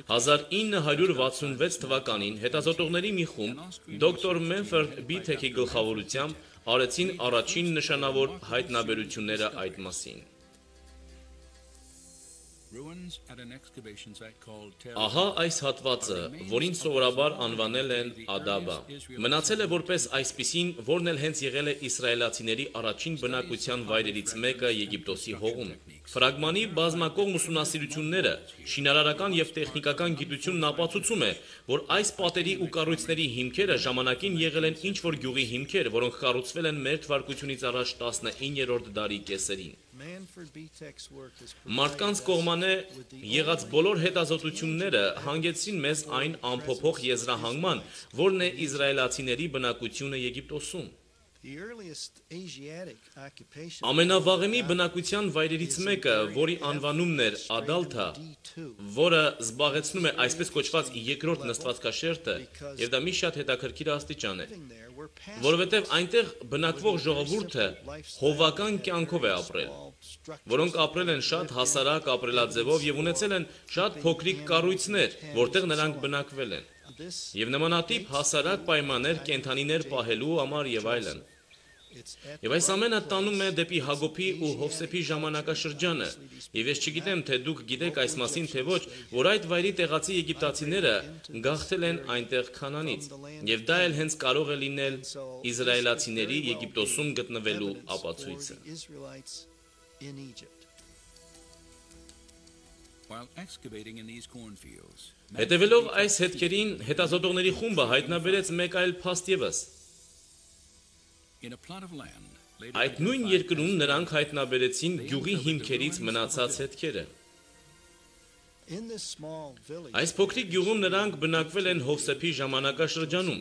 հազար ինը հարյուր վաթսունվեց թվականին հետազոտողների մի խումբ դոկտոր Մենֆորդ Բիթեքի գլխավորությամբ արեցին առաջին նշանավոր հայտնաբերությունները այդ մասին։ Ահա այս հատվածը, որին սովորաբար անվանել են Ադաբա, մնացել է որպես այսպիսին, որն էլ հենց եղել է իսրայելացիների առաջին բնակության վայրերից մեկը Եգիպտոսի հողում։ Ֆրագմանի բազմակողմ ուսումնասիրությունները, շինարարական եւ տեխնիկական գիտությունն ապացուցում է, որ այս պատերի ու կառույցների հիմքերը ժամանակին եղել են ինչ-որ գյուղի հիմքեր, որոնք կառուցվել են մեր թվարկությունից առաջ տասնիններորդ դարի կեսերին։ Մարդկանց կողմանե եղած բոլոր հետազոտությունները հանգեցրին մեզ այն ամփոփող եզրահանգման, որն է իսրայելացիների բնակությունը Եգիպտոսում։ Ամենավաղեմի բնակության վայրերից մեկը, որի անվանումն էր Ադալթա, որը զբաղեցնում է այսպես կոչված երկրորդ նստվածքաշերտը, եւ դա մի շատ հետաքրքիր աստիճան է, որովհետեւ այնտեղ բնակվող ժողովուրդը հովական կյանքով է ապրել, որոնք ապրել են շատ հասարակ ապրելաձևով եւ ունեցել են շատ փոքրիկ կառույցներ, որտեղ նրանք բնակվել են, եւ նմանատիպ հասարակ պայմաններ կենդանիներ պահելու համար եւ այլն։ Եվ այս ամենը տանում է դեպի Հակոբի ու Հովսեփի ժամանակաշրջանը, եւ ես չգիտեմ, թե դուք գիտեք այս մասին, թե ոչ, որ այդ վայրի տեղացի եգիպտացիները գաղթել են այնտեղ Քանանից, եւ դա էլ հենց կարող է լինել իզրայելացիների Եգիպտոսում գտնվելու ապացույցը։ Հետևելով այս հետքերին, հետազոտողների խումբը հայտնաբերեց մեկ այլ փաստ ևս։ Այդ նույն երկրում նրանք հայտնաբերեցին գյուղի հիմքերից մնացած հետքերը։ Այս փոքրիկ գյուղում նրանք բնակվել են Հովսեփի ժամանակաշրջանում։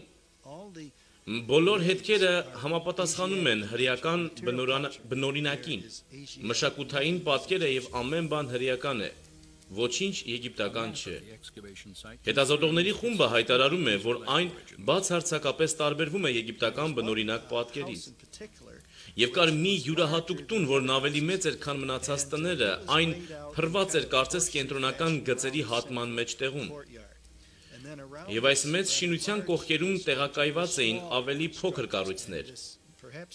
Բոլոր հետքերը համապատասխանում են հրեական բնօրինակին, մշակութային պատկերը եւ ամեն բան հրեական է, ոչինչ եգիպտական չէ։ Հետազոտողների խումբը հայտարարում է, որ այն բացարձակապես տարբերվում է եգիպտական բնօրինակ պատկերից։ Եվ կար մի յուրահատուկ տուն, որն ավելի մեծ էր, քան մնացած տները, այն փռված էր կարծես կենտրոնական գծերի հատման մեջտեղում։ Եվ այս մեծ շինության կողքերում տեղակայված էին ավելի փոքր կառույցներ։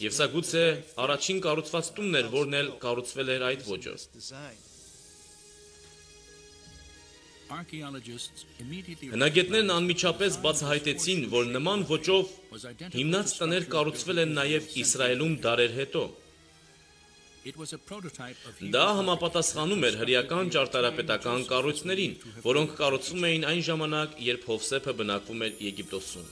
Եվ սա գուցե առաջին կառուցված տունն էր, որն էլ կառուցվել էր այդ ոճով։ Հնագետներն անմիջապես բացահայտեցին, որ նման ոճով հիմնած տներ կառուցվել են նաև Իսրայելում դարեր հետո։ Դա համապատասխանում էր հրեական ճարտարապետական կառույցներին, որոնք կառուցվում էին այն ժամանակ, երբ Հովսեփը բնակվում էր Եգիպտոսում։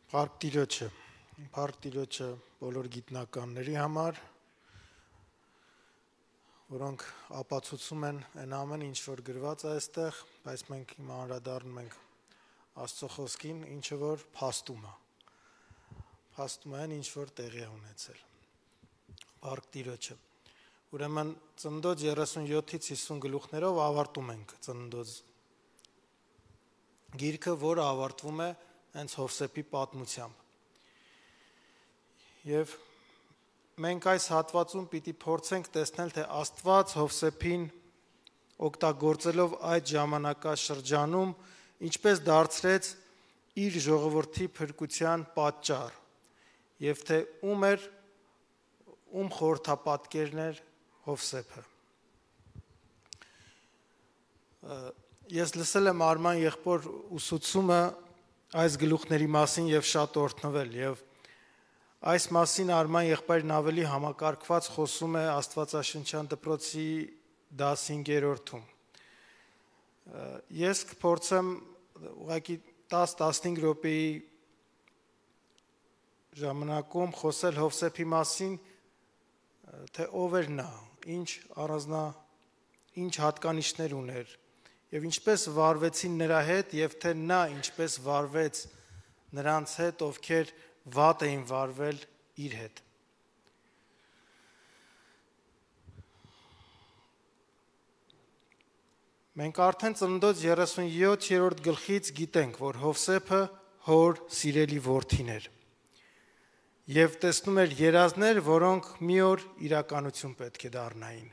Փառք Տիրոջը, փառք Տիրոջը բոլոր գիտնականների համար, որոնք ապացուցում են այն ամեն ինչ, որ գրված է այստեղ, բայց մենք հիմա անդրադառնում ենք Աստծո խոսքին, ինչը որ փաստում է։ Փաստում է այն, ինչ որ տեղի է ունեցել։ Փառք Տիրոջը։ Ուրեմն Ծննդոց երեսունյոթից հիսուն գլուխներով ավարտում ենք Ծննդոց գիրքը, որը ավարտվում է հենց Հովսեփի պատմությամբ։ Եվ մենք այս հատվածում պիտի փորձենք տեսնել, թե Աստված Հովսեփին օգտագործելով այդ ժամանակաշրջանում ինչպես դարձրեց իր ժողովրդի փրկության պատճառ, եւ թե ում էր ում խորհրդապատկերն էր Հովսեփը։ Ես լսել եմ Արման եղբոր ուսուցումը այս գլուխների մասին եւ շատ օրհնվել, եւ այս մասին Արման եղբայրն ավելի համակարգված խոսում է Աստվածաշնչյան դպրոցի դասինգերորդում։ Ես կփորձեմ ուղղակի տասը-տասնհինգ րոպեի ժամանակում խոսել Հովսեփի մասին, թե ով էր նա, ինչ առանձնա, ինչ հատկանիշներ ուներ, եւ ինչպես վարվեցին նրա հետ, եւ թե նա ինչպես վարվեց նրանց հետ, ովքեր վատ էին վարվել իր հետ։ Մենք արդեն Ծննդոց երեսունյոթերորդ գլխից գիտենք, որ Հովսեփը հոր սիրելի որդին էր եւ տեսնում էր երազներ, որոնք մի օր իրականություն պետք է դառնային։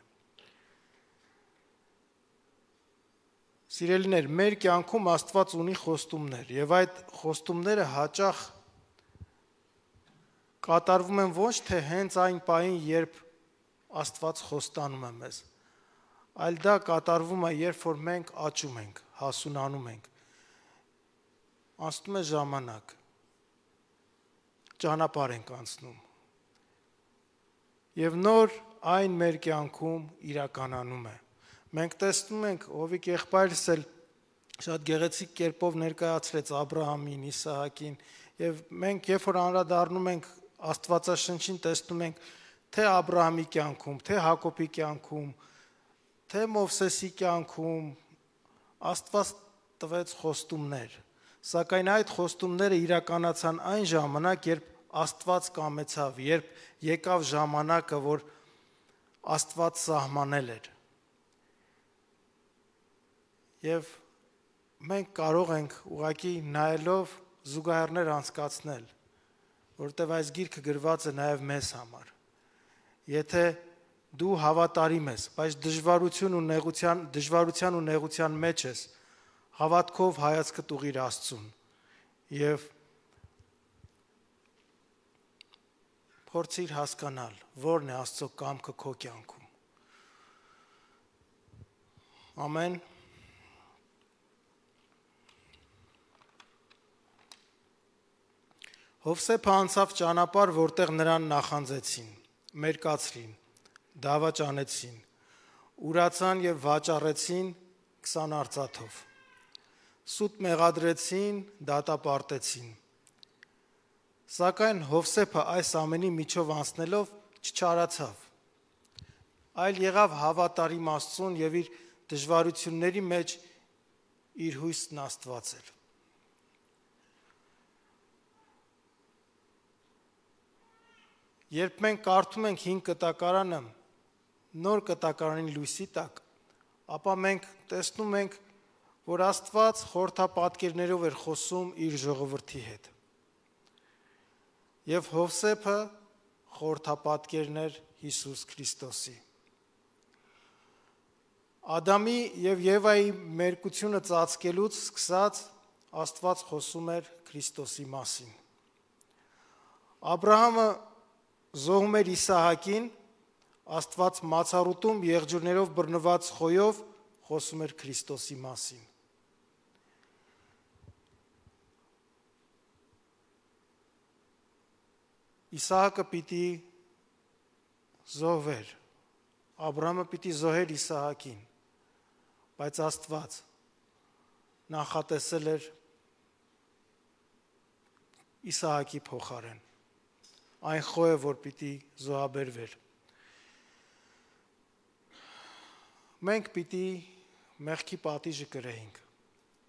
Սիրելիներ, մեր կյանքում Աստված ունի խոստումներ եւ այդ խոստումները հաճախ կատարվում են ոչ թե հենց այն պահին, երբ Աստված խոստանում է մեզ, այլ դա կատարվում է, երբ որ մենք աճում ենք, հասունանում ենք, անցնում է ժամանակ, ճանապարհ ենք անցնում, եւ նոր այն մեր կյանքում իրականանում է։ Մենք տեսնում ենք, Հովիկ եղբայրս էլ շատ գեղեցիկ կերպով ներկայացրեց Աբրահամին, Իսահակին, եւ մենք երբ որ անդրադառնում ենք Աստվածաշնչին, տեսնում ենք թե Աբրահամի կյանքում, թե Հակոբի կյանքում, թե Մովսեսի կյանքում, Աստված տվեց խոստումներ, սակայն այդ խոստումները իրականացան այն ժամանակ, երբ Աստված կամեցավ, երբ եկավ ժամանակը, որ Աստված սահմանել էր։ Եվ մենք կարող ենք ուղղակի նայելով զուգահեռներ անցկացնել, որտեղ այս գիրքը գրված է նաև մեզ համար։ Եթե դու հավատարիմ ես, բայց դժվարություն ու նեղության, դժվարության ու նեղության մեջ ես, հավատքով հայացքդ ուղղիր Աստծուն եւ փորձիր հասկանալ, որն է Աստծո կամքը քո կյանքում։ Ամեն։ Հովսեփը անցավ ճանապարհ, որտեղ նրան նախանձեցին, մերկացրին, դավաճանեցին, ուրացան եւ վաճառեցին քսան արծաթով։ Սուտ մեղադրեցին, դատապարտեցին։ Սակայն Հովսեփը այս ամենի միջով անցնելով չչարացավ, այլ եղավ հավատարիմ Աստծուն եւ իր դժվարությունների մեջ իր հույսն Աստվածել։ Երբ մենք կարդում ենք հին կտակարանը նոր կտակարանին լույսի տակ, ապա մենք տեսնում ենք, որ Աստված խորհրդապատկերներով էր խոսում իր ժողովրդի հետ։ Եվ Հովսեփը խորհրդապատկերն էր Հիսուս Քրիստոսի։ Ադամի եւ Եվայի մերկությունը ծածկելուց սկսած Աստված խոսում էր Քրիստոսի մասին։ Աբրահամը զոհում էր Իսահակին, Աստված մացառուտում եղջյուրներով բռնված խոյով խոսում էր Քրիստոսի մասին։ Իսահակը պիտի զոհվեր, Աբրահամը պիտի զոհեր Իսահակին, բայց Աստված նախատեսել էր Իսահակի փոխարեն այն խոյը, որ պիտի զոհաբերվեր։ Մենք պիտի մեղքի պատիժը կրեինք,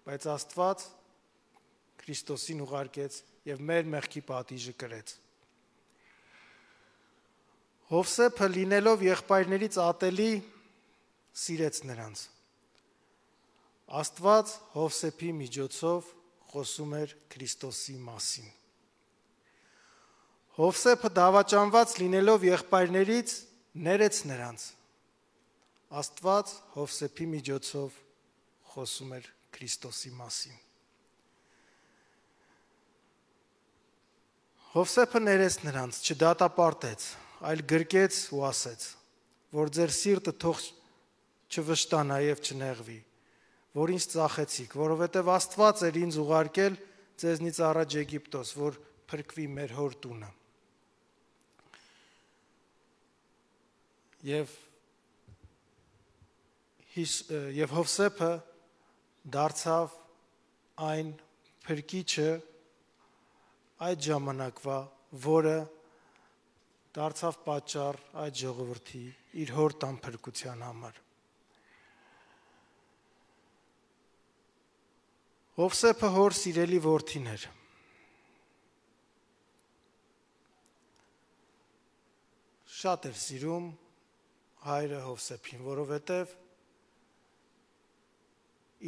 բայց Աստված Քրիստոսին ուղարկեց եւ մեր մեղքի պատիժը կրեց։ Հովսեփը լինելով եղբայրներից ատելի սիրեց նրանց։ Աստված Հովսեփի միջոցով խոսում էր Քրիստոսի մասին։ Հովսեփը դավաճանված լինելով եղբայրներից ներեց նրանց։ Աստված Հովսեփի միջոցով խոսում էր Քրիստոսի մասին։ Հովսեփը ներեց նրանց, չդատապարտեց, այլ գրկեց ու ասեց, որ ձեր սիրտը թող չվշտանա եւ չնեղվի, որ ինձ ծախեցիք, որովհետեւ Աստված էր ինձ ուղարկել ձեզնից առաջ Եգիպտոս, որ փրկվի մեր հոր տունը։ Եվ եւ Հովսեփը դարձավ այն փրկիչը այդ ժամանակվա, որը դարձավ պատճառ այդ ժողովրդի իր հոր տան փրկության համար։ Հովսեփը հոր սիրելի որդին էր։ Շատ էր սիրում հայրը Հովսեփին, որովհետև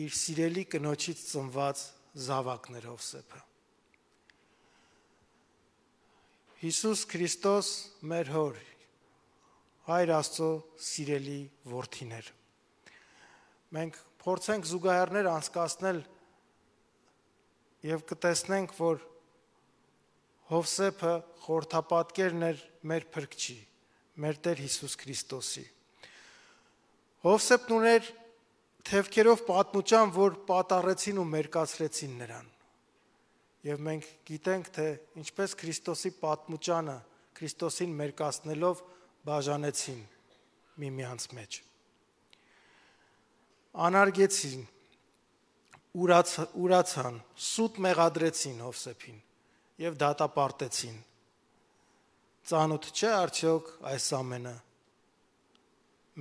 իր սիրելի կնոջից ծնված զավակն էր Հովսեփը։ Հիսուս Քրիստոս մեր հոր, հայր Աստծո սիրելի որդին էր։ Մենք փորձենք զուգահեռներ անցկացնել եւ կտեսնենք, որ Հովսեփը խորհրդապատկերն էր մեր փրկչի, մեր Տեր Հիսուս Քրիստոսի։ Հովսեփն ուներ թևքերով պատմուճան, որ պատառեցին ու մերկացրեցին նրան։ Եվ մենք գիտենք, թե ինչպես Քրիստոսի պատմուճանը Քրիստոսին մերկացնելով բաժանեցին միմյանց մեջ։ Անարգեցին, ուրաց, ուրացան, սուտ մեղադրեցին Հովսեփին եւ դատապարտեցին։ Ծանոթ չէ արդյոք այս ամենը։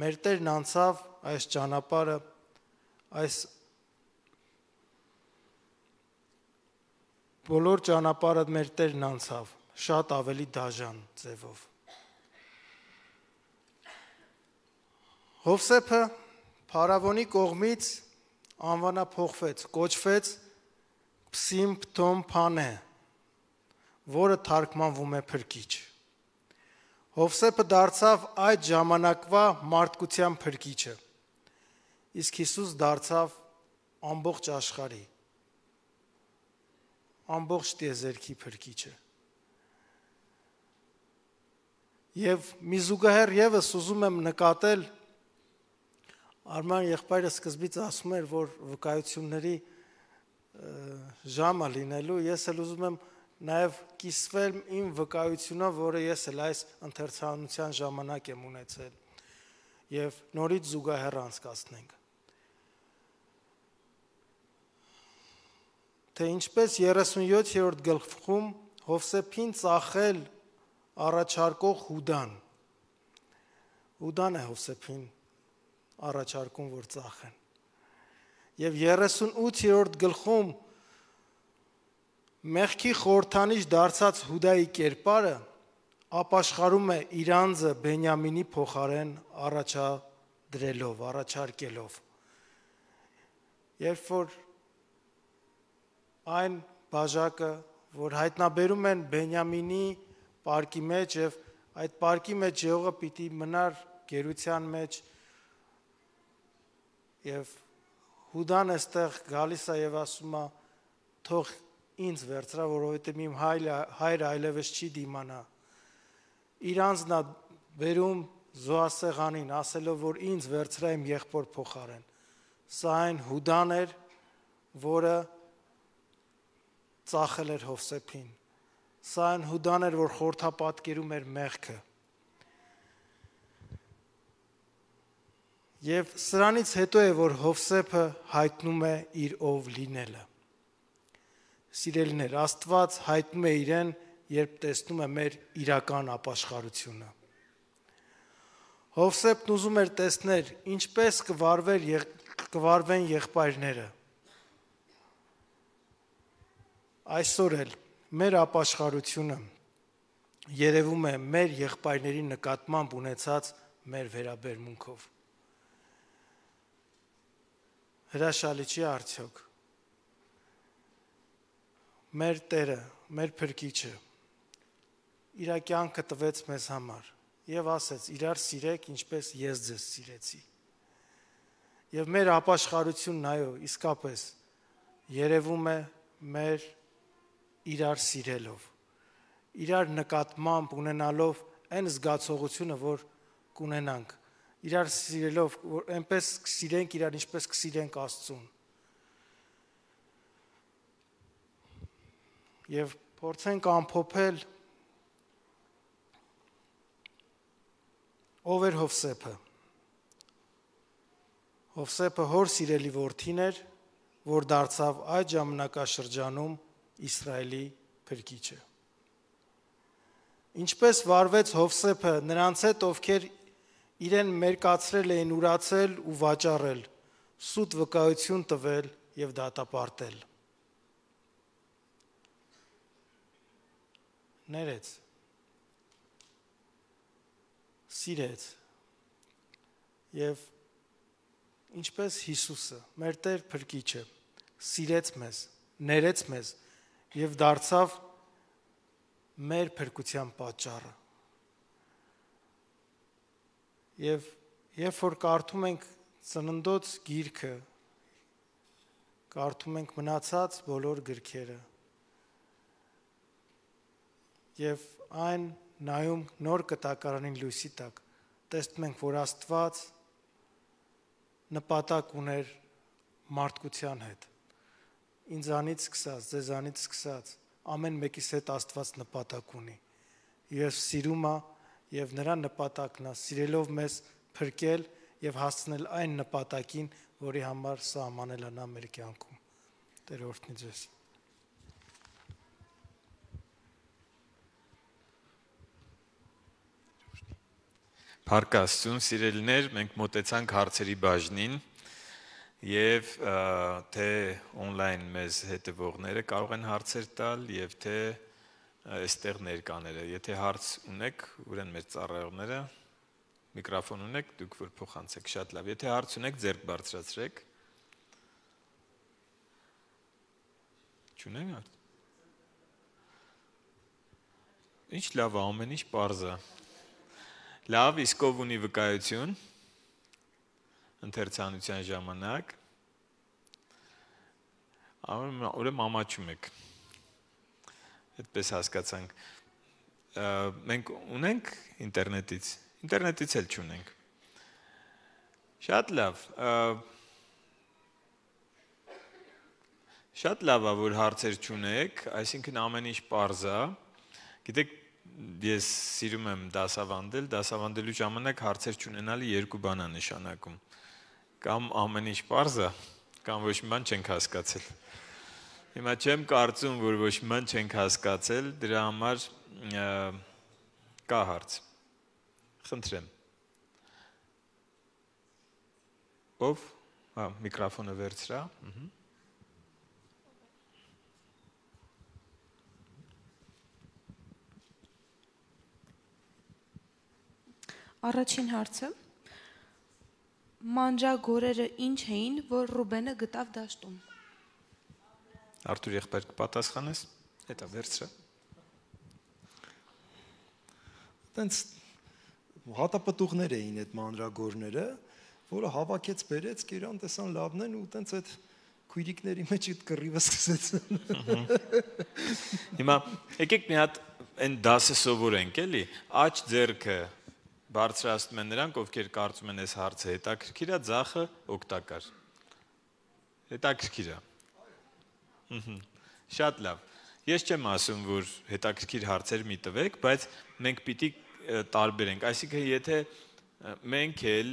Մեր Տերն անցավ այս ճանապարհը, այս բոլոր ճանապարհը մեր Տերն անցավ, շատ ավելի դաժան ձևով։ Հովսեփը Փարավոնի կողմից անվանափոխվեց, կոչվեց Փսիմ Փթոմ Փանե, որը թարգմանվում է փրկիչ։ Հովսեփը դարձավ այդ ժամանակվա մարդկության փրկիչը, իսկ Հիսուս դարձավ ամբողջ աշխարհի, ամբողջ տիեզերքի փրկիչը։ Եվ մի զուգահեռ եւս ուզում եմ նկատել, Արման եղբայրը սկզբից ասում էր, որ վկայությունների ժամը լինելու, ես էլ ուզում եմ նաև կիսվել իմ վկայությունով, որը ես էլ այս ընթերցանության ժամանակ եմ ունեցել եւ նորից զուգահեռ անցկացնենք։ Թե ինչպես երեսունյոթերորդ գլխում Հովսեփին ծախել առաջարկող Հուդան։ Հուդան է Հովսեփին առաջարկում, որ ծախեն։ Եվ երեսունութերորդ գլխում մեղքի խորհրդանիշ դարձած Հուդայի կերպարը ապաշխարում է իր անձը Բենյամինի փոխարեն առաջադրելով, առաջարկելով։ Երբ որ այն բաժակը, որ հայտնաբերում են Բենյամինի պարկի մեջ եւ այդ պարկի մեջ եղողը պիտի մնար գերության մեջ եւ Հուդան այստեղ գալիս է եւ ասում է թող ինձ վերցրա, որովհետեւ իմ հայրը այլևս չի դիմանա։ Իր անձն է բերում զոհասեղանին, ասելով, որ ինձ վերցրա իմ եղբոր փոխարեն։ Սա այն Հուդան էր, որը ծախել էր Հովսեփին։ Սա այն Հուդան էր, որ խորհրդապատկերում էր մեղքը։ Եվ սրանից հետո է, որ Հովսեփը հայտնում է իր ով լինելը։ Սիրելիներ, Աստված հայտնում է իրեն, երբ տեսնում է մեր իրական ապաշխարությունը։ Հովսեփն ուզում էր տեսնել, ինչպես կվարվեր կվարվեն եղբայրները։ Այսօր էլ մեր ապաշխարությունը երևում է մեր եղբայրների նկատմամբ ունեցած մեր վերաբերմունքով։ Հրաշալի չի արդյոք։ Մեր Տերը, մեր Փրկիչը իր կյանքը տվեց մեզ համար եւ ասեց. իրար սիրեք, ինչպես ես ձեզ սիրեցի։ Եվ մեր ապաշխարությունն այո, իսկապես երևում է մեր իրար սիրելով, իրար նկատմամբ ունենալով այն զգացողությունը, որ կունենանք, իրար սիրելով, որ այնպես կսիրենք իրար, ինչպես կսիրենք Աստծուն։ Եվ փորձենք ամփոփել ով էր Հովսեփը։ Հովսեփը հոր սիրելի որդին էր, որ դարձավ այդ ժամանակաշրջանում Իսրայելի փրկիչը։ Ինչպես վարվեց Հովսեփը նրանց հետ, ովքեր իրեն մերկացրել էին, ուրացել ու վաճառել, սուտ վկայություն տվել եւ դատապարտել։ Ներեց, սիրեց եւ ինչպես Հիսուսը, մեր Տեր Փրկիչը, սիրեց մեզ, ներեց մեզ եւ դարձավ մեր փրկության պատճառը։ Եվ երբ որ կարդում ենք Ծննդոց գիրքը, կարդում ենք մնացած բոլոր գրքերը, եւ այն նայում նոր կտակարանին լույսի տակ, տեսնում ենք, որ Աստված նպատակ ուներ մարդկության հետ։ Ինձանից սկսած, ձեզանից սկսած, ամեն մեկիս հետ Աստված նպատակ ունի։ Եվ սիրում է եւ նրա նպատակն է սիրելով մեզ փրկել եւ հասցնել այն նպատակին, որի համար սահմանել է նա մեր կյանքում։ Տեր օրհնի ձեզ։ Փառք Աստծուն, սիրելիներ, մենք մոտեցանք հարցերի բաժնին Եվ թե on-line մեզ հետևողները կարող են հարցեր տալ եւ թե այստեղ ներկաները։ Եթե հարց ունեք, ուրեմն մեր ծառայողները միկրոֆոն ունեք, դուք որ փոխանցեք, շատ լավ։ Եթե հարց ունեք, ձեռք բարձրացրեք։ Չունենք հարց։ Ինչ լավ է, ամեն ինչ պարզ է։ Լավ, իսկ ով ունի վկայություն ընթերցանության ժամանակ, ուրեմն ամաչում եք։ Այդպես հասկացանք։ Մենք ունենք ինտերնետից, ինտերնետից էլ չունենք։ Շատ լավ։ Շատ լավ է, որ հարցեր չունեք, այսինքն ամեն ինչ պարզ է։ Գիտեք, ես սիրում եմ դասավանդել, դասավանդելու ժամանակ հարցեր չունենալը երկու բան է նշանակում։ Կամ ամեն ինչ պարզ է, կամ ոչ մի բան չենք հասկացել։ Հիմա չեմ կարծում, որ ոչ մի բան չենք հասկացել, դրա համար կա հարց։ Խնդրեմ։ Ով? Հա, միկրոֆոնը վերցրա։ Առաջին հարցը. մանջագորերը ինչ էին, որ Ռուբենը գտավ դաշտում։ Արթուր եղբայր կպատասխանես, հետո վերցրը։ Տենց հատապտուղներ էին այդ մանջագորները, որը հավաքեց բերեց, կերան տեսան լավն են ու տենց այդ քույրիկների մեջ այդ կռիվը սկսեցին։ Հիմա եկեք մի հատ այն դասը սովորենք, էլի, աջ ձեռքը բարձրացնում են նրանք, ովքեր կարծում են այս հարցը հետաքրքիր է, ձախը օգտակար։ Հետաքրքիր է։ Շատ լավ։ Ես չեմ ասում, որ հետաքրքիր հարցեր մի տվեք, բայց մենք պիտի տարբերենք։ Այսինքն, եթե մենք էլ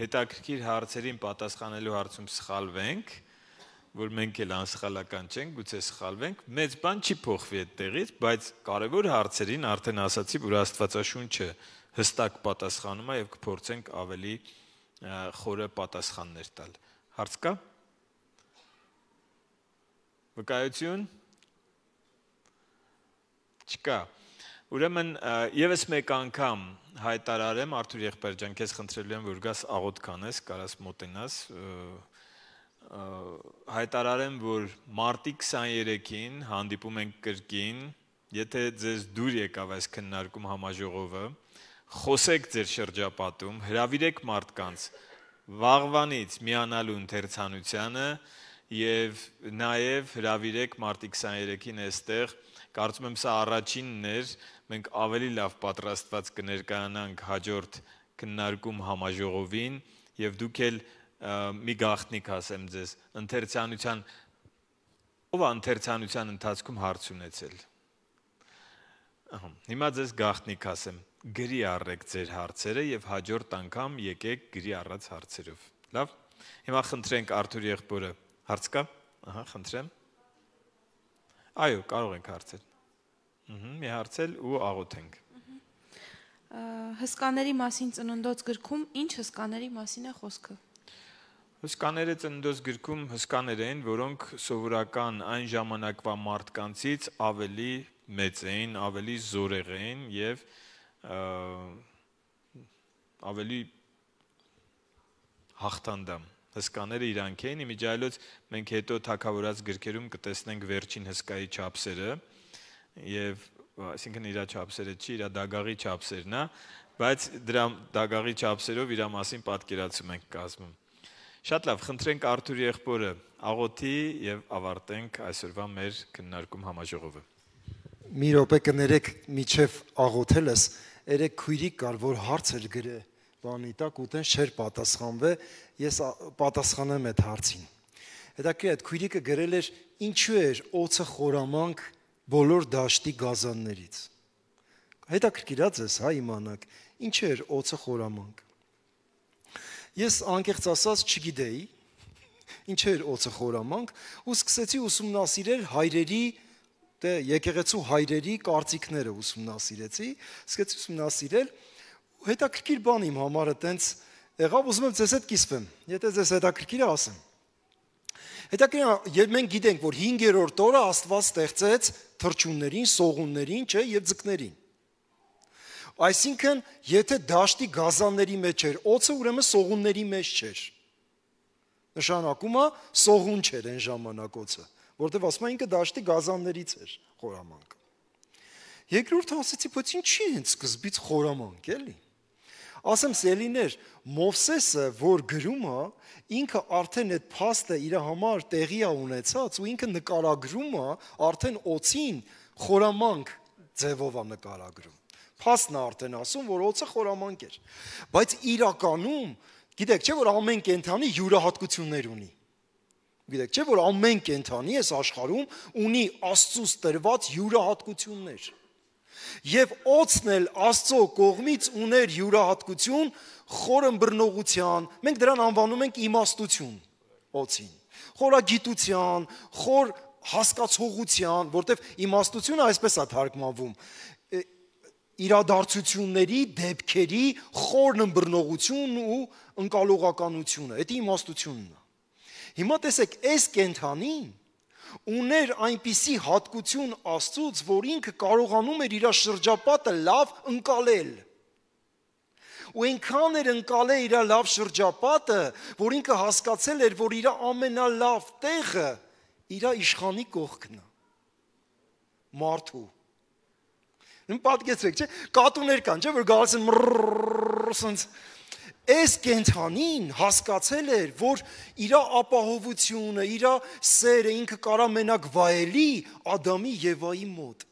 հետաքրքիր հարցերին պատասխանելու հարցում սխալվենք, որ մենք էլ անսխալական չենք, գուցե սխալվենք, մեծ բան չի փոխվի այդտեղից, բայց կարևոր հարցերին արդեն ասացի, որ Աստվածաշունչը հստակ պատասխանում է եւ կփորձենք ավելի խորը պատասխաններ տալ։ Հարց կա։ Վկայություն։ Չկա։ Ուրեմն եւս մեկ անգամ հայտարարեմ, Արթուր եղբայր ջան, քեզ խնդրելու եմ, որ գաս աղոթ կանես, կարաս մոտենաս, հայտարարեմ, որ մարտի քսաներեքին հանդիպում ենք կրկին, եթե ձեզ դուր եկավ այս քննարկում համաժողովը, խոսեք ձեր շրջապատում, հրավիրեք մարդկանց վաղվանից միանալու ընթերցանությանը եւ նաեւ հրավիրեք մարտի քսաներեքին այստեղ, կարծում եմ սա առաջինն էր, մենք ավելի լավ պատրաստված կներկայանանք հաջորդ քննարկում համաժողովին եւ դուք էլ մի գաղտնիք ասեմ ձեզ, ընթերցանության ով է ընթերցանության ընթացքում հարց ունեցել։ Ահա, հիմա ձեզ գաղտնիք ասեմ, գրի առեք ձեր հարցերը եւ հաջորդ անգամ եկեք գրի առած հարցերով։ Լավ։ Հիմա խնդրենք Արթուր եղբորը, հարց կա։ Ահա, խնդրեմ։ Այո, կարող ենք հարցել։ Ահա, մի հարցել ու աղոթենք։ Հսկաների մասին ծննդոց գրքում ինչ հսկաների մասին է խոսքը։ Հսկաները ծննդոց գրքում հսկաներ էին, որոնք սովորական այն ժամանակվա մարդկանցից ավելի մեծ էին, ավելի զորեղ էին եւ ավելի հաղթանդամ։ Հսկաները իրանք էին, իմիջայլոց մենք հետո թագավորած գրքերում կտեսնենք վերջին հսկայի չափսերը եւ այսինքն իր չափսերը չի, իր դագաղի չափսերն է, բայց դրա դագաղի չափսերով իր մասին պատկերացում ենք կազմում։ Շատ լավ, խնդրենք Արթուր եղբորը աղոթի եւ ավարտենք այսօրվա մեր քննարկում համաժողովը։ Մի րոպե կներեք միջև աղոթելս, երեք քույրիկ կար, որ հարց էր գրե, բանի տակ ուտեն չէր պատասխանվե, ես պատասխանեմ այդ հարցին։ Հետաքրքիր այդ քույրիկը գրել էր ինչու էր օծը խորամանկ բոլոր դաշտի գազաններից։ Հետաքրքիր է ձեզ, հա, իմանաք, ինչ էր օծը խորամանկ։ Ես անկեղծ ասած չգիտեի, ինչ էր օծը խորամանկ, ու սկսեցի ուսումնասիրել հայրերի, դե եկեղեցու հայրերի կարծիքները ուսումնասիրեցի, սկսեցի ուսումնասիրել, ու հետաքրքիր բան իմ համար է տենց եղավ, ուզում եմ ձեզ հետ կիսվեմ, եթե ձեզ հետաքրքիր է ասեմ։ Հետաքրքիր է, մենք գիտենք, որ հինգերորդ օրը Աստված ստեղծեց թռչուններին, սողուններին, չէ, եւ ձկներին։ Այսինքն, եթե դաշտի գազանների մեջ էր օձը, ուրեմն սողունների մեջ չէր։ Նշանակում է սողուն չէր այն ժամանակ օձը, որտեղ ասում են ինքը դաշտի գազաններից էր խորամանկ։ Երկրորդ ասեցի, բայց ինչի են սկզբից խորամանկ, էլի։ Ասեմ սելիներ, Մովսեսը, որ գրում է, ինքը արդեն այդ փաստը իր համար տեղի է ունեցած ու ինքը նկարագրում է արդեն օծին խորամանկ ձևով է նկարագրում։ Փաստն է արդեն ասում, որ օծը խորամանկ էր։ Բայց իրականում, գիտեք, չէ՞ որ ամեն կենդանի յուրահատկություններ ունի։ Գիտեք, չէ՞ որ ամեն կենդանի այս աշխարհում ունի Աստծուց տրված յուրահատկություններ։ Եվ օծն էլ Աստծո կողմից ուներ յուրահատկություն խորըմբռնողության, մենք դրան անվանում ենք իմաստություն, օծին, խորագիտության, խոր հասկացողության, որտեղ իմաստությունը այսպես է թարգմանվում, իրադարձությունների, դեպքերի խորն ըմբռնողությունն ու ընկալողականությունը, դա իմաստությունն է։ Հիմա տեսեք, այս կենդանին ուներ այնպիսի հատկություն Աստծուց, որ ինքը կարողանում էր իր շրջապատը լավ ընկալել։ Ու այնքան էր ընկալել իր լավ շրջապատը, որ ինքը հասկացել էր, որ իր ամենալավ տեղը իր իշխանի կողքն է։ Մարդու։ Նույն պատկերացրեք, չէ՞, կատուներ կան, չէ՞, որ գալիս են մռռռռ, այս կենդանին հասկացել էր, որ իր ապահովությունը, իր սերը ինքը կարա մենակ վայելի Ադամի Եվայի մոտ։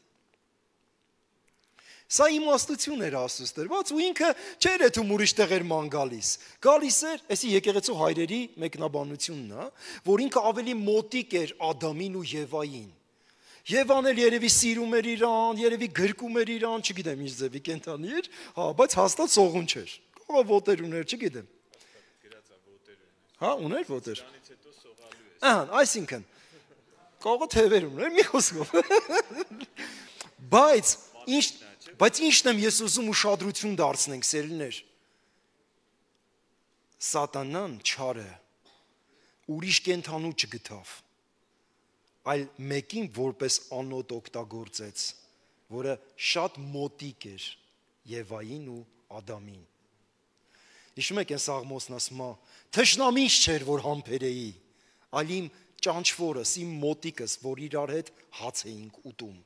Սա իմաստություն էր Աստծուց տրված ու ինքը չէր էթում ուրիշ տեղեր ման գալիս։ Գալիս էր, այսի եկեղեցու հայրերի մեկնաբանությունն է, որ ինքը ավելի մոտիկ էր Ադամին ու Եվային։ Եվան էլ երևի սիրում էր իրան, երևի գրկում էր իրան, չգիտեմ ինչ ձևի կենդանի էր, հա, բայց հաստատ սողուն չէր։ Կողը ոտեր ուներ, չգիտեմ։ Հա, ուներ ոտեր։ Ահա, այսինքն կողը թևեր ուներ, մի խոսքով։ Բայց ինչ, բայց ինչն եմ ես ուզում ուշադրություն դարձնենք, սերիներ։ Սատանան չարը ուրիշ կենդանու չգտավ, այլ մեկին որպես անոտ օգտագործեց, որը շատ մոտիկ էր Եվային ու Ադամին։ Հիշում եք այն Սաղմոսն ասում է. «Թշնամինչ չէր, որ համբերեի, այլ իմ ճանչվորս, իմ մոտիկս, որ իրար հետ հաց էինք ուտում»։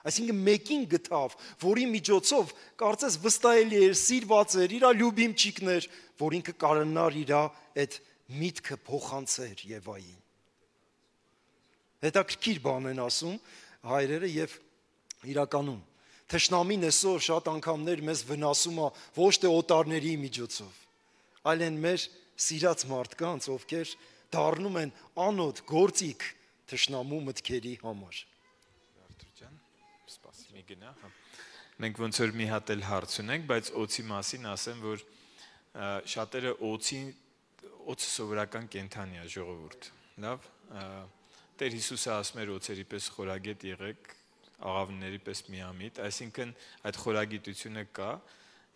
Այսինքն մեկին գտավ, որի միջոցով կարծես վստահելի էր, սիրված էր, իր լյուբիմչիկն էր, որ ինքը կարողանար իր այդ միտքը փոխանցեր Եվային։ Հետաքրքիր բան են ասում հայրերը եւ իրականում թշնամին այսօր շատ անգամներ մեզ վնասում է ոչ թե օտարների միջոցով, այլ են մեր սիրած մարդկանց, ովքեր դառնում են անոտ գործիք թշնամու մտքերի համար։ Սպասի մի գնա, հա։ Մենք ոնց որ մի հատ էլ հարց ունենք, բայց օծի մասին ասեմ, որ շատերը օծի օծը սովորական կենդանի է, ժողովուրդ։ Լավ, Տեր Հիսուսը ասում էր օծերի պես խորագետ եղեք, աղավների պես միամիտ, այսինքն այդ խորագիտությունը կա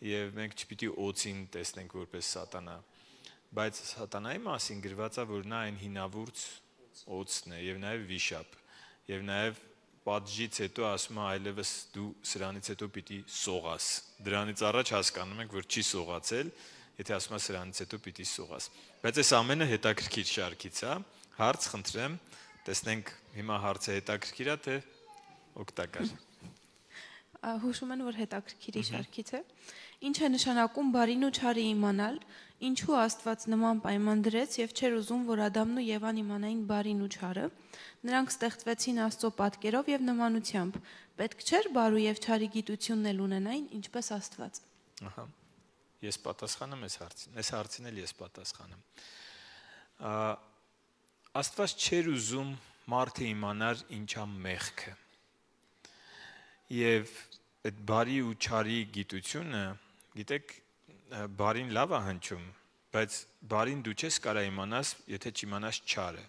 եւ մենք չպիտի օծին տեսնենք որպես սատանա, բայց սատանայի մասին գրված է, որ նա այն հինավուրց օծն է եւ նաեւ վիշապ եւ նաեւ պատժից հետո ասում է այլևս դու սրանից հետո պիտի սողաս։ Դրանից առաջ հասկանում ենք, որ չի սողացել, եթե ասում է սրանից հետո պիտի սողաս։ Բայց այս ամենը հետաքրքիր շարքից է, հարց խնդրեմ, տեսնենք հիմա հարցը հետաքրքիր է թե օգտակար։ Հուշում են, որ հետաքրքիրի շարքից է։ Ինչ է նշանակում բարին ու չարի իմանալ, ինչու Աստված նման պայման դրեց եւ չէր ուզում, որ Ադամն ու Եվան իմանային բարին ու չարը։ Նրանք ստեղծվեցին Աստծո պատկերով եւ նմանությամբ։ Պետք չէր բարու եւ չարի գիտությունն էլ ունենային, ինչպես Աստված։ Ահա։ Ես պատասխանեմ այս հարցին։ Այս հարցին էլ ես պատասխանեմ։ Աստված չէր ուզում մարդը իմանար ինչա մեղքը։ Եվ այդ բարի ու չարի գիտությունը, գիտեք, բարին լավ է հնչում, բայց բարին դու չես կարող իմանաս, եթե չիմանաս չարը։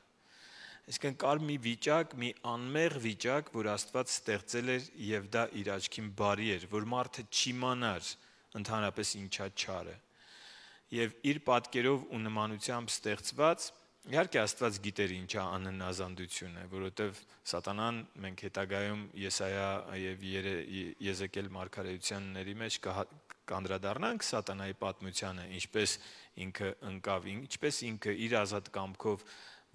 Այսինքն կար մի վիճակ, մի անմեղ վիճակ, որ Աստված ստեղծել էր եւ դա իր աչքին բարի էր, որ մարդը չիմանար ընդհանրապես ինչա չարը։ Եվ իր պատկերով ու նմանությամբ ստեղծված Իհարկե Աստված գիտեր ինչա անհնազանդություն է, որովհետև Սատանան մենք հետագայում Եսայա եւ Եզեկիել մարգարեությանների մեջ կանդրադառնանք Սատանայի պատմությանը, ինչպես ինքը ընկավ, ինչպես ինքը իր ազատ կամքով,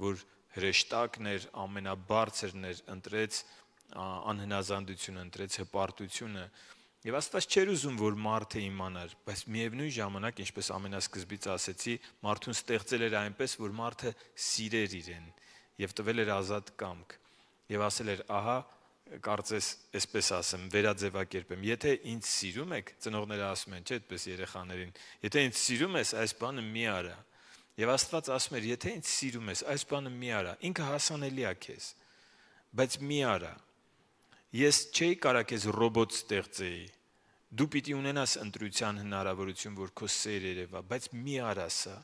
որ հրեշտակն էր, ամենաբարձրն էր, ընտրեց անհնազանդությունը, ընտրեց հպարտությունը։ Եվ Աստված չէր ուզում, որ մարդը իմանար, բայց միևնույն ժամանակ, ինչպես ամենասկզբից ասեցի, մարդուն ստեղծել էր այնպես, որ մարդը սիրեր իրեն եւ տվել էր ազատ կամք։ Եվ ասել էր, ահա, կարծես այսպես ասեմ, վերաձևակերպեմ, եթե ինձ սիրում եք, ծնողները ասում են, չէ՞, այդպես երեխաներին, եթե ինձ սիրում ես, այս բանը մի արա։ Եվ Աստված ասում էր, եթե ինձ սիրում ես, այս բանը մի արա, ինքը հասանելի է քեզ, բայց մի արա։ Ես չէի կարա քեզ ռոբոտ ստեղծեի։ Դու պիտի ունենաս ընտրության հնարավորություն, որ քո սեր երևա, բայց մի արա սա։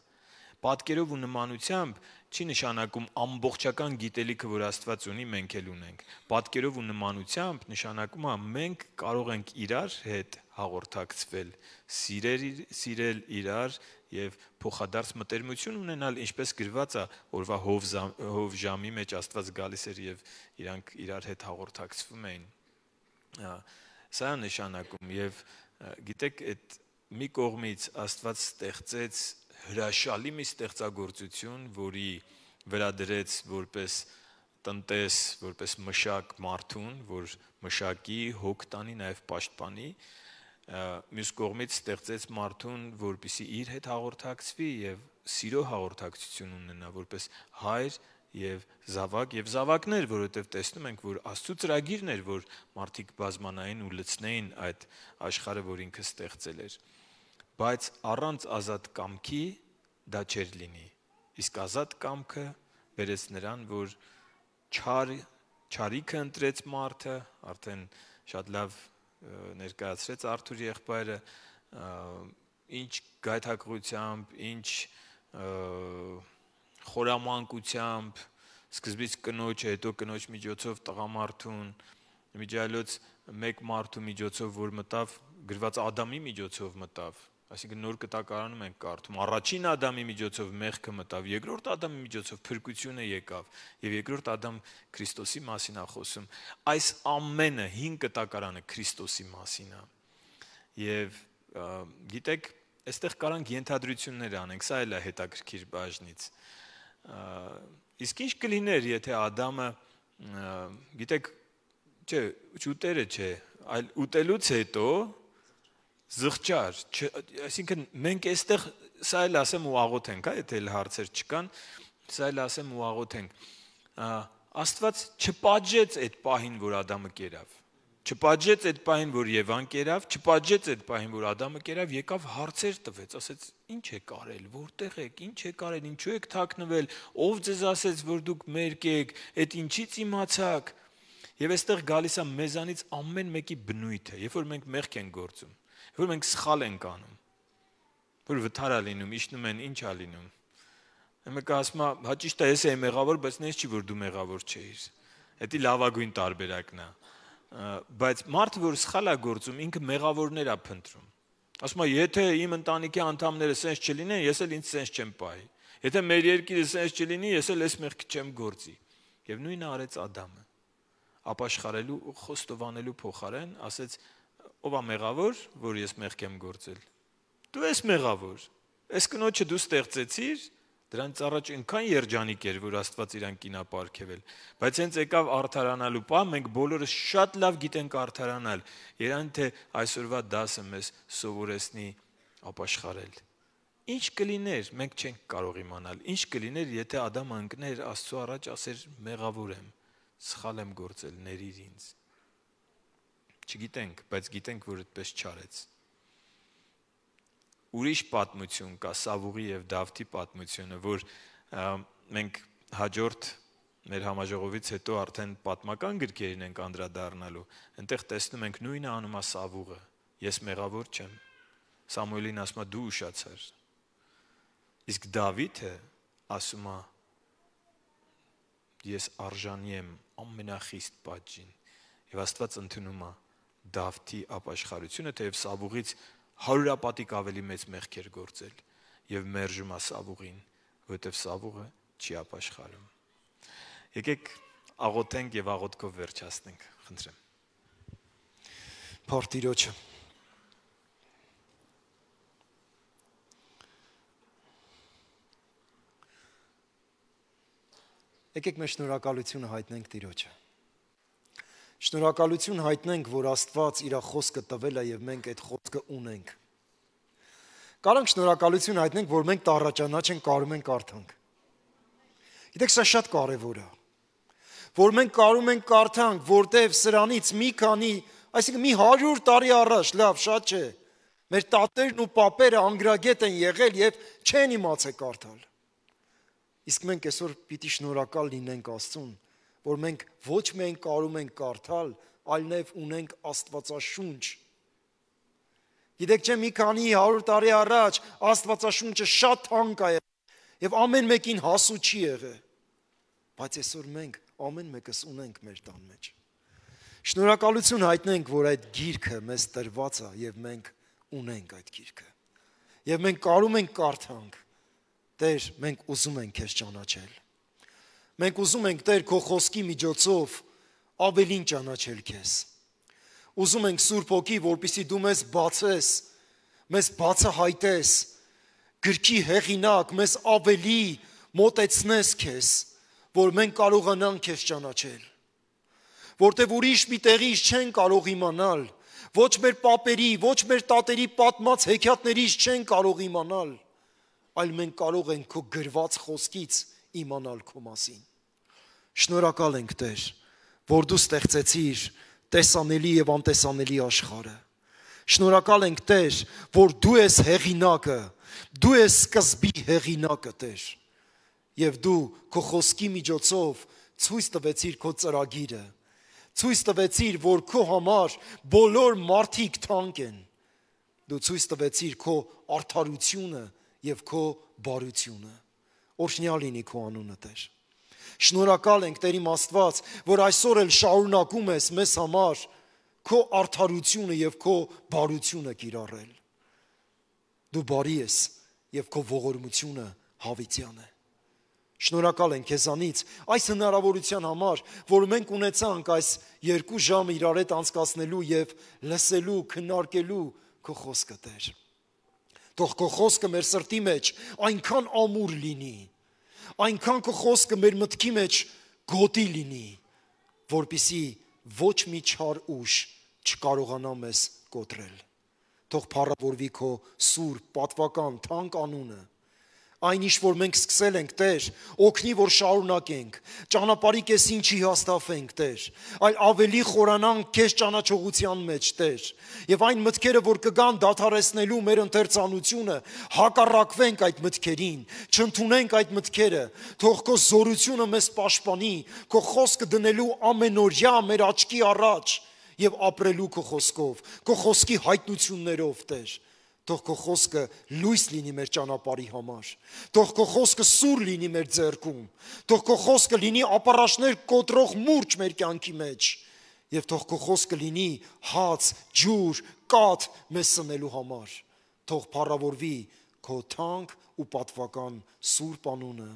Պատկերով ու նմանությամբ չի նշանակում ամբողջական գիտելիքը, որ Աստված ունի, մենք էլ ունենք։ Պատկերով ու նմանությամբ նշանակում է մենք կարող ենք իրար հետ հաղորդակցվել, սիրել, սիրել իրար եւ փոխադարձ մտերմություն ունենալ, ինչպես գրված է օրվա հով ժամի մեջ Աստված գալիս էր եւ իրանք իրար հետ հաղորդակցվում էին։ Սա նշանակում եւ գիտեք, այդ մի կողմից Աստված ստեղծեց հրաշալի մի ստեղծագործություն, որի վրա դրեց որպես տնտես, որպես մշակ մարդուն, որ մշակի, հոգ տանի, նաև պաշտպանի, մյուս կողմից ստեղծեց մարդուն, որպեսզի իր հետ հաղորդակցվի եւ սիրո հաղորդակցություն ունենա, որպես հայր եւ զավակ եւ զավակներ, որովհետեւ տեսնում ենք, որ Աստծո ծրագիրն էր, որ մարդիկ բազմանային ու լցնեին այդ աշխարհը, որ ինքը ստեղծել էր։ Բայց առանց ազատ կամքի դա չէր լինի։ Իսկ ազատ կամքը բերեց նրան, որ չար չարիքը ընտրեց մարդը, արդեն շատ լավ ներկայացրեց Արթուր եղբայրը, ինչ գայթակղությամբ, ինչ խորամանկությամբ, սկզբից կնոջը, հետո կնոջ միջոցով տղամարդուն, միջայլոց մեկ մարդու միջոցով, որ մտավ, գրված Ադամի միջոցով մտավ, այսինքն նոր կտակարանում ենք կարդում, առաջին Ադամի միջոցով մեղքը մտավ, երկրորդ Ադամի միջոցով փրկությունը եկավ, եւ երկրորդ Ադամ Քրիստոսի մասին է խոսում։ Այս ամենը հին կտակարանը Քրիստոսի մասին է։ Եվ գիտեք, այստեղ կարանք ենթադրություններ անենք, սա էլ է հետաքրքիր բաժնից։ Իսկ ինչ կլիներ, եթե Ադամը, գիտեք, չէ, ուտերը չէ, այլ ուտելուց հետո զղջար, այսինքն մենք այստեղ սա էլ ասեմ ու աղոթենք, եթե էլ հարցեր չկան, սա էլ ասեմ ու աղոթենք։ Աստված չպատժեց այդ պահին, որ Ադամը կերավ, չպատժեց այդ պահին, որ Եվան կերավ, չպատժեց այդ պահին, որ Ադամը կերավ, եկավ հարցեր տվեց, ասեց. «Ինչ եք արել, որտեղ եք, ինչ եք արել, ինչու եք թաքնվել, ով ձեզ ասեց, որ դուք մերկ եք, այդ ինչից իմացաք»։ Եվ այստեղ գալիս է մեզանից ամեն մեկի բնույթը, երբ որ մենք մեղք ենք գործում, որ մենք սխալ ենք անում, որ վթար է լինում, իջնում են, ինչ է լինում։ Մեկը ասում է, հա ճիշտ է, ես եմ մեղավոր, բայց նես չի, որ դու մեղավոր չէիր։ Դա լավագույն տարբերակն է։ Բայց մարդը, որ սխալ է գործում, ինքը մեղավորներ է փնտրում։ Ասում է, եթե իմ ընտանիքի անդամները սենց չլինեն, ես էլ ինձ սենց չեմ պահի։ Եթե մեր երկիրը սենց չլինի, ես էլ այս մեղքը չեմ գործի։ Եվ նույնը արեց Ադամը։ Ապաշխարելու ու խոստովանելու փոխարեն ասեց, ով է մեղավոր, որ ես մեղք եմ գործել։ Դու ես մեղավոր։ Այս կնոջը դու ստեղծեցիր, դրանից առաջ այնքան երջանիկ էր, որ Աստված իրան կինա պարգևել, բայց հենց եկավ արդարանալու պահ, մենք բոլորս շատ լավ գիտենք արդարանալ։ Երան թե այսօրվա դասը մեզ սովորեցնի ապաշխարել։ Ինչ կլիներ, մենք չենք կարող իմանալ։ Ինչ կլիներ, եթե Ադամը ընկներ Աստծո առաջ, ասեր մեղավոր եմ, սխալ եմ գործել, ներիր ինձ։ Չգիտենք, բայց գիտենք, որ այդպես չարեց։ Ուրիշ պատմություն կա, Սավուղի եւ Դավթի պատմությունը, որ մենք հաջորդ մեր համաժողովից հետո արդեն պատմական գրքերին ենք անդրադառնալու։ Այնտեղ տեսնում ենք նույնը անում է Սավուղը։ Ես մեղավոր չեմ։ Սամուելին ասում է դու ուշացար։ Իսկ Դավիթը ասում է ես արժանի եմ ամենախիստ պատժին։ Եվ Աստված ընդունում է Դավթի ապաշխարությունը, թեև Սավուղից հարյուրապատիկ ավելի մեծ մեղքեր գործել եւ մերժում է Սավուղին, որովհետեւ Սավուղը չի ապաշխարում։ Եկեք աղոթենք եւ աղոթքով վերջացնենք, խնդրեմ։ Փառք Տիրոջը։ Եկեք մեր շնորհակալությունը հայտնենք Տիրոջը։ Շնորհակալություն հայտնենք, որ Աստված իր խոսքը տվել է եւ մենք այդ խոսքը ունենք։ Կարանք շնորհակալություն հայտնենք, որ մենք տառաճանաչ ենք, կարում ենք կարդանք։ Գիտեք, սա շատ կարևոր է։ Որ մենք կարում ենք կարդանք, որտեվ սրանից մի քանի, այսինքն մի հարյուր տարի առաջ, լավ, շատ չէ, մեր տատերն ու պապերը անգրագետ են եղել եւ չեն իմացել կարդալ։ Իսկ մենք այսօր պիտի շնորհակալ լինենք Աստծուն, որ մենք ոչ միայն կարում ենք կարդալ, այլև ունենք Աստվածաշունչ։ Գիտեք չէ, մի քանի հարյուր տարի առաջ Աստվածաշունչը շատ թանկ է եւ ամեն մեկին հասու չի եղել։ Բայց այսօր մենք ամեն մեկս ունենք մեր տան մեջ։ Շնորհակալություն հայտնենք, որ այդ գիրքը մեզ տրված է եւ մենք ունենք այդ գիրքը։ Եվ մենք կարում ենք կարդանք։ Տեր, մենք ուզում ենք քեզ ճանաչել։ Մենք ուզում ենք Տեր քո խոսքի միջոցով ավելին ճանաչել քեզ։ Ուզում ենք Սուրբ Հոգի, որպեսզի դու մեզ բացես, մեզ բացահայտես, գրքի հեղինակ, մեզ ավելի մոտեցնես քեզ, որ մենք կարողանանք քեզ ճանաչել։ Որտեվ ուրիշ մի տեղից չեն կարող իմանալ, ոչ մեր պապերի, ոչ մեր տատերի պատմած հեքիաթներից չեն կարող իմանալ, այլ մենք կարող ենք քո գրված խոսքից իմանալ քո մասին։ Շնորհակալ ենք Տեր, որ դու ստեղծեցիր տեսանելի եւ անտեսանելի աշխարհը։ Շնորհակալ ենք Տեր, որ դու ես հեղինակը, դու ես սկզբի հեղինակը Տեր։ Եվ դու քո խոսքի միջոցով ցույց տվեցիր քո ծրագիրը, ցույց տվեցիր, որ քո համար բոլոր մարդիկ թանկ են։ Դու ցույց տվեցիր քո արդարությունը եւ քո բարությունը։ Օրհնյալ լինի քո անունը Տեր։ Շնորհակալ ենք Տեր իմ Աստված, որ այսօր էլ շարունակում ես մեզ համար քո արդարությունը եւ քո բարությունը կիրառել։ Դու բարի ես եւ քո ողորմությունը հավիտյան է։ Շնորհակալ ենք քեզանից այս հնարավորության համար, որ մենք ունեցանք այս երկու ժամ իրար հետ անցկացնելու եւ լսելու, քննարկելու քո խոսքը Տեր։ Թող քո խոսքը մեր սրտի մեջ այնքան ամուր լինի, այնքան քո խոսքը մեր մտքի մեջ գոտի լինի, որպիսի ոչ մի չար ուժ չկարողանա մեզ կոտրել։ Թող փառավորվի քո սուրբ, պատվական, թանկ անունը։ Այն ինչ որ մենք սկսել ենք Տեր, օգնի որ շարունակենք, ճանապարհի կեսին չի հաստատվենք Տեր, այլ ավելի խորանանք քեզ ճանաչողության մեջ Տեր, եւ այն մտքերը որ կգան դադարեցնելու մեր ընթերցանությունը, հակառակվենք այդ մտքերին, չընդունենք այդ մտքերը, թող քո զորությունը մեզ պաշտպանի, քո խոսքը դնելու ամենօրյա մեր աչքի առաջ եւ ապրելու քո խոսքով, քո խոսքի հայտնություններով Տեր։ Թող քո խոսքը լույս լինի մեր ճանապարհի համար։ Թող քո խոսքը սուր լինի մեր ձեռքում։ Թող քո խոսքը լինի ապառաշներ կոտրող մուրջ մեր կյանքի մեջ։ Եվ թող քո խոսքը լինի հաց, ջուր, կաթ մեզ սնելու համար։ Թող փառավորվի քո թանկ ու պատվական սուրբ անունը